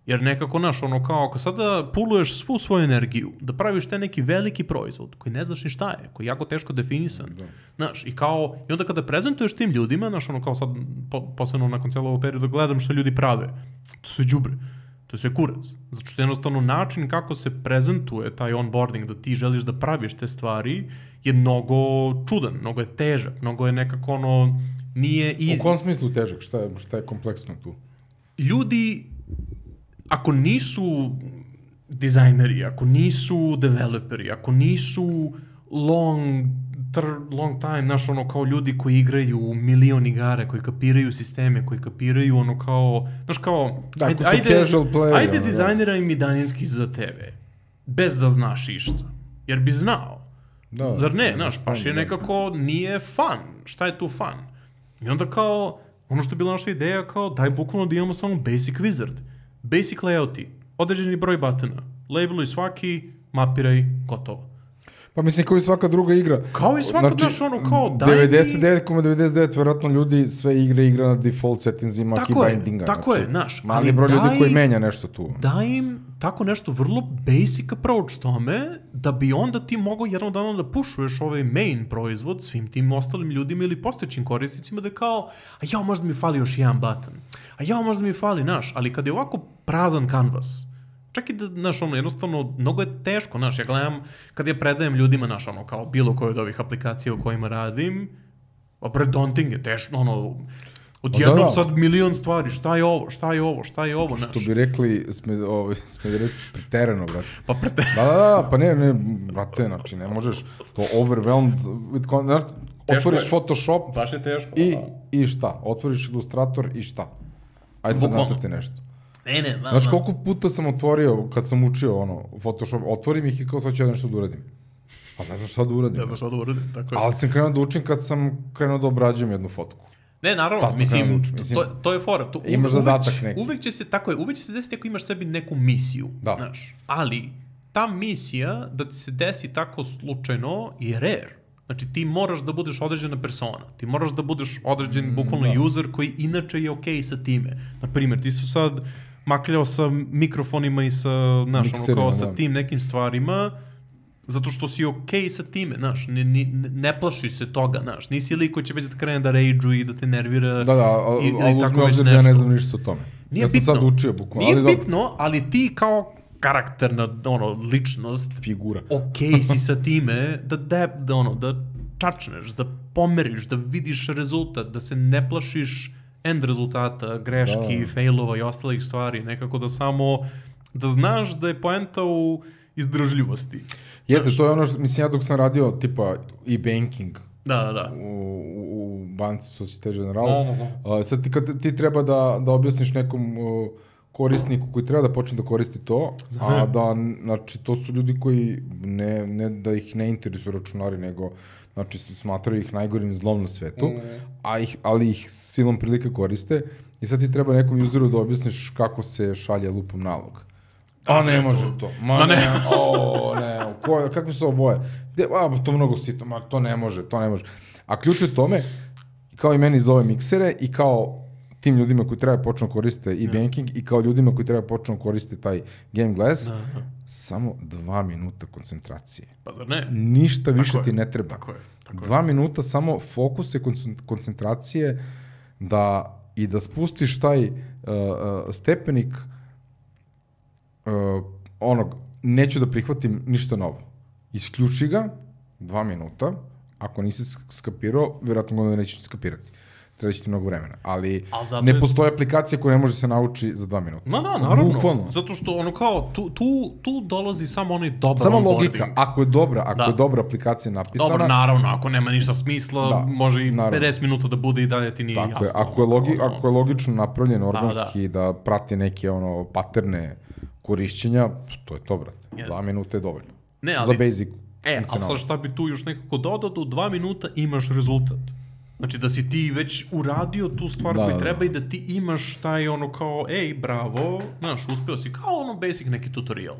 Jer nekako, znaš, ono kao, ako sada puluješ svu svoju energiju, da praviš te neki veliki proizvod, koji ne znaš ni šta je, koji je jako teško definisan, da. Znaš, i kao, i onda kada prezentuješ tim ljudima, znaš, ono kao sad, po, posebno nakon cijelog ovog perioda, gledam što ljudi prave, to sve đubre, to je sve kurac. Zato što jednostavno način kako se prezentuje taj onboarding, da ti želiš da praviš te stvari, je mnogo čudan, mnogo je težak, mnogo je nekako ono, nije easy. U kom smislu težak? Šta je, šta je kompleksno tu? Ljudi, ako nisu dizajneri, ako nisu developeri, ako nisu long, tr, long time, znaš, ono, kao ljudi koji igraju milion igara, koji kapiraju sisteme, koji kapiraju, ono, kao, znaš, kao, da, ajde, ajde, play, ajde dizajniraj mi daljinski za tebe, bez da znaš išta, jer bi znao. Da, zar ne, znaš, paš je nekako, nije fun, šta je tu fun? I onda kao, ono što je bila naša ideja, kao, daj bukvalno da imamo samo basic wizard. Basic layouti, određeni broj batona, labeluj svaki, mapiraj, gotovo. Pa mislim kao i svaka druga igra. Kao i svaka, znači, znaš, ono, kao, daj devedeset devet zarez devedeset devet vjerojatno ljudi sve igre igra na default settingsima, keybindinga. Tako je, znaš. Mali broj ljudi koji menja nešto tu. Daj im tako nešto vrlo basic approach tome, da bi onda ti mogao jednog dana da pušuješ ovaj main proizvod svim tim ostalim ljudima ili postojećim korisnicima da kao, a ja možda mi fali još jedan button, a ja možda mi fali, znaš, ali kad je ovako prazan canvas, čak i da, znaš, ono, jednostavno, mnogo je teško, znaš, ja gledam, kad ja predajem ljudima, znaš, ono, kao bilo koje od ovih aplikacija u kojima radim, opred daunting je teško, ono, odjednom da, da. Sad milion stvari, šta je ovo, šta je ovo, šta je ovo, znaš. Što bi rekli, sme, ovaj, smedereci, preterano, brate. Pa preterano. Da, da, da, pa ne, ne, brate, znači, ne možeš, to overwhelmed, with, znaš, otvoriš je. Photoshop baš je teško, i, i šta, otvoriš Illustrator i šta. Ajde sad nacrti nešto. Ne, ne, znam. Znaš koliko puta sam otvorio, kad sam učio ono, Photoshop, otvorim ih i kao sad ću ja nešto da uradim. Pa ne znam šta da uradim. Ne znam šta da uradim, tako je. Ali sam krenuo da učim kad sam krenuo da obrađujem jednu fotku. Ne, naravno, mislim, da učim, mislim, to, to je fora. To, imaš uvek, zadatak neki. Uvek će se, tako je, uvek će se desiti ako imaš sebi neku misiju, da. Znaš. Ali, ta misija, da ti se desi tako slučajno, je rare. Znači, ti moraš da budeš određena persona. Ti moraš da budeš određen, mm, bukvalno, da. User koji inače je okej okay sa time. Naprimjer, ti su sad makljao sa mikrofonima i sa, znaš, ono, kao sa tim nekim stvarima, zato što si okej okay sa time, znaš, ne, ne, ne plašiš se toga, znaš, nisi lik koji će već da krene da rage-u i da te nervira. Da, da, ali uzme obzir da ja ne znam ništa o tome. Nije ja sam bitno, sad učio bukvalno. Nije ali bitno, ali ti kao karakterna, ono, ličnost, figura, okej okay si sa time, da, da, da, ono, da čačneš, da pomeriš, da vidiš rezultat, da se ne plašiš end rezultata, greški, da. Failova i ostalih stvari, nekako da samo da znaš da je poenta u izdržljivosti. Jeste, to je ono što, mislim, ja dok sam radio tipa e-banking Da, da, da. u, u, u banci Societe Generale, no, no, no. sad ti, kad ti treba da, da objasniš nekom uh, korisniku koji treba da počne da koristi to, a da, znači, to su ljudi koji ne, ne da ih ne interesuju računari, nego, znači, smatraju ih najgorim zlom na svetu, mm. a ih, ali ih silom prilike koriste i sad ti treba nekom useru da objasniš kako se šalje lupom nalog. A ne, ne može to. to. Ma, Ma ne, ne. o, ne, ko, kakve su oboje? A, to mnogo sito, ma to ne može, to ne može. A ključ je tome, kao i meni zove miksere i kao tim ljudima koji treba počnu koriste e-banking yes. i kao ljudima koji treba počnu koriste taj Game Glass, da, da. Samo dva minuta koncentracije. Pa zar ne? Ništa više tako ti je. ne treba. Tako je. Tako dva je. minuta samo fokuse, koncentracije da i da spustiš taj uh, uh, stepenik uh, onog, neću da prihvatim ništa novo. Isključi ga, dva minuta, ako nisi skapirao, vjerojatno ga nećeš skapirati. Treba će ti mnogo vremena, ali ne je... postoje aplikacija koja ne može se nauči za dva minuta. No, da, naravno. Bukvalno. Zato što ono kao, tu, tu, tu dolazi samo onaj dobar samo onboarding. Samo logika, ako je dobra, ako da. je dobra aplikacija napisana... Dobro, naravno, ako nema ništa smisla, da, može i naravno. pedeset minuta da bude i dalje ti nije tako jasno. Je, ako, je logi, ono... ako je logično napravljen organski, da, da. da prati neke ono paterne korišćenja, to je to, brate. Yes. Dva minuta je dovoljno. Ne, ali... Za basic. E, ali sad šta bi tu još nekako dodao, da u dva minuta imaš rezultat. Znači da si ti već uradio tu stvar da, koju treba da. I da ti imaš taj ono kao, ej, bravo, znaš, uspio si, kao ono basic neki tutorial.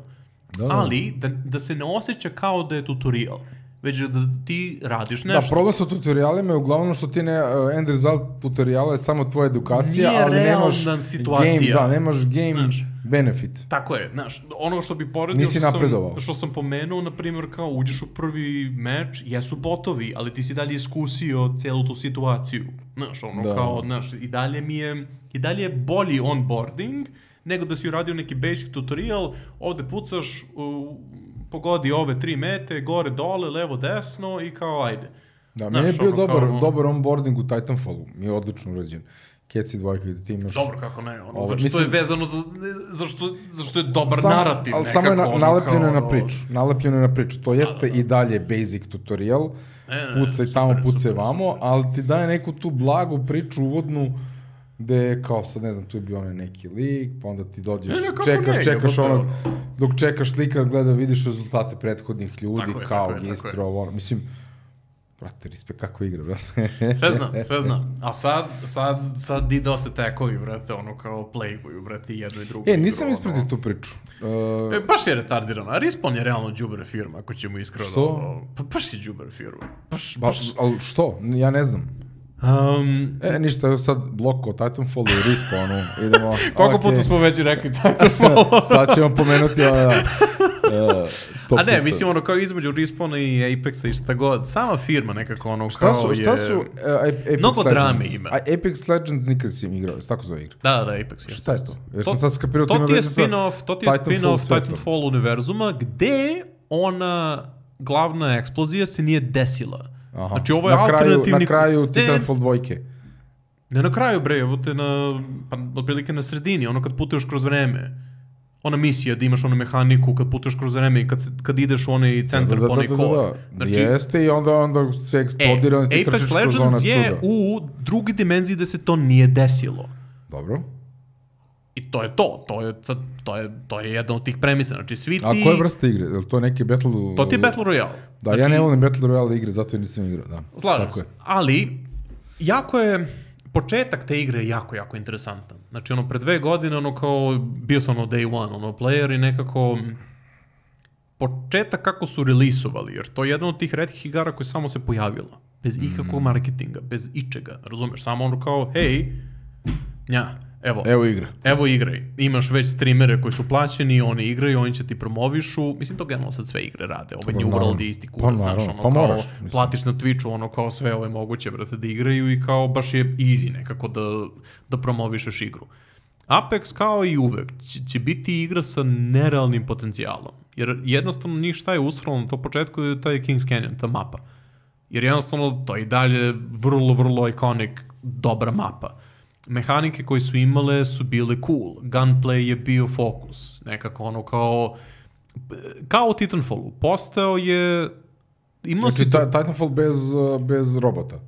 Da, da. Ali da, da se ne osjeća kao da je tutorial, već da ti radiš nešto. Da, problem sa tutorialima je uglavnom što ti ne, uh, end result tutoriala je samo tvoja edukacija, nije ali nemaš situacija. Game, da, nemaš game znaš, benefit. Tako je, znaš, ono što bi poredio, nisi što napredovao. Sam, što sam pomenuo, na primjer, kao uđeš u prvi meč, jesu botovi, ali ti si dalje iskusio cijelu tu situaciju. Znaš, ono da. Kao, znaš, i dalje mi je, i dalje je bolji onboarding, nego da si uradio neki basic tutorial, ovde pucaš, uh, pogodi ove tri mete, gore, dole, levo, desno i kao ajde. Da, meni je bio dobar, kao, dobar onboarding u Titanfallu, mi je odlično urađen. Keci dvojka gde ti imaš... Dobro, kako ne, ono, zašto mislim, je vezano za, zašto, zašto je dobar sam, narativ ali nekako. Samo je na, ono, nalepljeno kao, na priču, nalepljeno je na priču, to jeste da, da, da. I dalje basic tutorial, ne, ne, pucaj super, tamo, pucaj super, vamo, super. Ali ti daje neku tu blagu priču uvodnu, gde kao sad ne znam, tu je bio onaj neki lik, pa onda ti dođeš, ne, ne, čekaš, ne, čekaš ne, onog, dok čekaš slika, gleda, vidiš rezultate prethodnih ljudi, tako kao je, gistro, ono, mislim, brate, respekt, kako igra, brate. Sve znam, sve znam. A sad, sad, sad DDoS tekovi, brate, ono kao playboyu, brate, jedno i drugo. E, nisam ispratio tu priču. Uh... E, baš je retardirano. A Respawn je realno đubre firma, ako ćemo iskreno. Što? Ono, pa baš je đubre firma. Baš, ba, baš... Ali što? Ja ne znam. Um, e, ništa, sad blok o Titanfallu i Respawnu. Idemo. Koliko okay. puta smo već rekli Titanfall? Sad ćemo pomenuti ovo, da. Uh, A ne, mislim ono kao između Respawna i Apexa i šta god, sama firma nekako ono šta kao su, šta je... Šta su uh, Apex mnogo Legends? drame ima. A Apex Legends nikad si im igrao, tako zove igra. Da, da, Apex je. Šta je to? Jer to, sam sad skapirao to ti je spin-off, to ti je spin-off Titanfall univerzuma, gde ona glavna eksplozija se nije desila. Aha. Znači ovo je na kraju, alternativni... Na kraju Titanfall dvojke. Ne na kraju, bre, evo te na, pa otprilike na sredini, ono kad putuješ kroz vreme. Ona misija da imaš onu mehaniku kad putuješ kroz vreme i kad, kad ideš u onaj centar da, da, po onaj da, kod. Da, da. Znači, jeste i onda, onda sve eksplodira. E, Apex Legends je u drugi dimenziji da se to nije desilo. Dobro. I to je to, to je, to je, to je jedna od tih premisa, znači svi ti... A koje vrste igre? Je li to neki Battle... To ti je Battle Royale. Da, znači, ja ne volim Battle Royale igre, zato je nisam igrao, da. Slažem se, ali jako je... Početak te igre je jako, jako interesantan. Znači, ono, pre dve godine, ono, kao, bio sam ono day one, ono, player i nekako... Početak kako su releasovali, jer to je jedna od tih retkih igara koja samo se pojavila. Bez ikakvog marketinga, bez ičega, razumeš? Samo ono kao, hej, nja, evo. Evo igra. Evo igraj. Imaš već streamere koji su plaćeni, oni igraju, oni će ti promovišu. Mislim, to generalno sad sve igre rade. Ovaj New World je isti kurac, znaš, ono, pa moraš, kao, platiš na Twitchu, ono, kao sve ove moguće, brate, da igraju i kao, baš je easy nekako da, da promovišeš igru. Apex, kao i uvek, će, će biti igra sa nerealnim potencijalom. Jer jednostavno njih šta je usralo na to početku je taj King's Canyon, ta mapa. Jer jednostavno to je i dalje vrlo, vrlo iconic, dobra mapa. mehanike koje su imale su bile cool. Gunplay je bio fokus. Nekako ono kao... Kao u Titanfallu. Postao je... Imao Znači, si... ta, Titanfall bez, bez robota.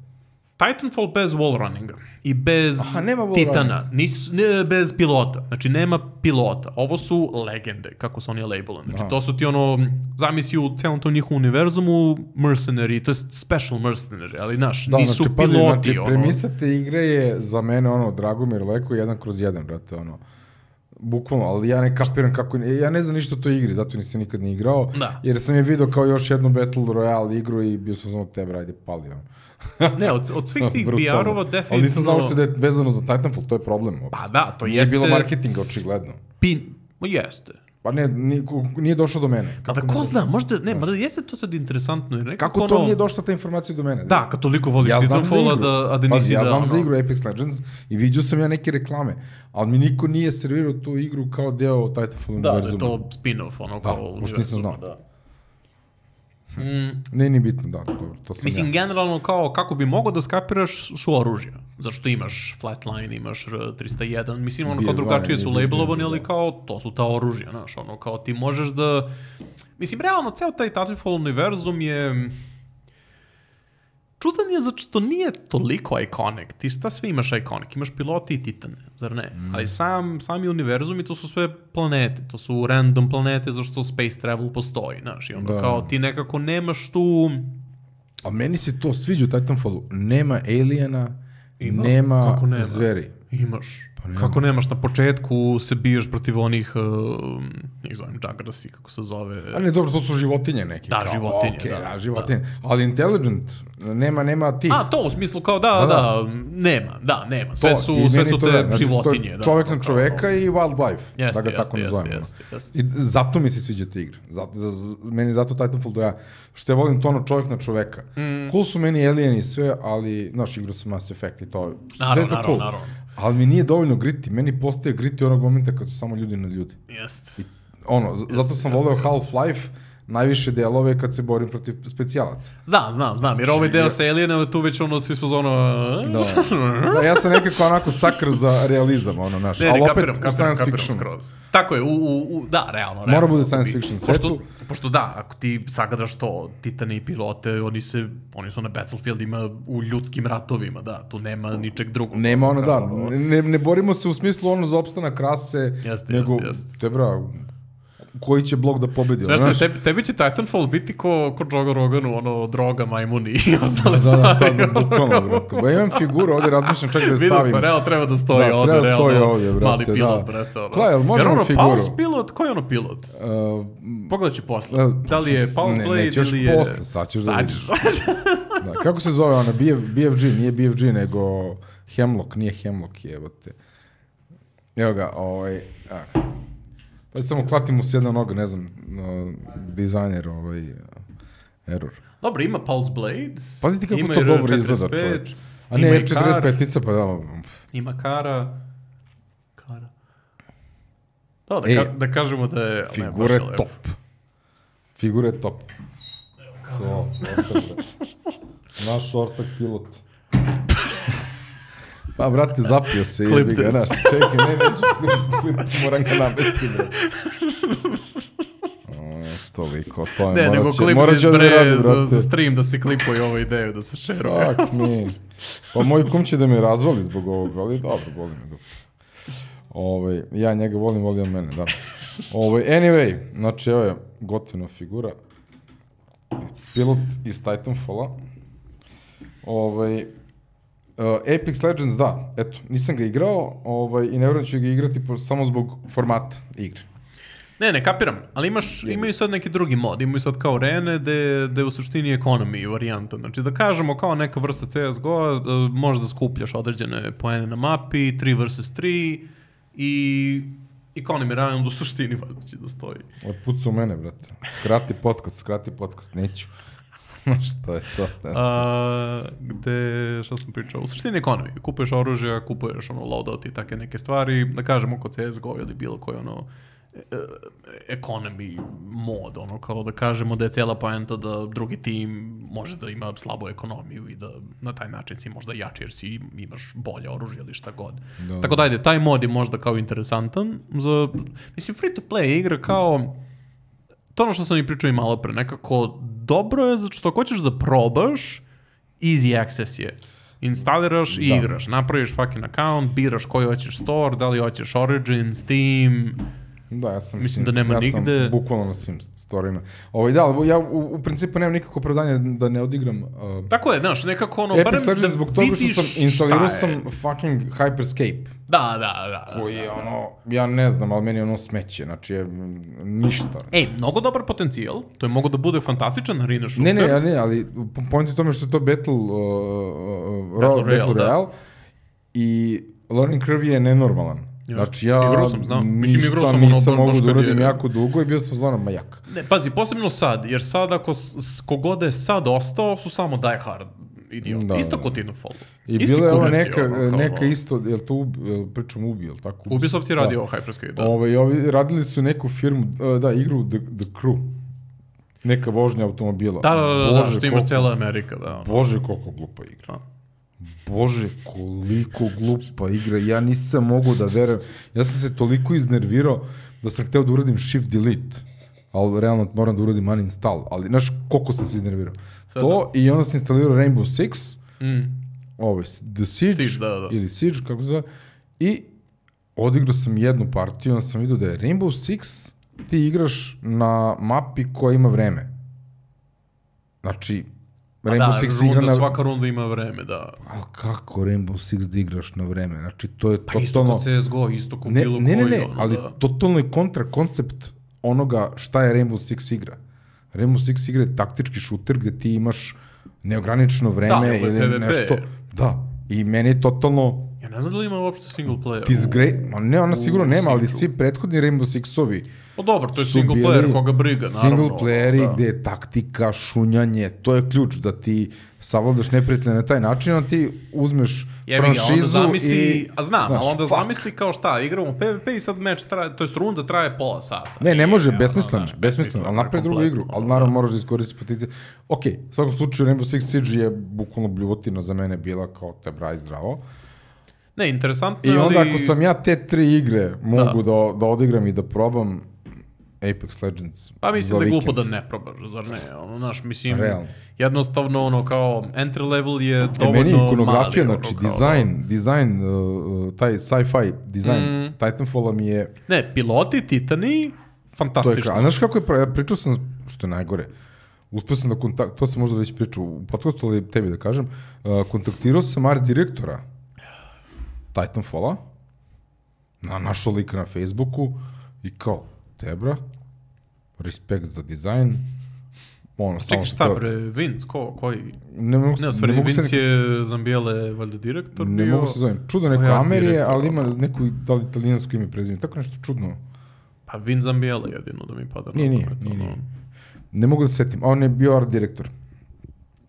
Titanfall bez wall runninga i bez Aha, nema wall Titana, nis, ne, bez pilota, znači nema pilota. Ovo su legende, kako su oni labelani. Znači, Aha. to su ti ono, zamisli u celom tom njihovom univerzumu mercenary, to je special mercenary, ali naš, Da, nisu znači, pazi, piloti. znači, ono. premisa te igre je za mene, ono, Dragomir Leko, jedan kroz jedan, brate, ono. Bukvalno, ali ja ne kapiram kako, ja ne znam ništa o toj igri, zato nisam nikad ni igrao, Da. jer sam je vidio kao još jednu Battle Royale igru i bio sam samo tebe, ajde, pali, ono. Ne, od, od svih tih Brutalno. B R-ova definitivno... Ali nisam znao što da je vezano za Titanfall, to je problem. Uopšte. Pa da, to Nije jeste... bilo marketinga, očigledno. Pin... Ma jeste. Pa ne, nije, nije došlo do mene. Pa da mi ko došlo? zna, možda, ne, mada jeste to sad interesantno. Jer nekako Kako to ono, nije došla ta informacija do mene? Da, kad toliko voliš Ja znam za Titanfalla igru. da, a da nisi Pazi, ja da... znam ono, za igru Apex Legends i vidio sam ja neke reklame, ali mi niko nije servirao tu igru kao deo Titanfall Da, da univerzuma. je to spin-off, ono Da, kao... pošto nisam znao. Da. Mm, Ne, nije bitno, da, dobro, to sam mislim, ja. generalno kao kako bi mogao da skapiraš su oružja. Zašto imaš Flatline, imaš R tristo jedan, mislim, ono kao B F, drugačije su B F, labelovani, ali da. kao to su ta oružja, znaš, ono kao ti možeš da... Mislim, realno, ceo taj Titanfall univerzum je... Čudan je zato što nije toliko iconic. Ti šta sve imaš iconic? Imaš piloti i titane, zar ne? Mm. Ali sam, sami univerzum i to su sve planete. To su random planete zašto space travel postoji, znaš. I onda Da. kao ti nekako nemaš tu... A meni se to sviđa u Titanfallu. Nema aliena, Ima? nema, Kako nema? zveri. Imaš. Pa nema. Kako nemaš na početku se biješ protiv onih, uh, nek zovem Juggersi, kako se zove... A ne, dobro, to su životinje neke. Da, kao, životinje, okej, da, a, životinje. Ali intelligent, nema, nema tih. A, to u smislu kao da, Da, da, da. nema, da, nema. Sve To, su, i sve meni su to te da, znači, životinje. to je da, čovek ono na kao- čoveka i wildlife, Jeste, da ga jeste, tako jeste, nazovemo. jeste, jeste. I zato mi se sviđa ta igra. Zato, za, za, meni zato Titanfall doja. Što ja volim to ono čovjek na čoveka. Mm. Cool su meni alieni i sve, ali, znaš, igru sam Mass Effect i to. Sve Naravno, je to naravno, cool. naravno. Ali mi nije dovoljno griti. Meni postaje griti onog momenta kad su samo ljudi na ljudi. Jeste. Ono, z- zato sam jeste, voleo jeste. Half-Life, najviše delove kad se borim protiv specijalaca. Znam, znam, znam, jer ovaj deo sa Alienova tu već ono svi smo za ono... Da. Da, ja sam nekako onako sakr za realizam, ono, znaš. Ne, ne, ali opet kapiram, u kapiram, science kapiram fiction. skroz. Tako je, u, u, u, da, realno. Mora realno, bude ako science bi- fiction pošto, svetu. pošto da, ako ti sagledaš to, Titane i pilote, oni se, oni su na Battlefieldima u ljudskim ratovima, da, tu nema ničeg drugog. Nema ono, da, Kao, ne, ne borimo se u smislu ono za opstanak rase, Jeste, nego, jeste, jeste. te bra, koji će blok da pobedi, Sve ono, što je, znaš? tebi, tebi će Titanfall biti ko, ko Joe Roganu, ono, droga, majmuni i ostale Da, da, stvari. da, da, bukvalno, brate. Ba, imam figuru ovdje, razmišljam čak da je Vidio stavim. sam, realno treba da stoji Da, ovde, treba da realno, stoji ovdje, brate, mali pilot, da. brate, ono. Gle, jel možemo Jer ono, figuru? Pulse pilot, koji je ono pilot? Uh, Pogledat ću posle. Uh, Da li je Pulse ne, Blade nećeš ili je... posle, sad ćeš da Sad vidiš. ćeš. da, kako se zove ona, B F, B F G, nije B F G, nego Hemlock, nije Hemlock, jebote. Evo ga, ovaj, a. Pa samo klatim mu s jedna noga, ne znam, no, dizajner, ovaj, error. Dobro, ima Pulse Blade. Pazite kako ima to R dobro izgleda, četrdeset pet, čoveč. A ima ne, i R četrdeset pet Kar, tica, pa da, ima Kara. Kara. Da, da, Ej, ka, da kažemo da je... ali ne, baš figura je je lepo. top. Figura je top. So, ortak, naš ortak pilot. Pa, brate, zapio se, Clip jebi ga, this. znaš, čekaj, ne, neću klip, klip, moram ga navesti, brate. O, toliko, to je, Ne, morat nego će- klip morat iz će da bre radi, za, brate. za stream da se klipuje ovu ideju, da se šeruje. Fuck me. Pa moj kum će da me razvali zbog ovoga, ali dobro, boli me dupe. Ovaj, ja njega volim, voli on mene, da. Ovaj, anyway, znači evo je gotivna figura. Pilot iz Titanfalla. Ovaj, Uh, Apex Legends, da, eto, nisam ga igrao ovaj, i ne vjerujem da ću ga igrati po, samo zbog formata igre. Ne, ne, kapiram, ali imaš, imaju sad neki drugi mod, imaju sad kao arene gde, gde u suštini ekonomi varijanta, znači da kažemo kao neka vrsta C S G O, uh, možeš da skupljaš određene poene na mapi, tri versus tri i economy round u suštini valjda će da stoji. Otpuca u mene, brate. Skrati podcast, skrati podcast, neću. Što je to? brate? A, gde, šta sam pričao, u suštini ekonomi, kupuješ oružja, kupuješ ono loadout i take neke stvari, da kažemo kod C S G O ili bilo koji ono economy mod, ono, kao da kažemo da je cijela poenta da drugi tim može da ima slabu ekonomiju i da na taj način si možda jači jer si imaš bolje oružje ili šta god. Da. Tako da ajde, taj mod je možda kao interesantan za, mislim, free to play igra kao to ono što sam i pričao i malo pre, nekako dobro je zato što ako hoćeš da probaš, easy access je. Instaliraš i da. igraš, napraviš fucking account, biraš koji hoćeš store, da li hoćeš Origin, Steam. Da, ja sam, mislim da nema ja nigde. sam bukvalno na svim storima. Ovaj, da, ja u, u principu nemam nikako opravdanje da ne odigram. Uh, Tako je, znaš, nekako ono, Epic barem da zbog toga što sam instalirao sam fucking Hyperscape. Da, da, da. Koji je ono, ja ne znam, ali meni je ono smeće, znači je ništa. Ej, mnogo dobar potencijal, to je mogo da bude fantastičan arena shooter. Ne, ne, ne, ali point je tome što je to Battle, uh, uh, Battle, Battle Royale, Royale i learning curve je nenormalan. Znači ja sam, znam. ništa Mislim, nisam ono, mogu da uradim je... jako dugo i bio sam zvonom majak. Ne, pazi, posebno sad, jer sad ako kogod je sad ostao su samo Die Hard idiot. Da, isto kod Titanfall. I bila je ova neka, ono, neka isto, jel to ubi, jel pričam ubi, jel tako? Ubisoft je radio Hyperscape, da. Ove, ovi radili su neku firmu, da, igru The, The Crew. Neka vožnja automobila. Da, da, da, Bože, da što imaš cijela Amerika, da. Ono. Bože, koliko glupa igra. A. Bože, koliko glupa igra. Ja nisam mogu da verujem. Ja sam se toliko iznervirao da sam hteo da uradim shift delete. Ali realno moram da uradim uninstall. Ali znaš koliko sam se iznervirao. Sve to da. I onda sam instalirao Rainbow Six. Mm. Ove, The Siege. Siege da, da. Ili Siege, kako se zove. I odigrao sam jednu partiju. Onda sam vidio da je Rainbow Six ti igraš na mapi koja ima vreme. Znači, Rainbow da, Six runda, igra na... svaka runda ima vreme, da. Ali kako Rainbow Six da igraš na vreme? Znači, to je pa totalno... isto kod C S G O, isto kod ne, bilo ne, koji. Ne, ne, ono, ali da. totalno je kontra koncept onoga šta je Rainbow Six igra. Rainbow Six igra je taktički šuter gde ti imaš neograničeno vreme da, ili P V P. nešto. Da, i meni je totalno... Ja ne znam da li ima uopšte single player. Ti zgre... Ma ne, ona sigurno nema, ali svi prethodni Rainbow Six-ovi pa dobro, to je single player, koga briga, naravno. Single playeri da. Gde je taktika, šunjanje, to je ključ da ti savladaš neprijatelja na taj način, a ti uzmeš Jebi franšizu ga, onda zamisli, i... A znam, znaš, ali onda fuck. zamisli kao šta, igramo P V P i sad meč traje, to je runda traje pola sata. Ne, ne može, I, besmisleno, ono, besmisleno, ali napravi drugu igru, ali naravno moraš da iskoristi potencije. Ok, u svakom slučaju Rainbow Six Siege je bukvalno bljuvotina za mene bila kao te braj zdravo. Ne, interesantno I ali... onda ako sam ja te tri igre mogu da, da, da odigram i da probam Apex Legends. Pa mislim da je glupo da ne probaš, zar ne? Ono, naš, mislim, realno. Jednostavno, ono, kao, entry level je dovoljno mali. E, meni ikonografija, mali, znači, ono, dizajn, da. dizajn, uh, taj sci-fi dizajn mm. Titanfalla mi je... Ne, piloti, titani, fantastično. To je, a znaš kako je, ja pričao sam, što je najgore, uspio sam da kontakt, to sam možda već pričao u podcastu, ali tebi da kažem, uh, kontaktirao sam art direktora Titanfalla, na našao lika na Facebooku i kao, Tebra, respekt za dizajn. Ono, čekaj, šta to... bre, Vince, ko, koji? Ne mogu se... Ne, stvari, ne Vince se nek... je Zambijele, valjda, direktor ne bio... Ne mogu se zovem. Čudo neko Amerije, ali ima neku da li italijansko ime prezime. Tako nešto čudno. Pa Vince Zambijele jedino da mi pada. Nije, nije, nije, nije. Ne mogu da se setim. A on je bio art direktor.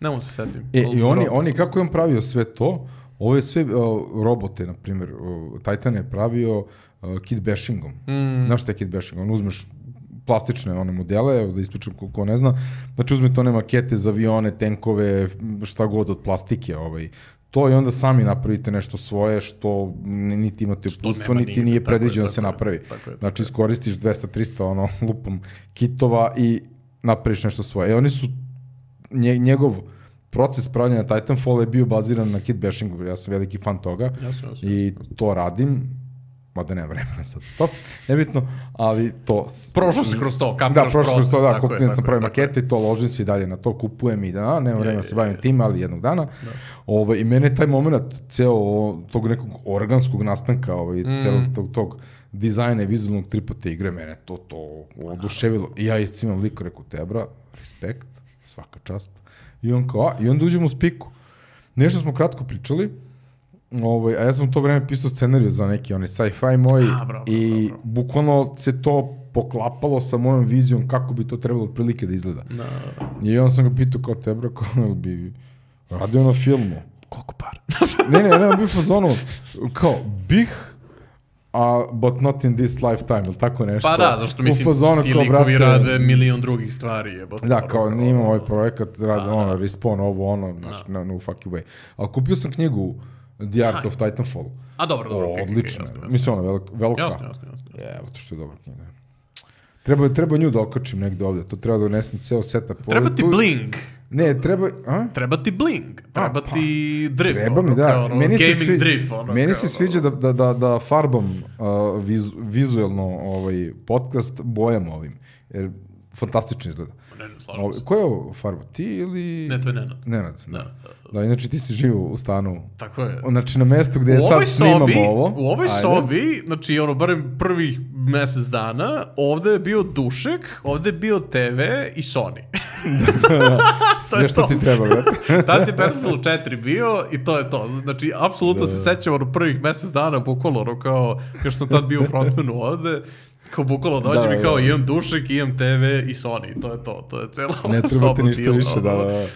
Ne mogu se setim. E, i oni, oni, kako je on pravio sve to, ovo je sve uh, robote, na primjer, uh, Titan je pravio uh, kit bashingom. Mm. Znaš šta je kit bashing? On uzmeš plastične one modele, da ispričam ko, ko ne zna, znači uzmete one makete za avione, tenkove, šta god od plastike, ovaj, to i onda sami napravite nešto svoje što niti imate uputstvo, niti nigde, nije predviđeno da se napravi. Tako je, tako znači iskoristiš dvesta trista ono, lupom kitova i napraviš nešto svoje. E oni su, nje, njegov proces pravljanja Titanfall je bio baziran na kit bashingu, ja sam veliki fan toga jasno, jasno, i jasno. To radim, mada nema vremena sad to, nebitno, ali to... Prošlo si kroz to, kapiraš proces. Da, prošlo kroz to, da, kupim sam pravi makete i to, ložim se i dalje na to, kupujem i da, nema vremena se bavim tim, ali jednog dana. Ove, I mene taj moment, ceo tog nekog organskog nastanka, ovaj, mm. celog tog, tog dizajna i vizualnog tripa te igre, mene to, to oduševilo. I ja iscimam liko, reku, Tebra, respekt, svaka čast. I on kao, a, i onda uđemo u spiku. Nešto smo kratko pričali, ovaj, a ja sam u to vreme pisao scenariju za neki onaj sci-fi moj a, bravo, i bravo. Bukvalno se to poklapalo sa mojom vizijom kako bi to trebalo otprilike da izgleda. No. I on sam ga pitao kao Tebra, kao bi radio na filmu. Koliko par? ne, ne, ne, on bio fazonu, kao, bih, a but not in this lifetime, ili tako nešto. Pa da, zašto mislim, fazonu, ti kao, likovi brate, rade milion drugih stvari. Jebote, da, kao ono, imam ovaj projekat, rade da, ono, da. Respawn, ovo, ono, znaš, no, no fucking way. Ali kupio sam knjigu The Art of Titanfall. A dobro, dobro, O, okej, okej, odlično. jasno, jasno, Mislim, jasno. ono, velika. velika. Jasno, jasno, jasno. Evo, to što je dobra knjiga. Treba, treba nju da okačim negde ovde, to treba da donesem ceo setup. Treba Ovde ti tu- bling. Ne, treba, a? Treba ti bling, treba pa, ti drip. Treba mi, ono, da. kao, ono, Meni se, gaming svi, drip. Ono, meni kao, se sviđa da, da, da, da farbam uh, viz, vizuelno ovaj, podcast bojama ovim. Jer fantastično izgleda. Ne, ne, slažem Ovo, se. ko je ovo farba? Ti ili... Ne, to je Nenad. Nenad, da. Da, Da, inače ti si živo u stanu. Tako je. Znači na mestu gde U sad ovoj snimamo sobi, ovo. u ovoj Ajde. sobi, znači ono, barem prvih mesec dana, ovde je bio dušek, ovde je bio te ve i Sony. Sve što ti treba, brate. Tad je Battlefield četiri bio i to je to. Znači, apsolutno se sećam ono prvih mesec dana, bukvalno ono kao, kao što sam tad bio u frontmanu ovde, kao bukvalno dođem Da, i kao da. imam dušek, imam te ve i Sony, to je to, to je cela ova Ne treba ti soba ništa bila, više, da, ono. da, da.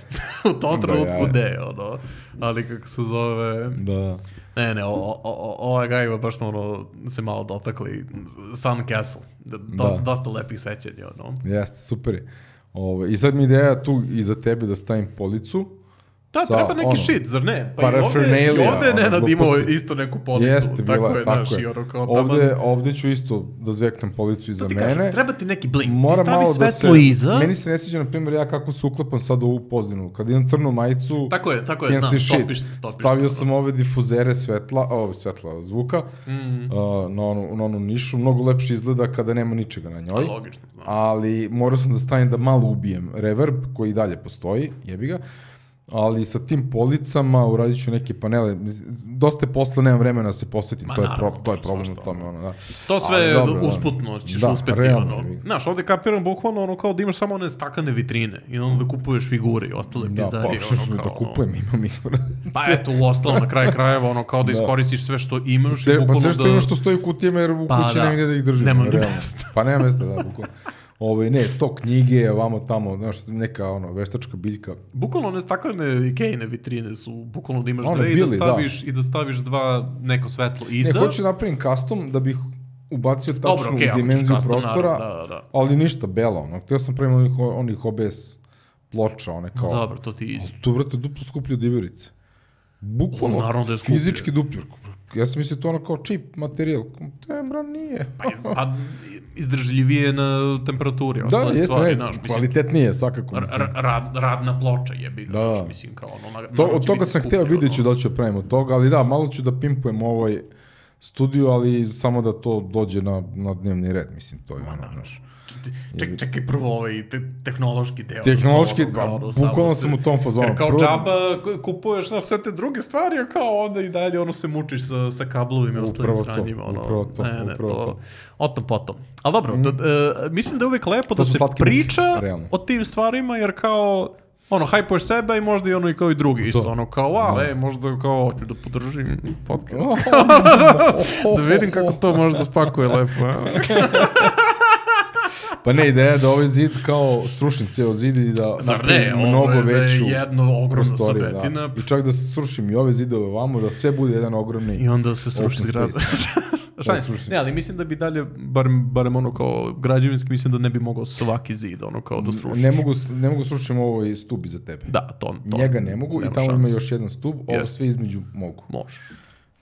U tom Da, trenutku ja. ne, ono, ali kako se zove... Da. Ne, ne, o, o, o, ovaj gajva baš smo ono, se malo dotakli. Sun Castle, do, Da. dosta lepih sećanja, ono. Jeste, super je. Ove, I sad mi ideja tu iza tebe da stavim policu. Da, sa, treba neki ono, shit, zar ne? Pa i ovde, i paraphernalia, ovde je ono, Nenad imao gluposti. isto neku policu. Jeste, bila tako je, je, tako znaš, i je. ono kao Ovde, taman- ovde ću isto da zveknem policu iza To ti mene. kažem, treba ti neki blink. Mora ti stavi malo da svetlo se... iza. Meni se ne sviđa, na primjer, ja kako se uklepam sad u ovu pozdinu. Kad imam crnu majicu, Tako je, tako je, can't znam, see shit. stopiš se, stopiš Stavio se. sam ove difuzere svetla, o, svetla zvuka, Mm, uh, na, onu, na onu nišu. Mnogo lepše izgleda kada nema ničega na njoj. logično, znam. Ali morao sam da stavim da malo ubijem reverb, koji i dalje postoji, jebi ga. Ali sa tim policama uradit ću neke panele. Dosta je posla, nemam vremena da se posvetim, Ma, to je, naravno, pro, to je možda problem svašta, u tome. Ono, da. To sve Ali dobro, da. usputno ćeš Da, uspeti, realno, ono. jebi ga. Znaš, ovde kapiram bukvalno ono kao da imaš samo one stakane vitrine i onda da kupuješ figure i ostale Da, pizdarije, pa što ono ću kao... da kupujem, imam ih. Pa eto, u ostalom, na kraju krajeva, ono, kao da Da. iskoristiš sve što imaš i Sve, pa bukvalno sve što da... ima što stoji u kutijama, jer u Pa kući da. nema gdje da ih držim. Nema ono, ni realno. mesta. Pa nema mesta, da, bukvalno. Ove, ne, to knjige, ovamo tamo, znaš, neka ono, veštačka biljka. Bukvalno one staklene Ikejne vitrine su, bukvalno da imaš One dve i da bili, da. staviš, i da staviš dva, neko svetlo Ne, iza. hoću napravim custom da bih ubacio tačnu Dobro, okej, ako ćeš dimenziju custom, prostora, naravno, da, da. ali ništa, bela, ono. Htio sam pravim onih, onih O B S ploča, one kao... No, dobro, to ti izi. Tu, vrate, duplo skuplje od iverice. Bukvalno, Naravno da je skuplje. fizički duplje. Ja sam mislio to ono kao čip materijal. Te, bra, nije. Pa, iz- pa izdržljivije na temperaturi, Da, ostale jeste, stvari, ne, znaš, mislim, kvalitetnije svakako. r- Mislim. r- rad, radna ploča jebi ga, Da. znaš, mislim, kao ono... na- To, naravno od će toga biti sam hteo, skuplje, vidjet ću ono. da ću pravim od toga, ali da, malo ću da pimpujem ovaj studio, ali samo da to dođe na, na dnevni red, mislim, to je ono, znaš. Ček, čekaj prvo ovaj te, tehnološki deo. Tehnološki, to, ono, kao, ba, ono, samo bukvalno se- sam u tom fazonu. Jer kao Prvo- džaba ku- kupuješ znaš, sve te druge stvari, a kao onda i dalje ono se mučiš sa, sa kablovima i ostalim Upravo to, sranjima. Ono, upravo to, ne, ne, upravo to. to. O tom potom. Ali dobro, da, e, mislim da je uvijek lepo da su se slatke muke, priča realno. o tim stvarima, jer kao ono, hajpuješ sebe i možda i ono i kao i drugi isto, ono kao, wow, ej, možda kao, hoću da podržim podcast. Da vidim kako to može da spakuje lepo. a? Pa ne, ideja je da ovaj zid kao srušim ceo zid i da Zar napravim ne, mnogo ovo je veću jedno ogromno prostoriju, sobetina. da. I čak da se srušim i ove zidove vamo, da sve bude jedan ogromni... I onda se sruši Open zgrada. space. Šalim, sruši. ne, ali mislim da bi dalje, barem, barem ono kao građevinski, mislim da ne bi mogao svaki zid, ono kao da srušiš. Ne mogu, ne mogu srušim ovaj stub iza tebe. Da, to, to. Njega ne mogu nema i tamo šanse. ima još jedan stub, ovo Jest. sve između mogu. Možeš.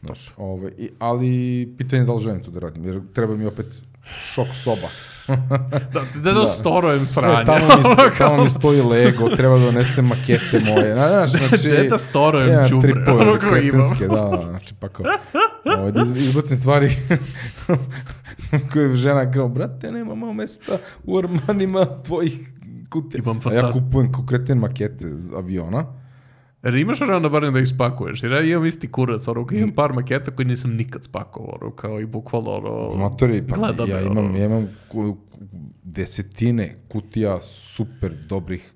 Znaš, ovaj, i, ali pitanje je da li želim to da radim, jer treba mi opet šok soba. Da, da, da storojem sranje. Ne, tamo, mi, sto- tamo mi stoji Lego, treba da donesem makete moje. Znaš, znači... Gde da storojem jedan đubre, tripove ono koje kretenske, da, znači pa kao... Ovaj, da iz- izbacim stvari koje žena kao, brate, nemamo mesta u ormanima tvojih kutija. Imam A ja fantast- kupujem kao kreten makete z- aviona. Jer imaš vremena barem da ih spakuješ, jer ja imam isti kurac, ono, imam par maketa koji nisam nikad spakovao, ono, kao i bukvalno, ono, Matori, pa gleda ja me, imam, ono. ja imam ku- ku- desetine kutija super dobrih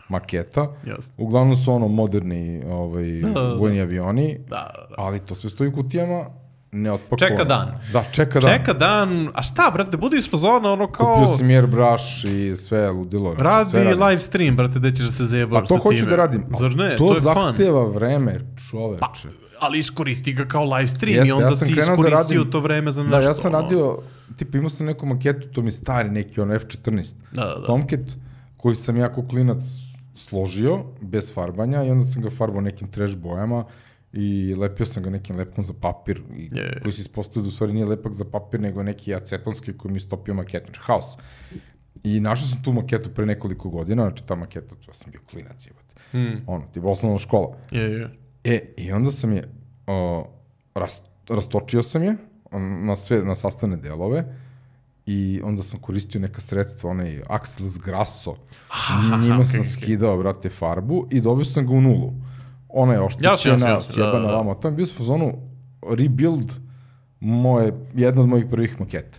maketa. Jasno. Uglavnom su ono moderni ovaj, Da, da, da. vojni avioni, Da, da, da. ali to sve stoji u kutijama ne otpakovan. Čeka dan. Da, čeka dan. Čeka dan, a šta, brate, budi iz fazona, ono kao... Kupio sam airbrush i sve ludilo. Znači, radi sve live stream, brate, gde ćeš da se zajebaš sa time. Pa to hoću da radim. Zar ne? To, to je zahteva vreme, čoveče. Pa, ali iskoristi ga kao live stream Jeste, i onda ja si iskoristio da radim, to vreme za nešto. Da, ja sam radio, tipa imao sam neku maketu, to mi je stari neki, ono F četrnaest. Da, da, da. Tomcat, koji sam ja kao klinac složio, bez farbanja, i onda sam ga farbao nekim trash bojama i lepio sam ga nekim lepkom za papir, i, Je. koji se ispostavio da u stvari nije lepak za papir, nego neki acetonski koji mi stopio maketu, znači haos. I našao sam tu maketu pre nekoliko godina, znači ta maketa, ja sam bio klinac, jebate. Hmm. Ono, tipa osnovna škola. Je, je. E, i onda sam je, o, ras, rastočio sam je na sve, na sastavne delove i onda sam koristio neka sredstva, onaj Axels Grasso, Ha, njima okay, sam okay. skidao, brate, farbu i dobio sam ga u nulu. Ona je oštećena, sjebana da, da. vama. To je bio s fazonu rebuild moje, jedna od mojih prvih maketa.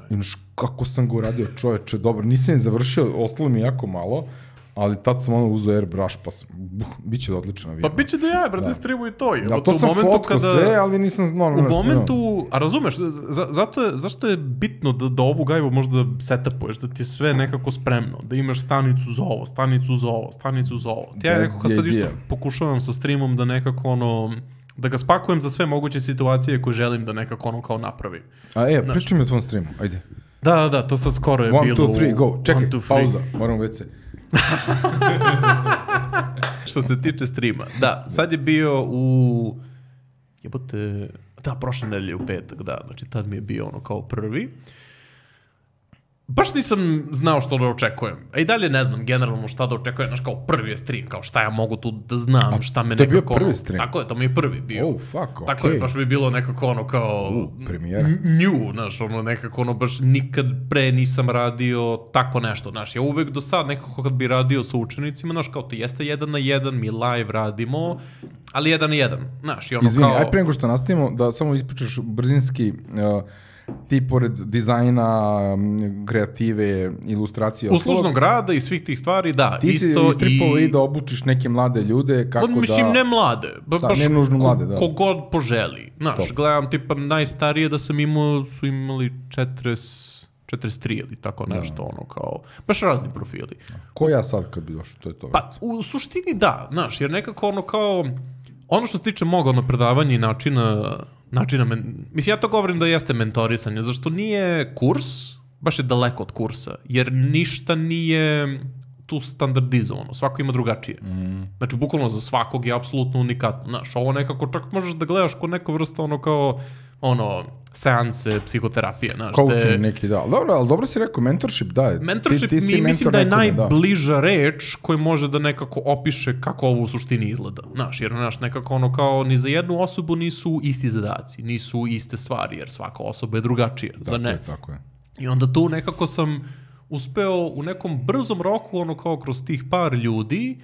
I znaš, kako sam ga uradio, čoveče, dobro, nisam je završio, ostalo mi jako malo, ali tad sam ono uzeo airbrush, pa sam, buh, bit će da odličan avion. Pa bit će da ja, brate, da. streamu i to. Je. Da, to sam fotko kada, sve, ali nisam... No, u momentu, a razumeš, za, zato je, zašto je bitno da, da ovu gajbu možda setupuješ, da ti je sve nekako spremno, da imaš stanicu za ovo, stanicu za ovo, stanicu za ovo. Ti ja nekako sad isto pokušavam sa streamom da nekako ono... da ga spakujem za sve moguće situacije koje želim da nekako ono kao napravi. A e, pričaj mi o tvom streamu, ajde. Da, da, da, to sad skoro je one, bilo... one, two, three, go, čekaj, one, two, pauza, moram već se. Što se tiče streama, da, sad je bio u... Jebote... Da, prošle nedelje u petak, da, znači tad mi je bio ono kao prvi. Baš nisam znao što da očekujem. A i dalje ne znam generalno šta da očekujem, znaš, kao prvi je stream, kao šta ja mogu tu da znam, a, šta me nekako... To je bio prvi stream? Tako je, to mi je prvi bio. Oh, fuck, okej. Tako je, baš mi je bilo nekako ono kao... Uh, premijera. New, znaš, ono nekako ono baš nikad pre nisam radio tako nešto, znaš. Ja uvek do sad nekako kad bi radio sa učenicima, znaš, kao to jeste jedan na jedan, mi live radimo, ali jedan na jedan, znaš, i ono Izvini, kao... aj pre nego što nastavimo, da samo ispričaš brzinski... Uh, ti pored dizajna, kreative, ilustracije... Uslužnog rada i svih tih stvari, da. Ti isto si istripao i... i da obučiš neke mlade ljude, kako mislim, da... Mislim, ne mlade. Ba, da, baš ne nužno mlade, da. Kogod poželi. Znaš, gledam, tipa, najstarije da sam imao, su imali četrdeset, četrdeset tri ili tako nešto, da. Ono, kao... Baš razni profili. Ko ja sad kad bi došao, to je to. Pa, u suštini da, znaš, jer nekako ono kao... Ono što se tiče moga ono predavanja i načina... načina men... Mislim, ja to govorim da jeste mentorisanje, zašto nije kurs, baš je daleko od kursa, jer ništa nije tu standardizovano, svako ima drugačije. Mm. Znači, bukvalno za svakog je apsolutno unikatno. Znaš, ovo nekako čak možeš da gledaš kod neka vrsta ono kao, ono, seanse, psihoterapije, znaš. Coaching te... neki, da. Dobro, ali dobro si rekao, mentorship, da. Mentorship, ti, ti mi, mislim da je nekome, najbliža da. reč koji može da nekako opiše kako ovo u suštini izgleda. Znaš, jer znaš, nekako ono kao, ni za jednu osobu nisu isti zadaci, nisu iste stvari, jer svaka osoba je drugačija, tako za ne. Je, tako je. I onda tu nekako sam uspeo u nekom brzom roku, ono kao kroz tih par ljudi,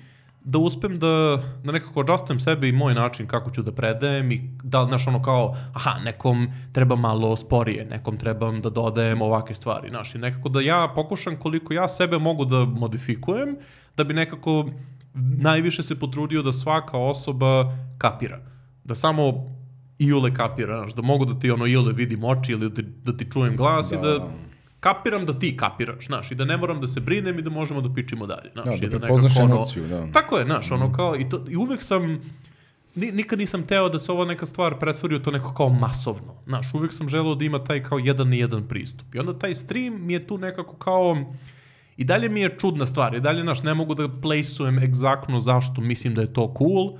da uspem da, da nekako adjustujem sebe i moj način kako ću da predajem i da, znaš, ono kao, aha, nekom treba malo sporije, nekom trebam da dodajem ovakve stvari, znaš, i nekako da ja pokušam koliko ja sebe mogu da modifikujem, da bi nekako najviše se potrudio da svaka osoba kapira. Da samo iole kapira, znaš, da mogu da ti ono iole vidim oči ili da ti, da ti čujem glas da. I da kapiram da ti kapiraš, znaš, i da ne moram da se brinem i da možemo da pičimo dalje, znaš. Da, da prepoznaš emociju, da. Tako je, znaš, ono kao, i, to, i uvek sam, nikad nisam teo da se ova neka stvar pretvori u to neko kao masovno, znaš, uvek sam želeo da ima taj kao jedan na jedan pristup. I onda taj stream mi je tu nekako kao, i dalje mi je čudna stvar, i dalje, znaš, ne mogu da plejsujem egzaktno zašto mislim da je to cool,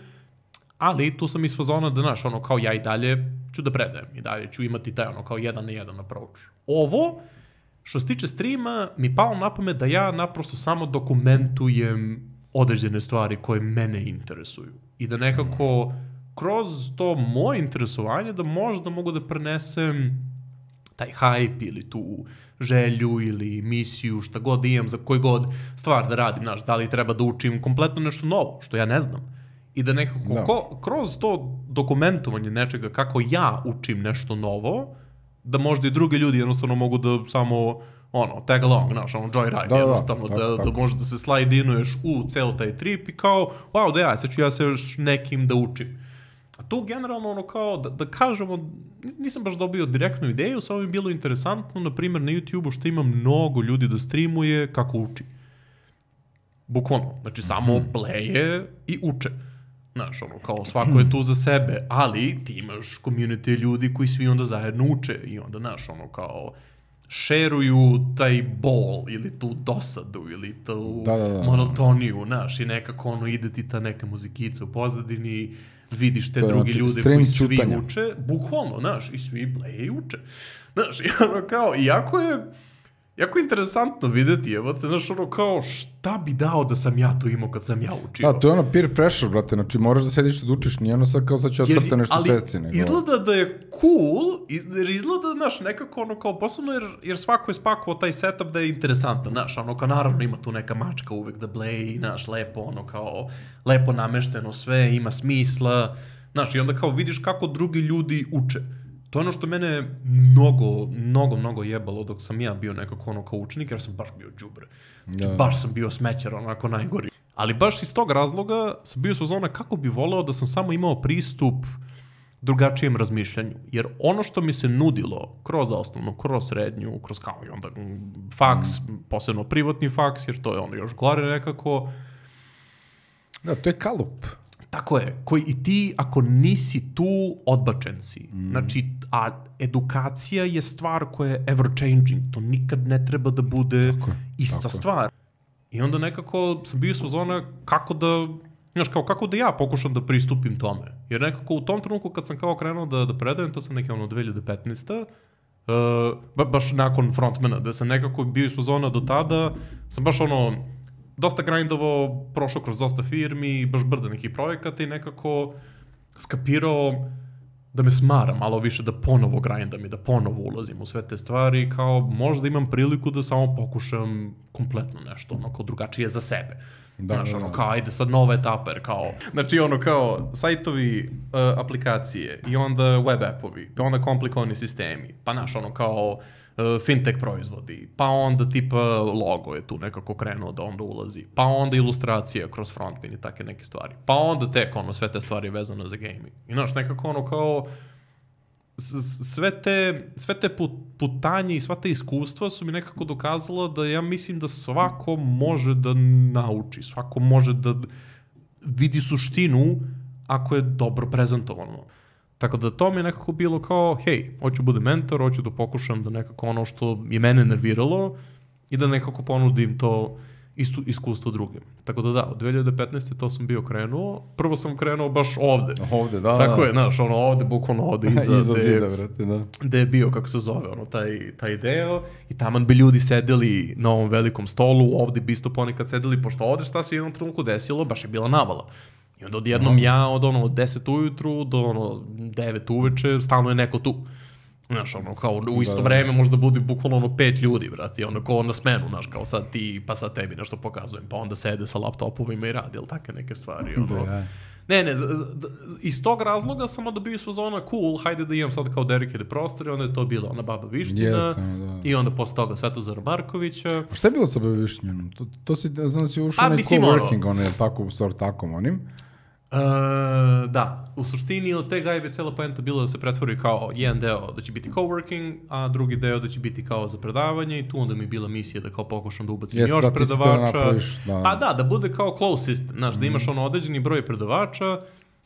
ali tu sam iz fazona da, znaš, ono kao ja i dalje ću da predajem, i dalje ću imati taj ono kao jedan na jedan approach. Ovo, što se tiče streama, mi palo na pamet da ja naprosto samo dokumentujem određene stvari koje mene interesuju. I da nekako kroz to moje interesovanje da možda mogu da prenesem taj hype ili tu želju ili misiju, šta god da imam, za koji god stvar da radim. Znaš, da li treba da učim kompletno nešto novo, što ja ne znam. I da nekako no. ko, kroz to dokumentovanje nečega kako ja učim nešto novo, da možda i drugi ljudi jednostavno mogu da samo ono, tag along, znaš, ono, joyride, da, jednostavno, da, da, da, da možeš da se slide-inuješ u ceo taj trip i kao, wow, da ja, sad ću ja se još nekim da učim. A tu generalno ono kao, da, da kažemo, nisam baš dobio direktnu ideju, samo mi je bilo interesantno, na primjer na YouTube-u što ima mnogo ljudi da streamuje kako uči. Bukvalno, znači samo Mhm. bleje i uče. Znaš, ono, kao svako je tu za sebe, ali ti imaš community ljudi koji svi onda zajedno uče i onda, znaš, ono, kao šeruju taj bol ili tu dosadu ili tu Da, da, da. monotoniju, znaš, i nekako ono ide ti ta neka muzikica u pozadini, vidiš te To je drugi ono ljude stream koji svi ćutanja. uče, bukvalno, znaš, i svi bleje i uče. Znaš, i ono kao, iako je jako interesantno videti, evo te, znaš, ono kao, šta bi dao da sam ja to imao kad sam ja učio? Da, to je ono peer pressure, brate, znači moraš da sediš da učiš, nije ono sad kao sad ću Jer- ocrta nešto ali sesci, nego... izgleda da je cool, iz- jer izgleda, znaš, nekako ono kao posebno, jer, jer svako je spakovao taj setup da je interesantan, znaš, ono kao naravno ima tu neka mačka uvek da bleji, znaš, lepo, ono kao, lepo namešteno sve, ima smisla, znaš, i onda kao vidiš kako drugi ljudi uče. To je ono što mene mnogo, mnogo, mnogo jebalo dok sam ja bio nekako ono kao učenik, jer sam baš bio đubre. Znači, Da. baš sam bio smećar, onako najgori. Ali baš iz tog razloga sam bio su zona kako bi voleo da sam samo imao pristup drugačijem razmišljanju. Jer ono što mi se nudilo kroz osnovnu, kroz srednju, kroz kao i onda mm, faks, posebno privatni faks, jer to je ono još gore nekako, Da, to je kalup. tako je, koji i ti ako nisi tu, odbačen si. Mm. Znači, a edukacija je stvar koja je ever changing. To nikad ne treba da bude Tako je, ista tako je. stvar. I onda nekako sam bio sa zona kako da, znaš, kao kako da ja pokušam da pristupim tome. Jer nekako u tom trenutku kad sam kao krenuo da, da predajem, to sam neke ono dve hiljade petnaeste. Uh, ba, baš nakon frontmana, da sam nekako bio iz zona do tada, sam baš ono, dosta grindovao, prošao kroz dosta firmi, baš brda nekih projekata i nekako skapirao da me smara malo više da ponovo grindam i da ponovo ulazim u sve te stvari, kao možda imam priliku da samo pokušam kompletno nešto, ono, kao drugačije za sebe. Da, Znaš, da, ono, da. kao, ajde sad nova etapa, jer kao, znači, ono, kao, sajtovi, uh, aplikacije i onda web appovi, pa onda komplikovani sistemi, pa, znaš, ono, kao, uh, fintech proizvodi, pa onda tipa logo je tu nekako krenuo da onda ulazi, pa onda ilustracija kroz frontpin i take neke stvari, pa onda tek, ono, sve te stvari vezane za gaming. I, znaš, nekako, ono, kao, s- sve te, sve te put, putanje i sva te iskustva su mi nekako dokazala da ja mislim da svako može da nauči, svako može da vidi suštinu ako je dobro prezentovano. Tako da to mi je nekako bilo kao, hej, hoću bude mentor, hoću da pokušam da nekako ono što je mene nerviralo i da nekako ponudim to istu iskustvo drugim. Tako da da, od dve hiljade petnaeste to sam bio krenuo. Prvo sam krenuo baš ovde. Ovde, da. Tako da. je, znaš, ono ovde, bukvalno ovde iza, Iza gde- zida, brate, da. gde je bio, kako se zove, ono, taj, taj deo, i taman bi ljudi sedeli na ovom velikom stolu, ovde bi isto ponekad sedeli, pošto ovde šta se u jednom trenutku desilo, baš je bila navala. I onda odjednom ja od ono od deset ujutru do ono devet uveče, stalno je neko tu. Znaš, ono, kao u isto Da, da. vreme možda bude bukvalno ono pet ljudi, brati, i ono kao na smenu, znaš, kao sad ti, pa sad tebi nešto pokazujem, pa onda sede sa laptopovima i radi, ili take neke stvari, ono. Da, ja. Ne, ne, z- z- d- iz tog razloga sam onda bio iz fazona cool, hajde da imam sad kao dedicated prostore, onda je to bila ona Baba Viština, Jeste, ono, da. i onda posle toga Svetozara Markovića. A šta je bilo sa Bevišnjenom? To, to si, znam da si ušao A, onaj mislim, ono- coworking, ono je tako, sort takom onim. Uh, da, u suštini od te gajbe cijela poenta bila da se pretvori kao jedan deo da će biti coworking, a drugi deo da će biti kao za predavanje i tu onda mi je bila misija da kao pokušam da ubacim Jeste, još da, ti si to predavača. napraviš, da. Pa da, da bude kao close system, znaš, da imaš ono određeni broj predavača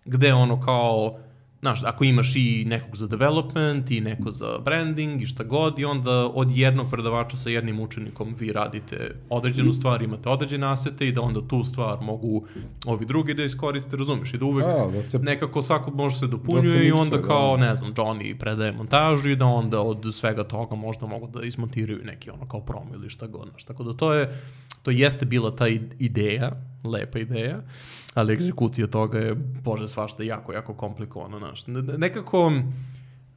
gde ono kao, znaš, ako imaš i nekog za development i neko za branding i šta god i onda od jednog predavača sa jednim učenikom vi radite određenu stvar, imate određene asete i da onda tu stvar mogu ovi drugi da iskoriste, razumeš, i da uvek Da, da se- nekako svako može se Da dopunjuje se i miksuje, onda da. kao, ne znam, Johnny predaje montažu i da onda od svega toga možda mogu da ismontiraju neki ono kao promo ili šta god, znaš, tako da to je, to jeste bila ta i- ideja, lepa ideja, ali egzekucija toga je, bože, svašta jako, jako komplikovano, znaš. Ne- ne- Nekako,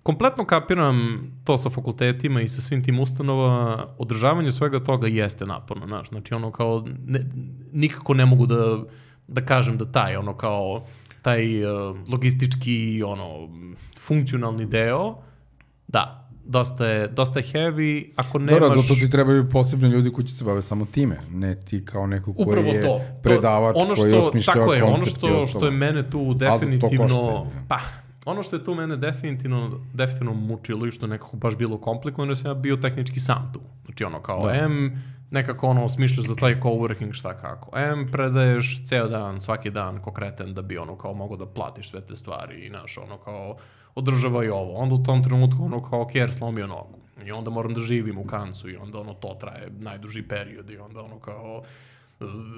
kompletno kapiram to sa fakultetima i sa svim tim ustanova, održavanje svega toga jeste naporno, znaš, znači ono kao, ne, nikako ne mogu da, da kažem da taj, ono kao, taj uh, logistički, ono, funkcionalni deo, da, dosta je, dosta je heavy, ako nemaš... Dobro, zato ti trebaju posebni ljudi koji će se bave samo time, ne ti kao neko koji Upravo je to. predavač, ono što, koji osmišljava tako je, ono koncept i što, ostalo. što je mene tu definitivno... košta, pa, ono što je tu mene definitivno, definitivno mučilo i što je nekako baš bilo komplikovano, jer sam ja bio tehnički sam tu. Znači ono kao da. M, nekako ono smišljaš za taj coworking šta kako. M, predaješ ceo dan, svaki dan ko kreten da bi ono kao mogo da platiš sve te stvari i naš ono kao održava i ovo. Onda u tom trenutku ono kao Kjer slomio nogu. I onda moram da živim u Kancu i onda ono to traje najduži period i onda ono kao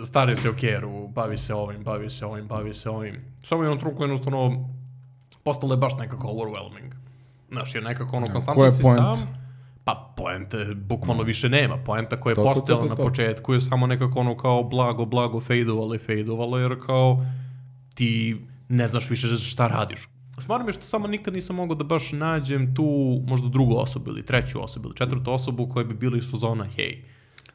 stari se o Kjeru, bavi se ovim, bavi se ovim, bavi se ovim. Samo jednom trenutku jednostavno postalo je baš nekako overwhelming. Znaš, jer nekako ono konstantno si sam. Pa poente bukvalno više nema. Poenta koja je to, postojala to, to, to. na početku je samo nekako ono kao blago, blago fejdovalo i fejdovalo, jer kao ti ne znaš više šta radiš. Smaram je što samo nikad nisam mogao da baš nađem tu možda drugu osobu ili treću osobu ili četvrtu osobu koja bi bila iz fazona hej.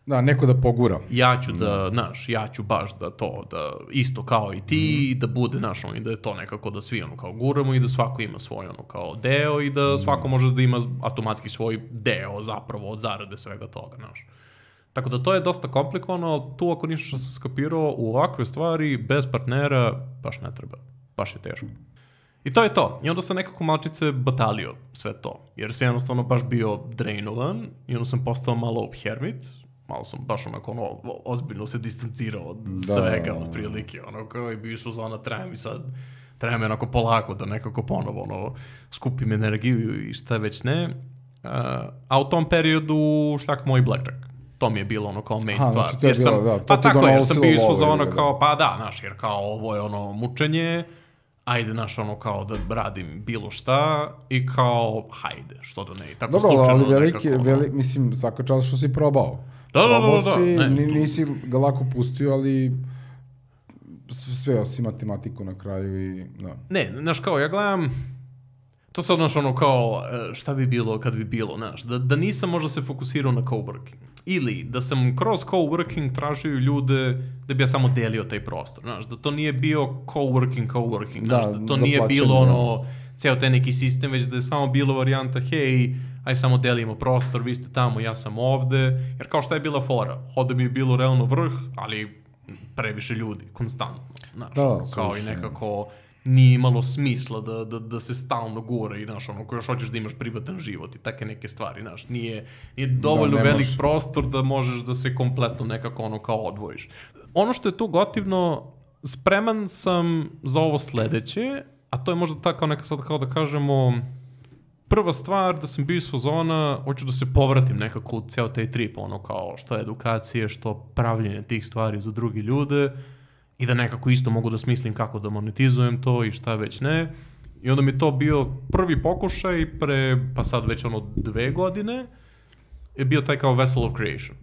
Da, neko da pogura. Ja ću da, znaš, ja ću baš da to, da isto kao i ti, mm. da bude, znaš, ono, i da je to nekako da svi ono kao guramo i da svako ima svoj ono kao deo i da svako može da ima automatski svoj deo zapravo od zarade svega toga, znaš. Tako da to je dosta komplikovano, ali tu ako ništa što sam skapirao u ovakve stvari, bez partnera, baš ne treba, baš je teško. I to je to. I onda sam nekako malčice batalio sve to, jer sam jednostavno baš bio drainovan i onda sam postao malo hermit, malo sam baš onako ono, ozbiljno se distancirao od da. svega, od prilike, ono, kao i bio su zona, treba mi sad, treba mi onako polako da nekako ponovo, ono, skupim energiju i šta već ne. Uh, a u tom periodu šljak moj blackjack. To mi je bilo ono kao main Aha, stvar. znači to je jer sam, bilo, da, to pa tako, jer sam bio iz fazona da. kao, pa da, znaš, jer kao ovo je ono mučenje, ajde, znaš, ono kao da radim bilo šta i kao, hajde, što da ne, i tako dobro, slučajno. Dobro, ali veliki, nekako, veli, mislim, svaka čast što si probao. Da, da, da, da, da. Si, ne, nisi ga lako pustio, ali sve osim matematiku na kraju i da. Ne, znaš kao, ja gledam, to sad, znaš, ono kao, šta bi bilo kad bi bilo, znaš, da, da nisam možda se fokusirao na coworking. Ili da sam kroz coworking tražio ljude da bi ja samo delio taj prostor, znaš, da to nije bio coworking, coworking, znaš, da, da to nije bilo ono, ceo taj neki sistem, već da je samo bilo varijanta, hej, aj samo delimo prostor, vi ste tamo, ja sam ovde, jer kao šta je bila fora, ovde mi je bilo realno vrh, ali previše ljudi, konstantno, znaš, da, kao slušaj. i nekako nije imalo smisla da, da, da se stalno gura i, znaš, ono, ko još hoćeš da imaš privatan život i take neke stvari, znaš, nije, nije dovoljno da, velik prostor da možeš da se kompletno nekako ono kao odvojiš. Ono što je tu gotivno, spreman sam za ovo sledeće, a to je možda tako neka sad kao da kažemo, prva stvar da sam bio iz fazona, hoću da se povratim nekako u ceo taj trip, ono kao što je edukacije, što pravljenje tih stvari za drugi ljude, i da nekako isto mogu da smislim kako da monetizujem to i šta već ne. I onda mi je to bio prvi pokušaj pre, pa sad već ono dve godine, je bio taj kao Vessel of Creation.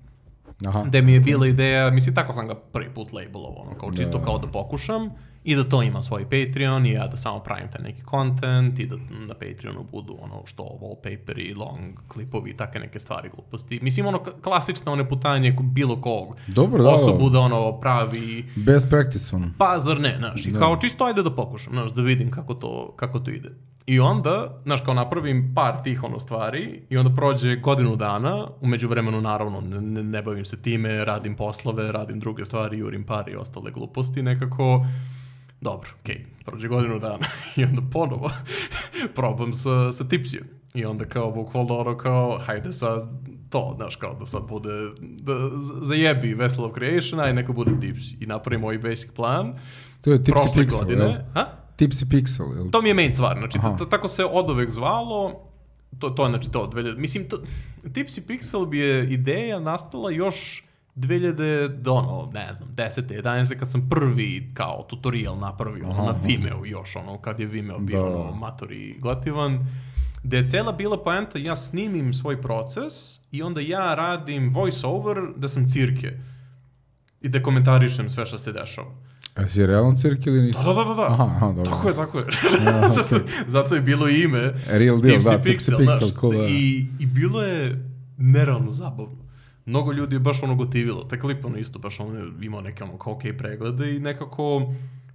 Aha. Gde mi je bila ideja, mislim tako sam ga prvi put labelovao, ono, kao čisto da. kao da pokušam i da to ima svoj Patreon i ja da samo pravim taj neki content i da na Patreonu budu ono što wallpaperi, long klipovi i take neke stvari gluposti. Mislim ono klasično one putanje bilo kog Dobro, da, osobu da ono pravi... Best practice ono. Pa zar ne, znaš, i da. kao čisto ajde da pokušam, znaš, da vidim kako to, kako to ide. I onda, znaš, kao napravim par tih ono stvari i onda prođe godinu dana, umeđu vremenu naravno ne, ne bavim se time, radim poslove, radim druge stvari, jurim pare i ostale gluposti, nekako, dobro, okej, okay, prođe godinu dana i onda ponovo probam sa, sa Tipsijem. I onda kao bukvalno ono kao, hajde sad to, znaš, kao da sad bude, da zajebi Vessel of Creation, aj neka bude Tipsi. I napravimo ovaj basic plan. To je Tipsy Pixel, godine, jel? Ha? Tipsy Pixel, jel? To mi je main stvar, znači t- tako se od uvek zvalo, to, to je znači to, dve, mislim, to, Tipsy Pixel bi je ideja nastala još dve hiljade, ono, ne znam, desete, jedanaeste kad sam prvi kao tutorial napravio, ono, na Vimeo još, ono, kad je Vimeo bio, da. ono, matori gotivan, gde je cela bila poenta, ja snimim svoj proces i onda ja radim voice over da sam cirke i da komentarišem sve što se dešava. A si realno cirke ili nisi? Da, da, da, da. Aha, aha, dobro. Tako je, tako je. Ja, okay. Zato je bilo ime Real deal, Tipsy da, Pixel, Tipsy Pixel, cool, da. I, I bilo je nerealno zabavno. Mnogo ljudi je baš ono gotivilo. Taj klip ono isto baš ono imao neke ono kao okej okay preglede i nekako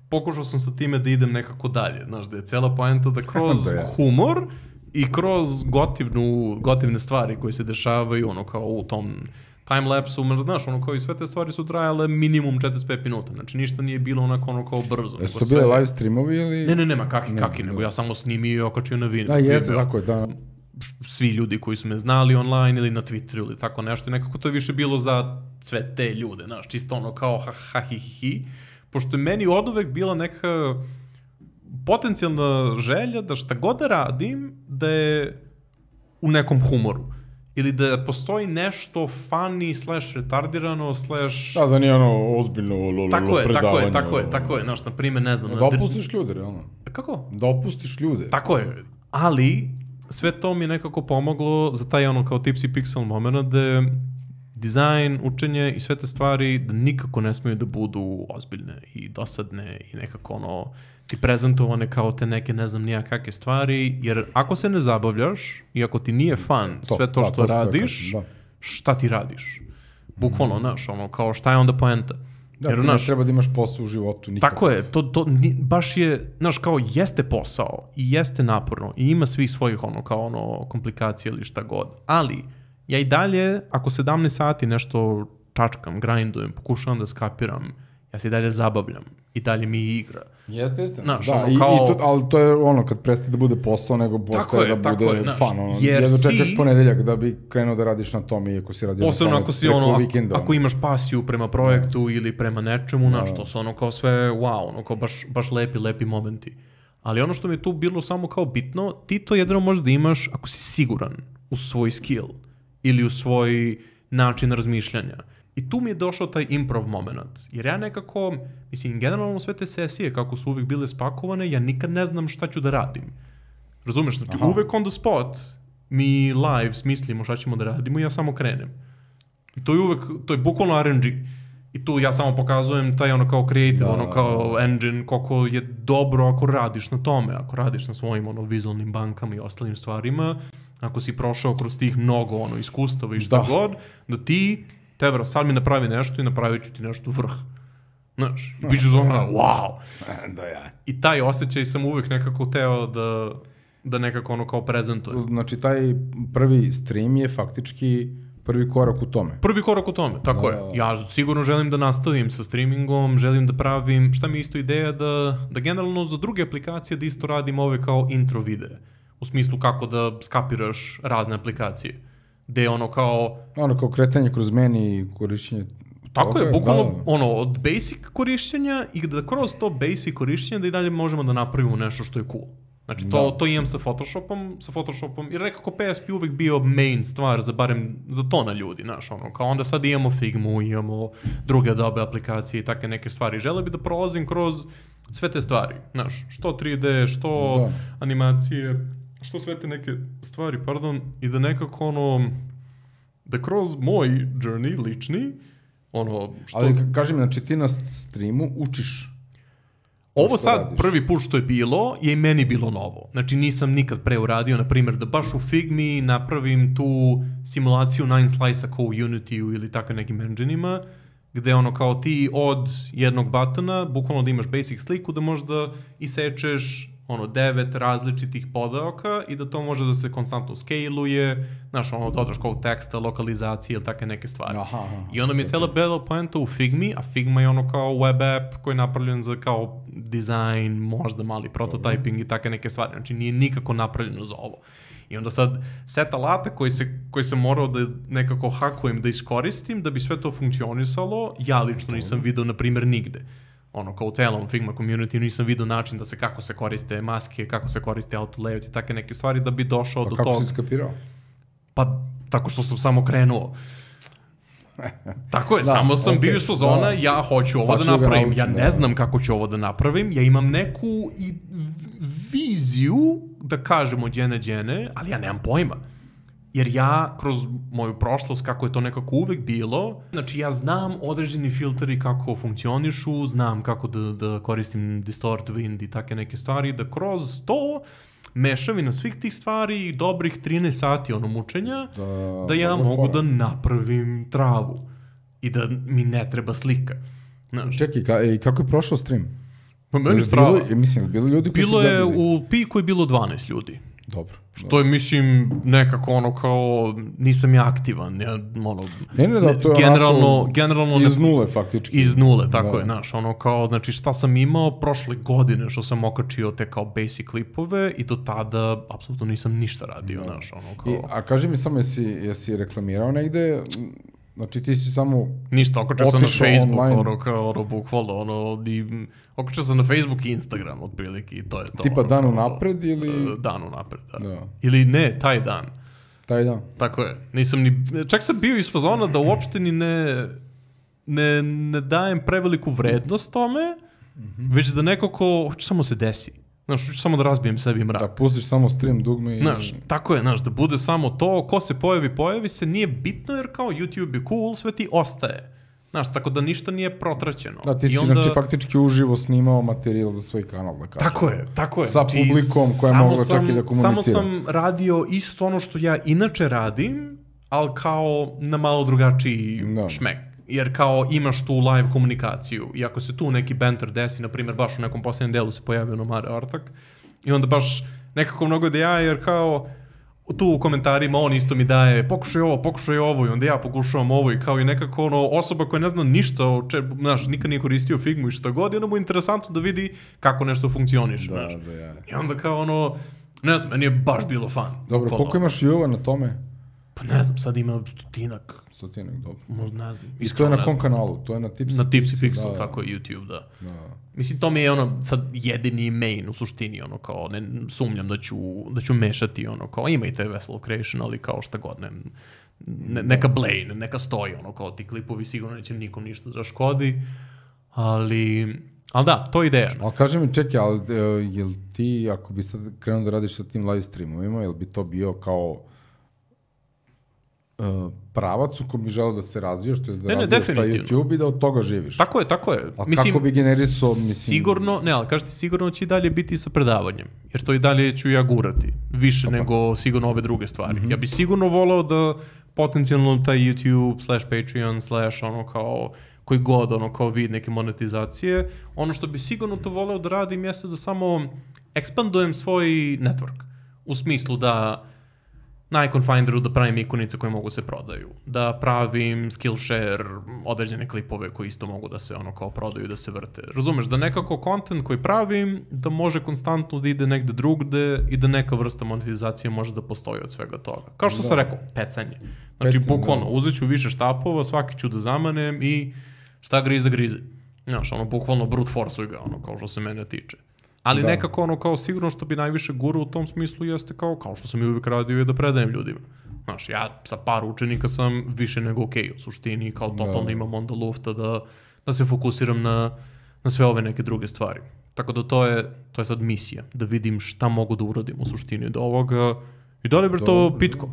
pokušao sam sa time da idem nekako dalje. Znaš, da je cela poenta da kroz da je. humor i kroz gotivnu, gotivne stvari koje se dešavaju, ono kao u tom timelapsu, znaš, ono kao i sve te stvari su trajale minimum četrdeset pet minuta, znači ništa nije bilo onako ono kao brzo. Jesu to bile live streamovi ili? Ne, ne, nema, kaki, kaki, nego ja samo snimio i okačio na Vine. Da, jeste, tako je, da. Svi ljudi koji su me znali online ili na Twitteru ili tako nešto i nekako to je više bilo za sve te ljude, znaš, čisto ono kao ha ha hi hi hi, pošto je meni oduvek bila neka potencijalna želja da šta god da radim da je u nekom humoru ili da postoji nešto funny slash retardirano slash... Da, da nije ono ozbiljno predavanje. Tako je, tako je, tako je, tako je, znaš, na primjer, ne znam... Da opustiš ljude, realno. Kako? Da opustiš ljude. Tako je, ali sve to mi je nekako pomoglo za taj ono kao Tipsy Pixel moment da je dizajn, učenje i sve te stvari da nikako ne smiju da budu ozbiljne i dosadne i nekako ono ti prezentovane kao te neke ne znam nija kakve stvari, jer ako se ne zabavljaš i ako ti nije fun to, sve to što da, radiš, da. Šta ti radiš? Bukvalno, mm. znaš, ono, kao šta je onda poenta? Da, jer, ti naš, ne treba da imaš posao u životu nikako. Tako je, to, to baš je, znaš, kao jeste posao i jeste naporno i ima svih svojih ono, kao ono, komplikacija ili šta god, ali ja i dalje, ako sedamnaest sati nešto čačkam, grindujem, pokušavam da skapiram, ja se i dalje zabavljam i dalje mi igra. Jeste, jeste. Znaš, da, ono i, kao... i to, ali to je ono kad prestaje da bude posao, nego postaje da bude je, znaš, fun. Ono, jedno čekaš si... ponedeljak da bi krenuo da radiš na tom, iako si radio posebno na tome ako si ono, vikenda. Ako imaš pasiju prema projektu da. Ili prema nečemu, znaš, to su ono kao sve wow, ono kao baš, baš lepi, lepi momenti. Ali ono što mi je tu bilo samo kao bitno, ti to jedino možeš da imaš ako si siguran u svoj skill ili u svoj način razmišljanja. I tu mi je došao taj improv moment. Jer ja nekako, mislim, generalno sve te sesije, kako su uvijek bile spakovane, ja nikad ne znam šta ću da radim. Razumeš? Znači, aha. Uvijek on the spot mi live smislimo šta ćemo da radimo i ja samo krenem. I to je uvijek, to je bukvalno R N G. I tu ja samo pokazujem taj ono kao creative, da, ono kao da. Engine, koliko je dobro ako radiš na tome, ako radiš na svojim ono vizualnim bankama i ostalim stvarima, ako si prošao kroz tih mnogo ono iskustava i šta da. God, da ti tebra, sad mi napravi nešto i napravit ću ti nešto vrh. Znaš, i bit ću zona, wow! Da, ja. I taj osjećaj sam uvijek nekako teo da, da nekako ono kao prezentujem. Znači, taj prvi stream je faktički prvi korak u tome. Prvi korak u tome, tako da, je. Ja sigurno želim da nastavim sa streamingom, želim da pravim, šta mi je isto ideja, da, da generalno za druge aplikacije da isto radim ove kao intro videe. U smislu kako da skapiraš razne aplikacije. Gde je ono kao... Ono kao kretanje kroz meni i korišćenje... Tako toga, je, bukvalno da, da. Ono, od basic korišćenja i da kroz to basic korišćenja da i dalje možemo da napravimo nešto što je cool. Znači, to, to imam sa Photoshopom, sa Photoshopom, jer nekako P S P uvek bio main stvar za barem za to na ljudi, znaš, ono, kao onda sad imamo Figmu, imamo druge Adobe aplikacije i takve neke stvari. Želeo bi da prolazim kroz sve te stvari, znaš, što tri D, što da. Animacije, što sve te neke stvari, pardon, i da nekako ono, da kroz moj journey lični, ono, što... Ali kaži mi, znači ti na streamu učiš? Ovo sad, radiš? Prvi put što je bilo, je i meni bilo novo. Znači nisam nikad pre uradio, na primjer, da baš u Figmi napravim tu simulaciju nine slice-a kao u Unity-u ili tako nekim engine-ima, gde ono kao ti od jednog batona, bukvalno da imaš basic sliku, da možda isečeš ono devet različitih podaoka i da to može da se konstantno scale-uje, znaš, ono dodaš kao teksta, lokalizacije ili takve neke stvari. Aha, aha, I onda mi je okay. Cijela bela poenta u Figmi, a Figma je ono kao web app koji je napravljen za kao dizajn, možda mali prototyping mm. i takve neke stvari. Znači nije nikako napravljeno za ovo. I onda sad set alata koji, se, koji sam morao da nekako hakujem, da iskoristim, da bi sve to funkcionisalo, ja lično nisam vidio, na primjer, nigde. Ono, kao u celom Figma community nisam vidio način da se kako se koriste maske, kako se koriste auto layout i takve neke stvari da bi došao pa do toga. Pa kako si skapirao? Pa, tako što sam samo krenuo. Tako je, da, samo sam okay, bio iz fazona, da. Ja hoću ovo sad da napravim, naučim, ja ne da. Znam kako ću ovo da napravim, ja imam neku i viziju, da kažemo djene djene, ali ja nemam pojma. Jer ja, kroz moju prošlost, kako je to nekako uvek bilo, znači ja znam određeni filteri kako funkcionišu, znam kako da, da koristim distort, wind i take neke stvari, da kroz to mešavina svih tih stvari i dobrih trinaest sati ono mučenja, da, da ja mogu fora. Da napravim travu i da mi ne treba slika. Znači, čekaj, ka, e, kako je prošao stream? Pa meni strava. Mislim, bilo ljudi koji bilo su je, u piku je bilo dvanaest ljudi. Dobro. Što je, mislim, nekako ono kao, nisam ja aktivan, ja, ono, ne, ne, da, to je generalno, generalno iz nule faktički. Iz nule, tako da. je, znaš, ono kao, znači šta sam imao prošle godine što sam okačio te kao basic klipove i do tada apsolutno nisam ništa radio, da. znaš, ono kao... I, a kaži mi samo, jesi, jesi reklamirao negde? Znači ti si samo ništa, okačio sam na Facebook, online. ono kao, ono, bukvalno, ono, i, okačio sam na Facebook i Instagram, otprilike, i to je to. Tipa ono, dan kao, unapred ili... Dan unapred, da. da. Ili ne, taj dan. Taj dan. Tako je. Nisam ni, čak sam bio iz fazona da uopšte ni ne, ne, ne dajem preveliku vrednost tome, mm-hmm. već da neko ko, hoće samo se desi. Znaš, hoću samo da razbijem sebi mrak. Da pustiš samo stream dugme i... Znaš, tako je, znaš, da bude samo to, ko se pojavi, pojavi se, nije bitno jer kao YouTube je cool, sve ti ostaje. Znaš, tako da ništa nije protraćeno. Da, ti si onda... znači faktički uživo snimao materijal za svoj kanal, da kažem. Tako je, tako je. Sa znači, publikom koja je mogla čak i da komunicira. Samo sam radio isto ono što ja inače radim, ali kao na malo drugačiji da. šmek. Jer kao imaš tu live komunikaciju i ako se tu neki banter desi, na primjer baš u nekom posljednjem delu se pojavio ono Mare Artak i onda baš nekako mnogo da ja, jer kao tu u komentarima on isto mi daje pokušaj ovo, pokušaj ovo i onda ja pokušavam ovo i kao i nekako ono osoba koja ne zna ništa, o če, znaš, nikad nije koristio Figmu i šta god i onda mu je interesantno da vidi kako nešto funkcioniše. Da, da, ja. I onda kao ono, ne znam, meni je baš bilo fan. Dobro, koliko imaš view-ova na tome? Pa ne znam, sad ima stotinak. Stotinak, dobro. Možda ne znam. I to je na kom kanalu? To je na Tipsy Na Tipsy Pixel, da, tako je YouTube, da. da. Mislim, to mi je ono sad jedini main u suštini, ono kao, ne sumnjam da ću, da ću mešati, ono kao, ima i te Vessel of Creation, ali kao šta god, ne, ne, neka Blaine, neka stoji, ono kao, ti klipovi sigurno neće nikom ništa zaškodi, ali... Ali da, to je ideja. Ali kaži mi, čekaj, ali uh, jel ti, ako bi sad krenuo da radiš sa tim live streamovima, jel bi to bio kao uh, pravac u kom bi želeo da se razvijaš, to je da ne, razvijaš taj YouTube i da od toga živiš? Tako je, tako je. Ali mislim, kako bi generisao, mislim... Sigurno, ne, ali kaži ti, sigurno će i dalje biti sa predavanjem, jer to i dalje ću ja gurati, više Opa. nego sigurno ove druge stvari. Mm-hmm. Ja bi sigurno volao da potencijalno taj YouTube slash Patreon slash ono kao koji god ono kao vid neke monetizacije, ono što bi sigurno to voleo da radim jeste da samo ekspandujem svoj network. U smislu da na Icon Finderu da pravim ikonice koje mogu se prodaju, da pravim Skillshare, određene klipove koji isto mogu da se ono kao prodaju, da se vrte. Razumeš, da nekako content koji pravim, da može konstantno da ide negde drugde i da neka vrsta monetizacije može da postoji od svega toga. Kao što da. sam rekao, pecanje. Znači, Pecen, bukvalno, da. uzet ću više štapova, svaki ću da zamanem i šta grize, grize. Znaš, ono, bukvalno brute force-uj ga, ono, kao što se mene tiče. Ali da. nekako ono kao sigurno što bi najviše gurao u tom smislu jeste kao, kao što sam i uvijek radio je da predajem ljudima. Znaš, ja sa par učenika sam više nego okej, okay, u suštini kao totalno da. imam onda lufta da, da se fokusiram na, na sve ove neke druge stvari. Tako da to je, to je sad misija, da vidim šta mogu da uradim u suštini od ovoga i da li bre to pitko.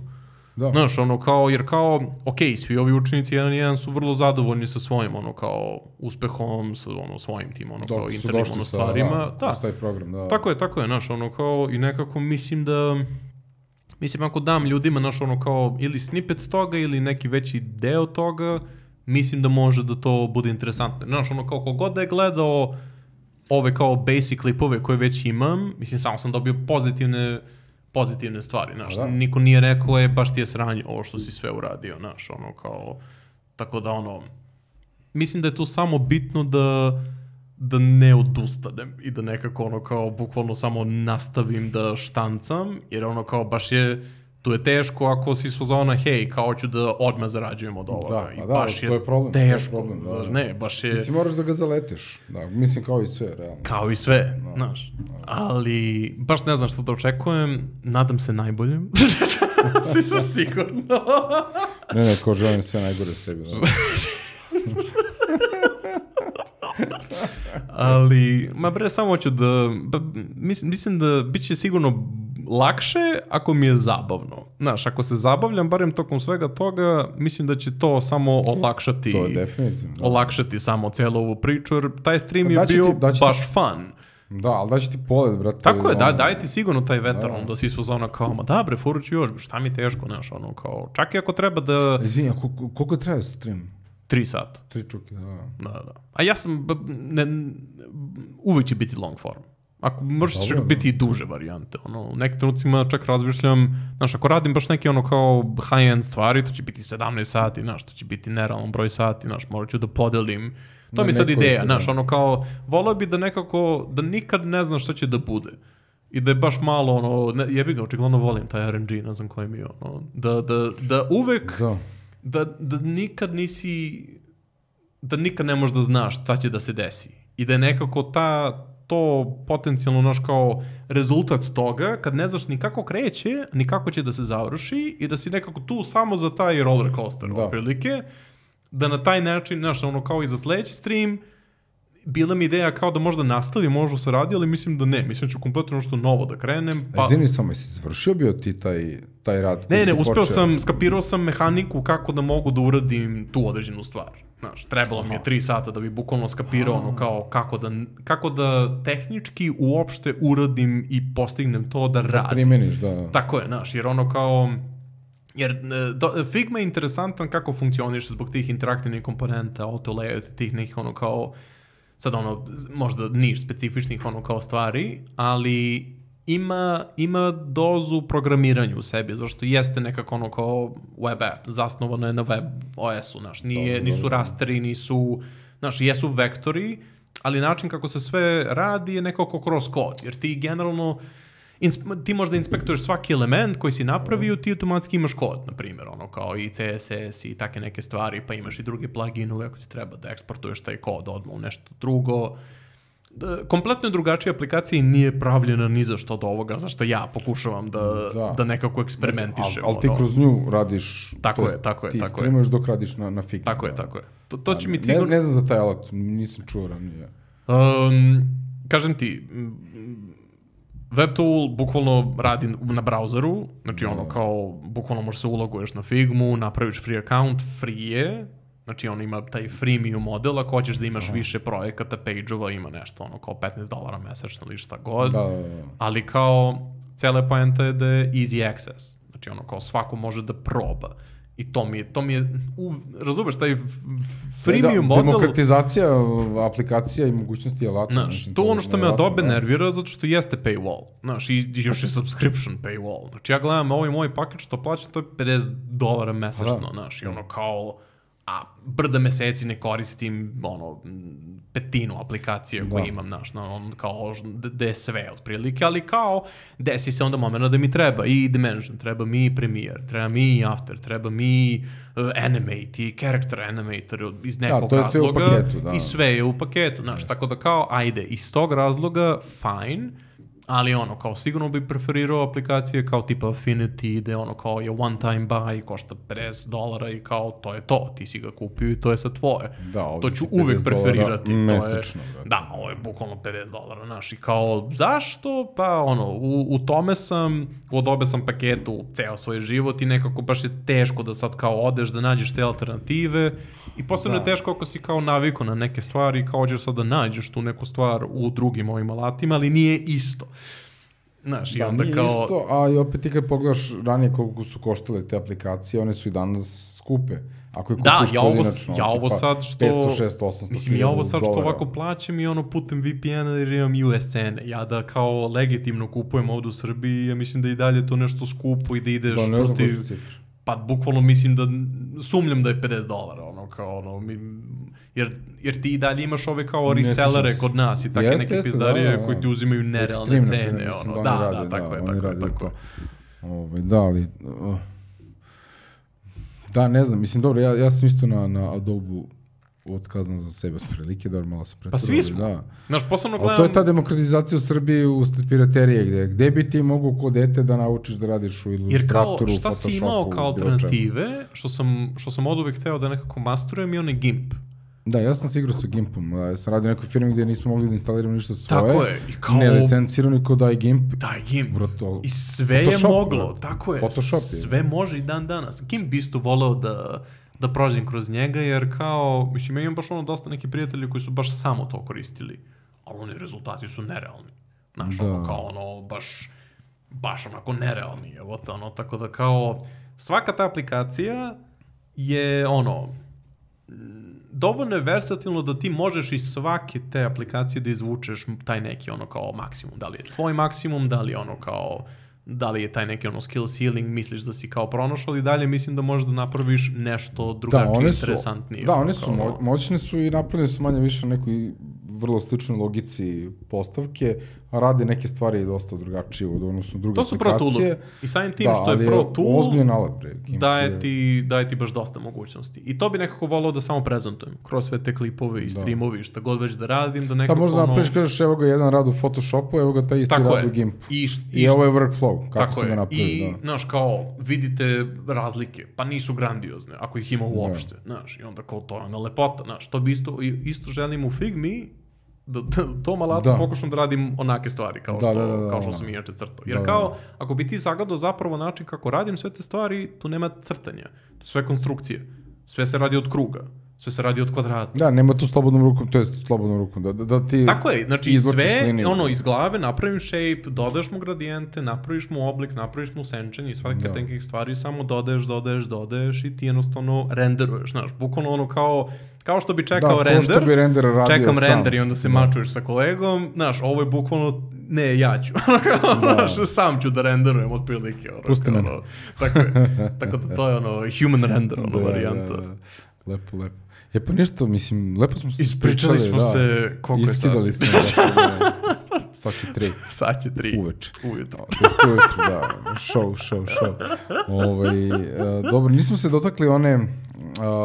Da. Znaš, ono kao, jer kao, ok, svi ovi učenici jedan i jedan su vrlo zadovoljni sa svojim, ono kao, uspehom, sa ono, svojim tim, ono kao, internim ono, stvarima. Da, da. Taj program, da. Tako je, tako je, znaš, ono kao, i nekako mislim da, mislim ako dam ljudima, znaš, ono kao, ili snippet toga, ili neki veći deo toga, mislim da može da to bude interesantno. Znaš, ono kao, kogod da je gledao ove kao basic klipove koje već imam, mislim, samo sam dobio pozitivne pozitivne stvari, znaš, da. niko nije rekao, je, baš ti je sranje ovo što si sve uradio, znaš, ono, kao, tako da, ono, mislim da je tu samo bitno da, da ne odustanem i da nekako, ono, kao, bukvalno samo nastavim da štancam, jer, ono, kao, baš je, tu je teško ako si s fazona, hej, kao ću da odmah zarađujem od ovoga. Da, I da, baš to je problem. Teško, to je problem, da, da. ne, baš je... Mislim, moraš da ga zaleteš, da, mislim, kao i sve, realno. Kao i sve, da, znaš, da. Ali baš ne znam što da očekujem, nadam se najboljem, si se sigurno. ne, ne, ko želim sve najgore sebi, da. Ali, ma bre, samo ću da, ba, mislim, mislim da bit će sigurno lakše ako mi je zabavno. Znaš, ako se zabavljam, barem tokom svega toga, mislim da će to samo olakšati. To je definitivno. Da. Olakšati samo cijelu ovu priču, jer taj stream je bio ti, baš ti, fun. Da, ali daći ti pogled, brate. Tako je, da, daj ti sigurno taj vetar, da, da si svo zona kao, ma da bre, furut ću još, šta mi teško, znaš, ono kao, čak i ako treba da... Izvini, a koliko traje stream? Tri sata. Tri čuke, da. Da, da. A ja sam, ne, uvijek će biti long form. Ako možeš čak biti i duže varijante. Ono, u nekim trenucima čak razmišljam, znaš, ako radim baš neke ono kao high-end stvari, to će biti sedamnaest sati, znaš, to će biti nerealan broj sati, znaš, morat ću da podelim. To mi je sad ideja, znaš, ono kao, volao bi da nekako, da nikad ne znam šta će da bude. I da je baš malo, ono, ne, jebi ga, očigledno volim taj R N G, ne znam koji mi je, ono, da, da, da uvek, da. Da, da nikad nisi, da nikad ne možeš da znaš šta će da se desi. I da je nekako ta, to potencijalno, naš kao rezultat toga, kad ne znaš ni kako kreće, ni kako će da se završi i da si nekako tu samo za taj roller coaster, da. Prilike, da na taj način, znaš, ono kao i za sledeći stream, bila mi ideja kao da možda nastavi, možda se radi, ali mislim da ne. Mislim da ću kompletno nešto novo da krenem. Pa... Izvini samo, jesi završio bio ti taj, taj rad? Ne, ne, uspeo počeo... sam, skapirao sam mehaniku kako da mogu da uradim tu određenu stvar. Znaš, trebalo mi je tri sata da bi bukvalno skapirao ono kao kako da, kako da tehnički uopšte uradim i postignem to da radim. Da primjeniš, da. Tako je, znaš, jer ono kao... Jer do, Figma je interesantan kako funkcioniš zbog tih interaktivnih komponenta, auto layout, tih nekih ono kao... Sad ono, možda niš specifičnih ono kao stvari, ali ima, ima dozu programiranju u sebi, zašto jeste nekako ono kao web app, zasnovano je na web O S-u, znaš, nije, nisu rasteri, nisu, znaš, jesu vektori, ali način kako se sve radi je nekako kroz kod, jer ti generalno, insp- ti možda inspektuješ svaki element koji si napravio, ti automatski imaš kod, na primjer, ono kao i C S S i take neke stvari, pa imaš i druge pluginove ako ti treba da eksportuješ taj kod odmah u nešto drugo. Kompletno je drugačija aplikacija i nije pravljena ni za što od ovoga, za što ja pokušavam da, da. da nekako eksperimentišem. Ali al ti kroz nju radiš, tako je, tako je, ti tako streamuješ dok radiš na, na Figma. Tako je, tako je. To, to će ne, mi cigur... ne znam za taj alat, nisam čuo ranije. Um, kažem ti, WebTool bukvalno radi na brauzeru, znači ono no. kao, bukvalno možeš se uloguješ na Figmu, napraviš free account, free je, znači on ima taj freemium model, ako hoćeš da imaš Aha. više projekata, page-ova, ima nešto ono kao petnaest dolara mesečno ili šta god, da, da, da. Ali kao, cele poenta je da je easy access, znači ono kao svako može da proba. I to mi je, to mi je, u, razumeš, taj freemium da, model... Demokratizacija aplikacija i mogućnosti alata. Znaš, to je ono što me Adobe nervira, zato što jeste paywall. Znaš, i još je subscription paywall. Znači, ja gledam ovaj moj paket što plaćam, to je pedeset dolara mesečno, znaš, i ono kao... A brda meseci ne koristim, ono, petinu aplikacije da. Koje imam, znaš, on, kao, da je sve otprilike, ali kao, desi se onda momena da mi treba i Dimension, treba mi Premiere, treba mi After, treba mi uh, Animate i Character Animator iz nekog da, to je razloga. Sve u paketu, da. I sve je u paketu, znaš, yes. Tako da kao, ajde, iz tog razloga, fine, ali ono, kao sigurno bi preferirao aplikacije kao tipa Affinity, gde ono kao je one time buy, košta pedeset dolara i kao to je to, ti si ga kupio i to je sad tvoje. Da, to ću uvek preferirati. Mesečno. To je, da, ovo je bukvalno pedeset dolara, znaš, i kao zašto? Pa ono, u, u tome sam, u Adobe sam paketu ceo svoj život i nekako baš je teško da sad kao odeš da nađeš te alternative i posebno da. Je teško ako si kao naviku na neke stvari, kao hoćeš sad da nađeš tu neku stvar u drugim ovim alatima, ali nije isto. Znaš, da, i onda nije kao... isto, a i opet ti kad pogledaš ranije koliko su koštale te aplikacije, one su i danas skupe. Ako je kupiš da, ja ovo, ja ovo sad što... petsto, šesto, osamsto mislim, ja ovo sad što dolara. Ovako plaćam i ono putem V P N-a jer imam U S cene. Ja da kao legitimno kupujem ovdje u Srbiji, ja mislim da i dalje to nešto skupo i da ideš da, ne znam protiv... cifre. Pa bukvalno mislim da sumnjam da je pedeset dolara, ono kao ono, mi, jer, jer ti i dalje imaš ove kao resellere kod nas i take neke pizdarije da, da, koji ti uzimaju nerealne cene, ono, da, da, da, tako je, tako je, tako je. Ove, da, ali, uh, da, ne znam, mislim, dobro, ja, ja sam isto na, na Adobe otkazan za sebe od prilike, da malo se pretvorili. Pa svi smo. Da. Znaš, posebno gledam... Ali to je ta demokratizacija u Srbiji usled piraterije, gde, gde bi ti mogu kod dete da naučiš da radiš u Illustratoru, Photoshopu, šta si imao kao alternative, što sam, što sam od uvek hteo da nekako masturujem i on je GIMP. Da, ja sam se igrao sa GIMPom. Ja sam radio u nekoj firmi gdje nismo mogli da instaliramo ništa svoje. Tako je. I kao... Ne licencirano i kao daj GIMP. Daj GIMP. Bro, I sve Photoshop, je moglo. Bro. Tako je. Photoshop je. Sve može i dan danas. GIMP bi isto voleo da... da prođem kroz njega, jer kao, mislim, ja imam baš ono dosta neki prijatelji koji su baš samo to koristili, ali oni rezultati su nerealni. Znaš, ono, kao ono, baš, baš onako nerealni, evo to, ono, tako da kao, svaka ta aplikacija je, ono, dovoljno je versatilno da ti možeš iz svake te aplikacije da izvučeš taj neki ono kao maksimum. Da li je tvoj maksimum, da li je ono kao, da li je taj neki ono skill ceiling, misliš da si kao pronašao i dalje mislim da možeš da napraviš nešto drugačije, da, interesantnije. Da, oni su mo moćni su i napravili su manje više nekoj vrlo sličnoj logici postavke, a rade neke stvari dosta drugačije od odnosno druge aplikacije. To su Pro Tool. I samim tim da, što je Pro Tool, ozbiljan alat, bre, daje ti, daje ti baš dosta mogućnosti. I to bi nekako volao da samo prezentujem. Kroz sve te klipove i streamovi, šta god već da radim, da nekako... Da, možda ono... napraviš, kažeš, evo ga jedan rad u Photoshopu, evo ga taj isti tako rad je. u Gimpu. I, I, I ovo je workflow, kako tako se ga napravi. I, da. znaš, kao, vidite razlike, pa nisu grandiozne, ako ih ima uopšte, da. znaš, i onda kao to je ona lepota, znaš, to bi isto, isto želim u Figmi, da, da tom alatu da. pokušam da radim onake stvari kao što, da, da, da, kao što sam inače crtao. Jer da, kao, ako bi ti zagledao zapravo način kako radim sve te stvari, tu nema crtanja. To je sve konstrukcije. Sve se radi od kruga. Sve se radi od kvadrata. Da, nema tu slobodnom rukom, to je slobodnom rukom, da, da ti tako je, znači sve, liniju. ono, iz glave napravim shape, dodaš mu gradijente, napraviš mu oblik, napraviš mu senčenje i svake tenkih stvari, samo dodaješ, dodaješ, dodaješ i ti jednostavno renderuješ, znaš, bukvalno ono kao, kao što bi čekao da, render, bi render čekam sam. render i onda se da. mačuješ sa kolegom, znaš, ovo je bukvalno, ne, ja ću, znaš, sam ću da renderujem otprilike, ono, pusti me. Ono, tako je, tako da to je ono, human render, ono, da, varijanta. Da, da. Lepo, lepo. Je pa ništo, mislim, lepo smo se ispričali. Ispričali smo da, se, koliko je sad? Iskidali smo, da, sad će tri. Sad će tri. Uveče. Ujutro. To je ujutro, da, show, show, show. Ovaj, uh, dobro, nismo se dotakli one uh,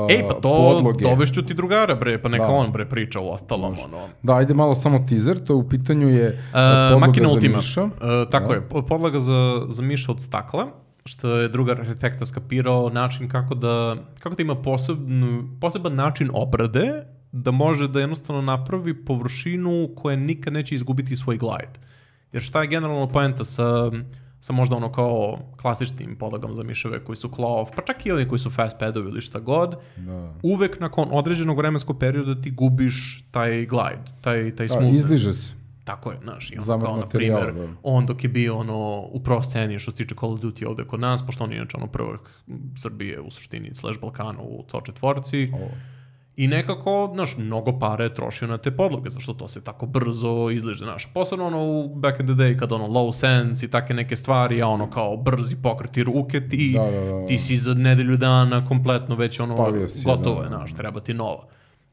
Ej, pa to podloge. Dovešću ti drugara, bre, pa neka da. on, bre, priča o ostalom, ono. Da, ajde malo samo teaser, to u pitanju je uh, uh, podloga Makina za Ultima. Miša. Uh, tako da. je, podloga za, za Miša od stakla. Što je drugar arhitekta skapirao način kako da, kako da ima posebnu, poseban način obrade, da može da jednostavno napravi površinu koja nikad neće izgubiti svoj glide. Jer šta je generalno poenta sa, sa možda ono kao klasičnim podlogama za miševe koji su claw, pa čak i oni koji su fast padovi ili šta god, da. uvek nakon određenog vremenskog perioda ti gubiš taj glide, taj, taj smoothness. Izliže se. Tako je, znaš, i ono kao, na primjer, on dok je bio ono, u pro sceni što se tiče Call of Duty ovde kod nas, pošto on je inače ono prvak Srbije u suštini, slash Balkana u C O četvorci, oh. i nekako, znaš, mnogo pare je trošio na te podloge, zašto to se tako brzo izliže, znaš, posebno ono u back in the day, kad ono low sense i take neke stvari, a ono kao brzi pokreti ruke, ti, da, da, da. ti si za nedelju dana kompletno već ono, si, gotovo je, da, da. znaš, treba ti nova.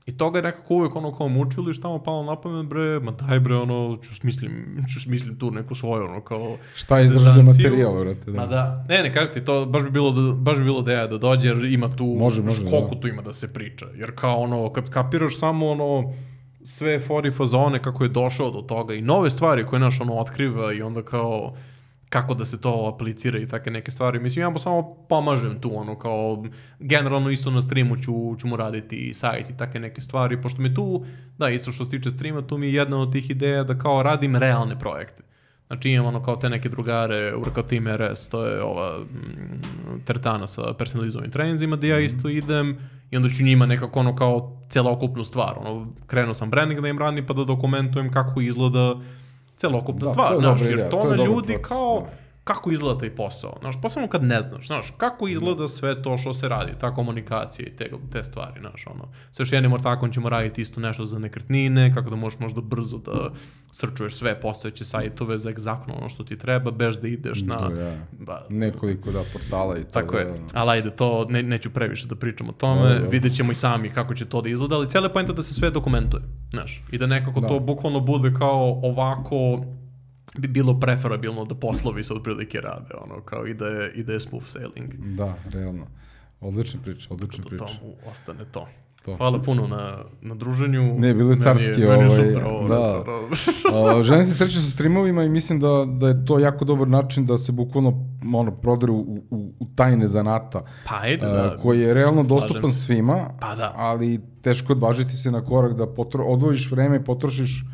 I toga je nekako uvek ono kao mučili, šta mu palo na pamet, bre, ma daj bre, ono, ću smislim, ću smislim tu neku svoju, ono, kao... Šta je izražen materijal, vrate, da. Ma da, ne, ne, kažeš ti, to baš bi bilo, da, baš bi bilo ideja da dođe, jer ima tu, može, može, koliko da. tu ima da se priča, jer kao ono, kad skapiraš samo ono, sve fori fazone kako je došao do toga i nove stvari koje naš ono otkriva i onda kao... kako da se to aplicira i take neke stvari. Mislim, ja mu samo pomažem tu, ono, kao, generalno isto na streamu ću, ću mu raditi sajt i take neke stvari, pošto mi tu, da, isto što se tiče streama, tu mi je jedna od tih ideja da kao radim realne projekte. Znači imam ono kao te neke drugare, kao Team R S, to je ova mm, teretana sa personalizovanim treninzima, gde ja isto idem i onda ću njima nekako ono kao celokupnu stvar. Ono, krenuo sam branding da im radim pa da dokumentujem kako izgleda celokupna da, stvar, znaš, jer to, to na ljudi proces, kao, da. kako izgleda taj posao, znaš, posebno kad ne znaš, znaš, kako izgleda sve to što se radi, ta komunikacija i te, te stvari, znaš, ono, sa još jednim ortakom ćemo raditi isto nešto za nekretnine, kako da možeš možda brzo da srčuješ sve postojeće sajtove za egzaktno ono što ti treba, bez da ideš na... Da, ja. ba, nekoliko, da, portala i to. Tako da, je, da. ali ajde, to ne, neću previše da pričam o tome, da, da. Vidjet ćemo i sami kako će to da izgleda, ali cijela poenta da se sve dokumentuje, znaš, i da nekako da. to bukvalno bude kao ovako... bi bilo preferabilno da poslovi se otprilike rade, ono, kao i da je, i da je smooth sailing. Da, realno. Odlična priča, odlična priča. Da tomu ostane to. to. Hvala puno na, na druženju. Ne, bilo je carski. Meni je, meni je ovaj, da. uh, želim se sreću sa streamovima i mislim da, da je to jako dobar način da se bukvalno ono, proderu u, u, u tajne zanata. Pa ajde, da. Uh, koji je realno dostupan se. svima, pa da. ali teško odvažiti se na korak da potro, odvojiš vreme i potrošiš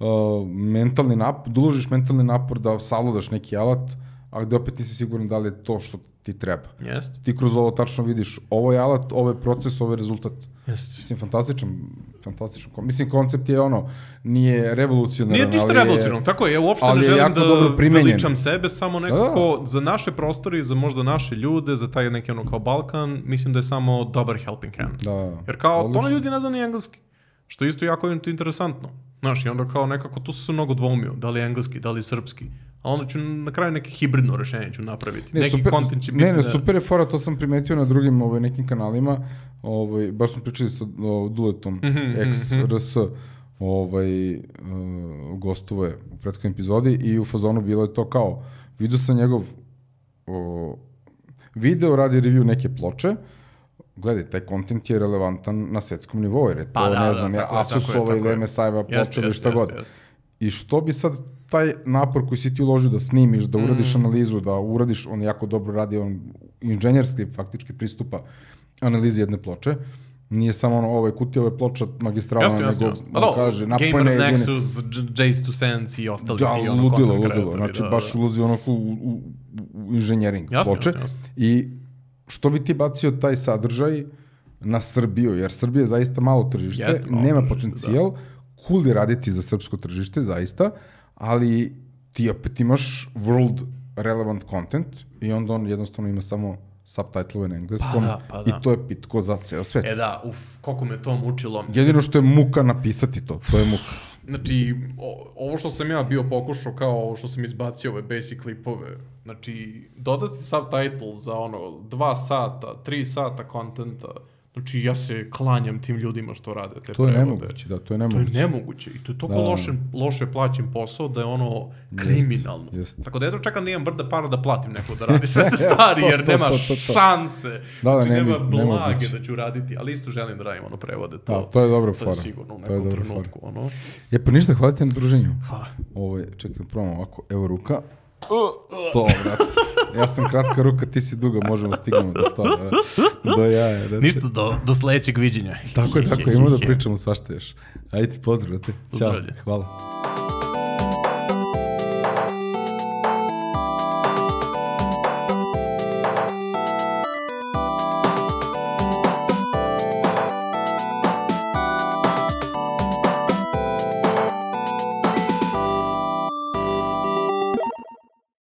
Uh, mentalni napor, da uložiš mentalni napor da savladaš neki alat, a gde opet nisi siguran da li je to što ti treba. Jeste. Ti kroz ovo tačno vidiš, ovo je alat, ovo je proces, ovo je rezultat. Jeste. Mislim, fantastičan, fantastičan. Mislim, koncept je ono, nije revolucionaran, Nije ništa revolucionarno, tako je, ja uopšte ne želim da veličam sebe, samo nekako da. Za naše prostore, za možda naše ljude, za taj neki ono kao Balkan, mislim da je samo dobar helping hand. Da. Jer kao, to ljudi ne zna ni engleski, što isto jako je interesantno. Znaš, i onda kao nekako, tu su se mnogo dvoumio, da li je engleski, da li je srpski. A onda ću na kraju neke hibridno rešenje ću napraviti. Ne, neki super, content će biti... Ne, ne, super je fora, to sam primetio na drugim ovaj, nekim kanalima. Ovaj, baš smo pričali sa o, Duletom, mm -hmm, ex R S, ovaj, uh, gostuje u prethodnoj epizodi i u fazonu bilo je to kao, vidio sam njegov o, video, radi review neke ploče, gledaj, taj kontent je relevantan na svetskom nivou, jer je to, pa, da, ne znam, da, ja, Asusova ili M S I-va ploča ili šta god. Jest, jest. I što bi sad taj napor koji si ti uložio da snimiš, da uradiš mm. analizu, da uradiš, on jako dobro radi, on inženjerski faktički pristupa analizi jedne ploče, nije samo ono, ovo je kutija, ovo je ploča magistralna, nego jasno, jasno. On kaže, napojne jedine... Gamer Nexus, Jace to Sense i ostali da, ti ono ludilo, content ludilo. Znači, da, baš da. ulazi onako u, u, u inženjering jasno, ploče. Jasno, jasno. I što bi ti bacio taj sadržaj na Srbiju, jer Srbija je zaista malo tržište, Jeste, malo nema tržište, potencijal, da. Cool je raditi za srpsko tržište, zaista, ali ti opet imaš world relevant content i onda on jednostavno ima samo subtitle na engleskom pa da, pa da. I to je pitko za ceo svet. E da, uf, koliko me to mučilo. Jedino što je muka napisati to, to je muka. Znači, o, ovo što sam ja bio pokušao kao ovo što sam izbacio ove basic klipove, znači, dodati subtitle za ono dva sata, tri sata kontenta, znači ja se klanjam tim ljudima što rade te to je prevode. Nemoguće, da, to je nemoguće. To je nemoguće i to je toliko da. loše, loše plaćen posao da je ono kriminalno. Jest, jest. Tako da jedno čekam da imam brda para da platim neko da radi sve te stvari, jer nema to, to, to, to. šanse, da, da, znači nema blage da ću raditi, ali isto želim da radim ono prevode. To, da, to je dobro fora. To je sigurno u nekom trenutku. Ono. Je pa ništa, hvala ti na druženju. Hvala. Ovo je, čekaj, probamo ovako, evo ruka. To, brate. Ja sam kratka ruka, ti si duga, možemo stignemo do toga. Do jaja, brate. Ništa, do, do sledećeg viđenja. Tako je, tako je, imamo da pričamo svašta još. Ajde ti pozdrav, brate. Ćao, hvala.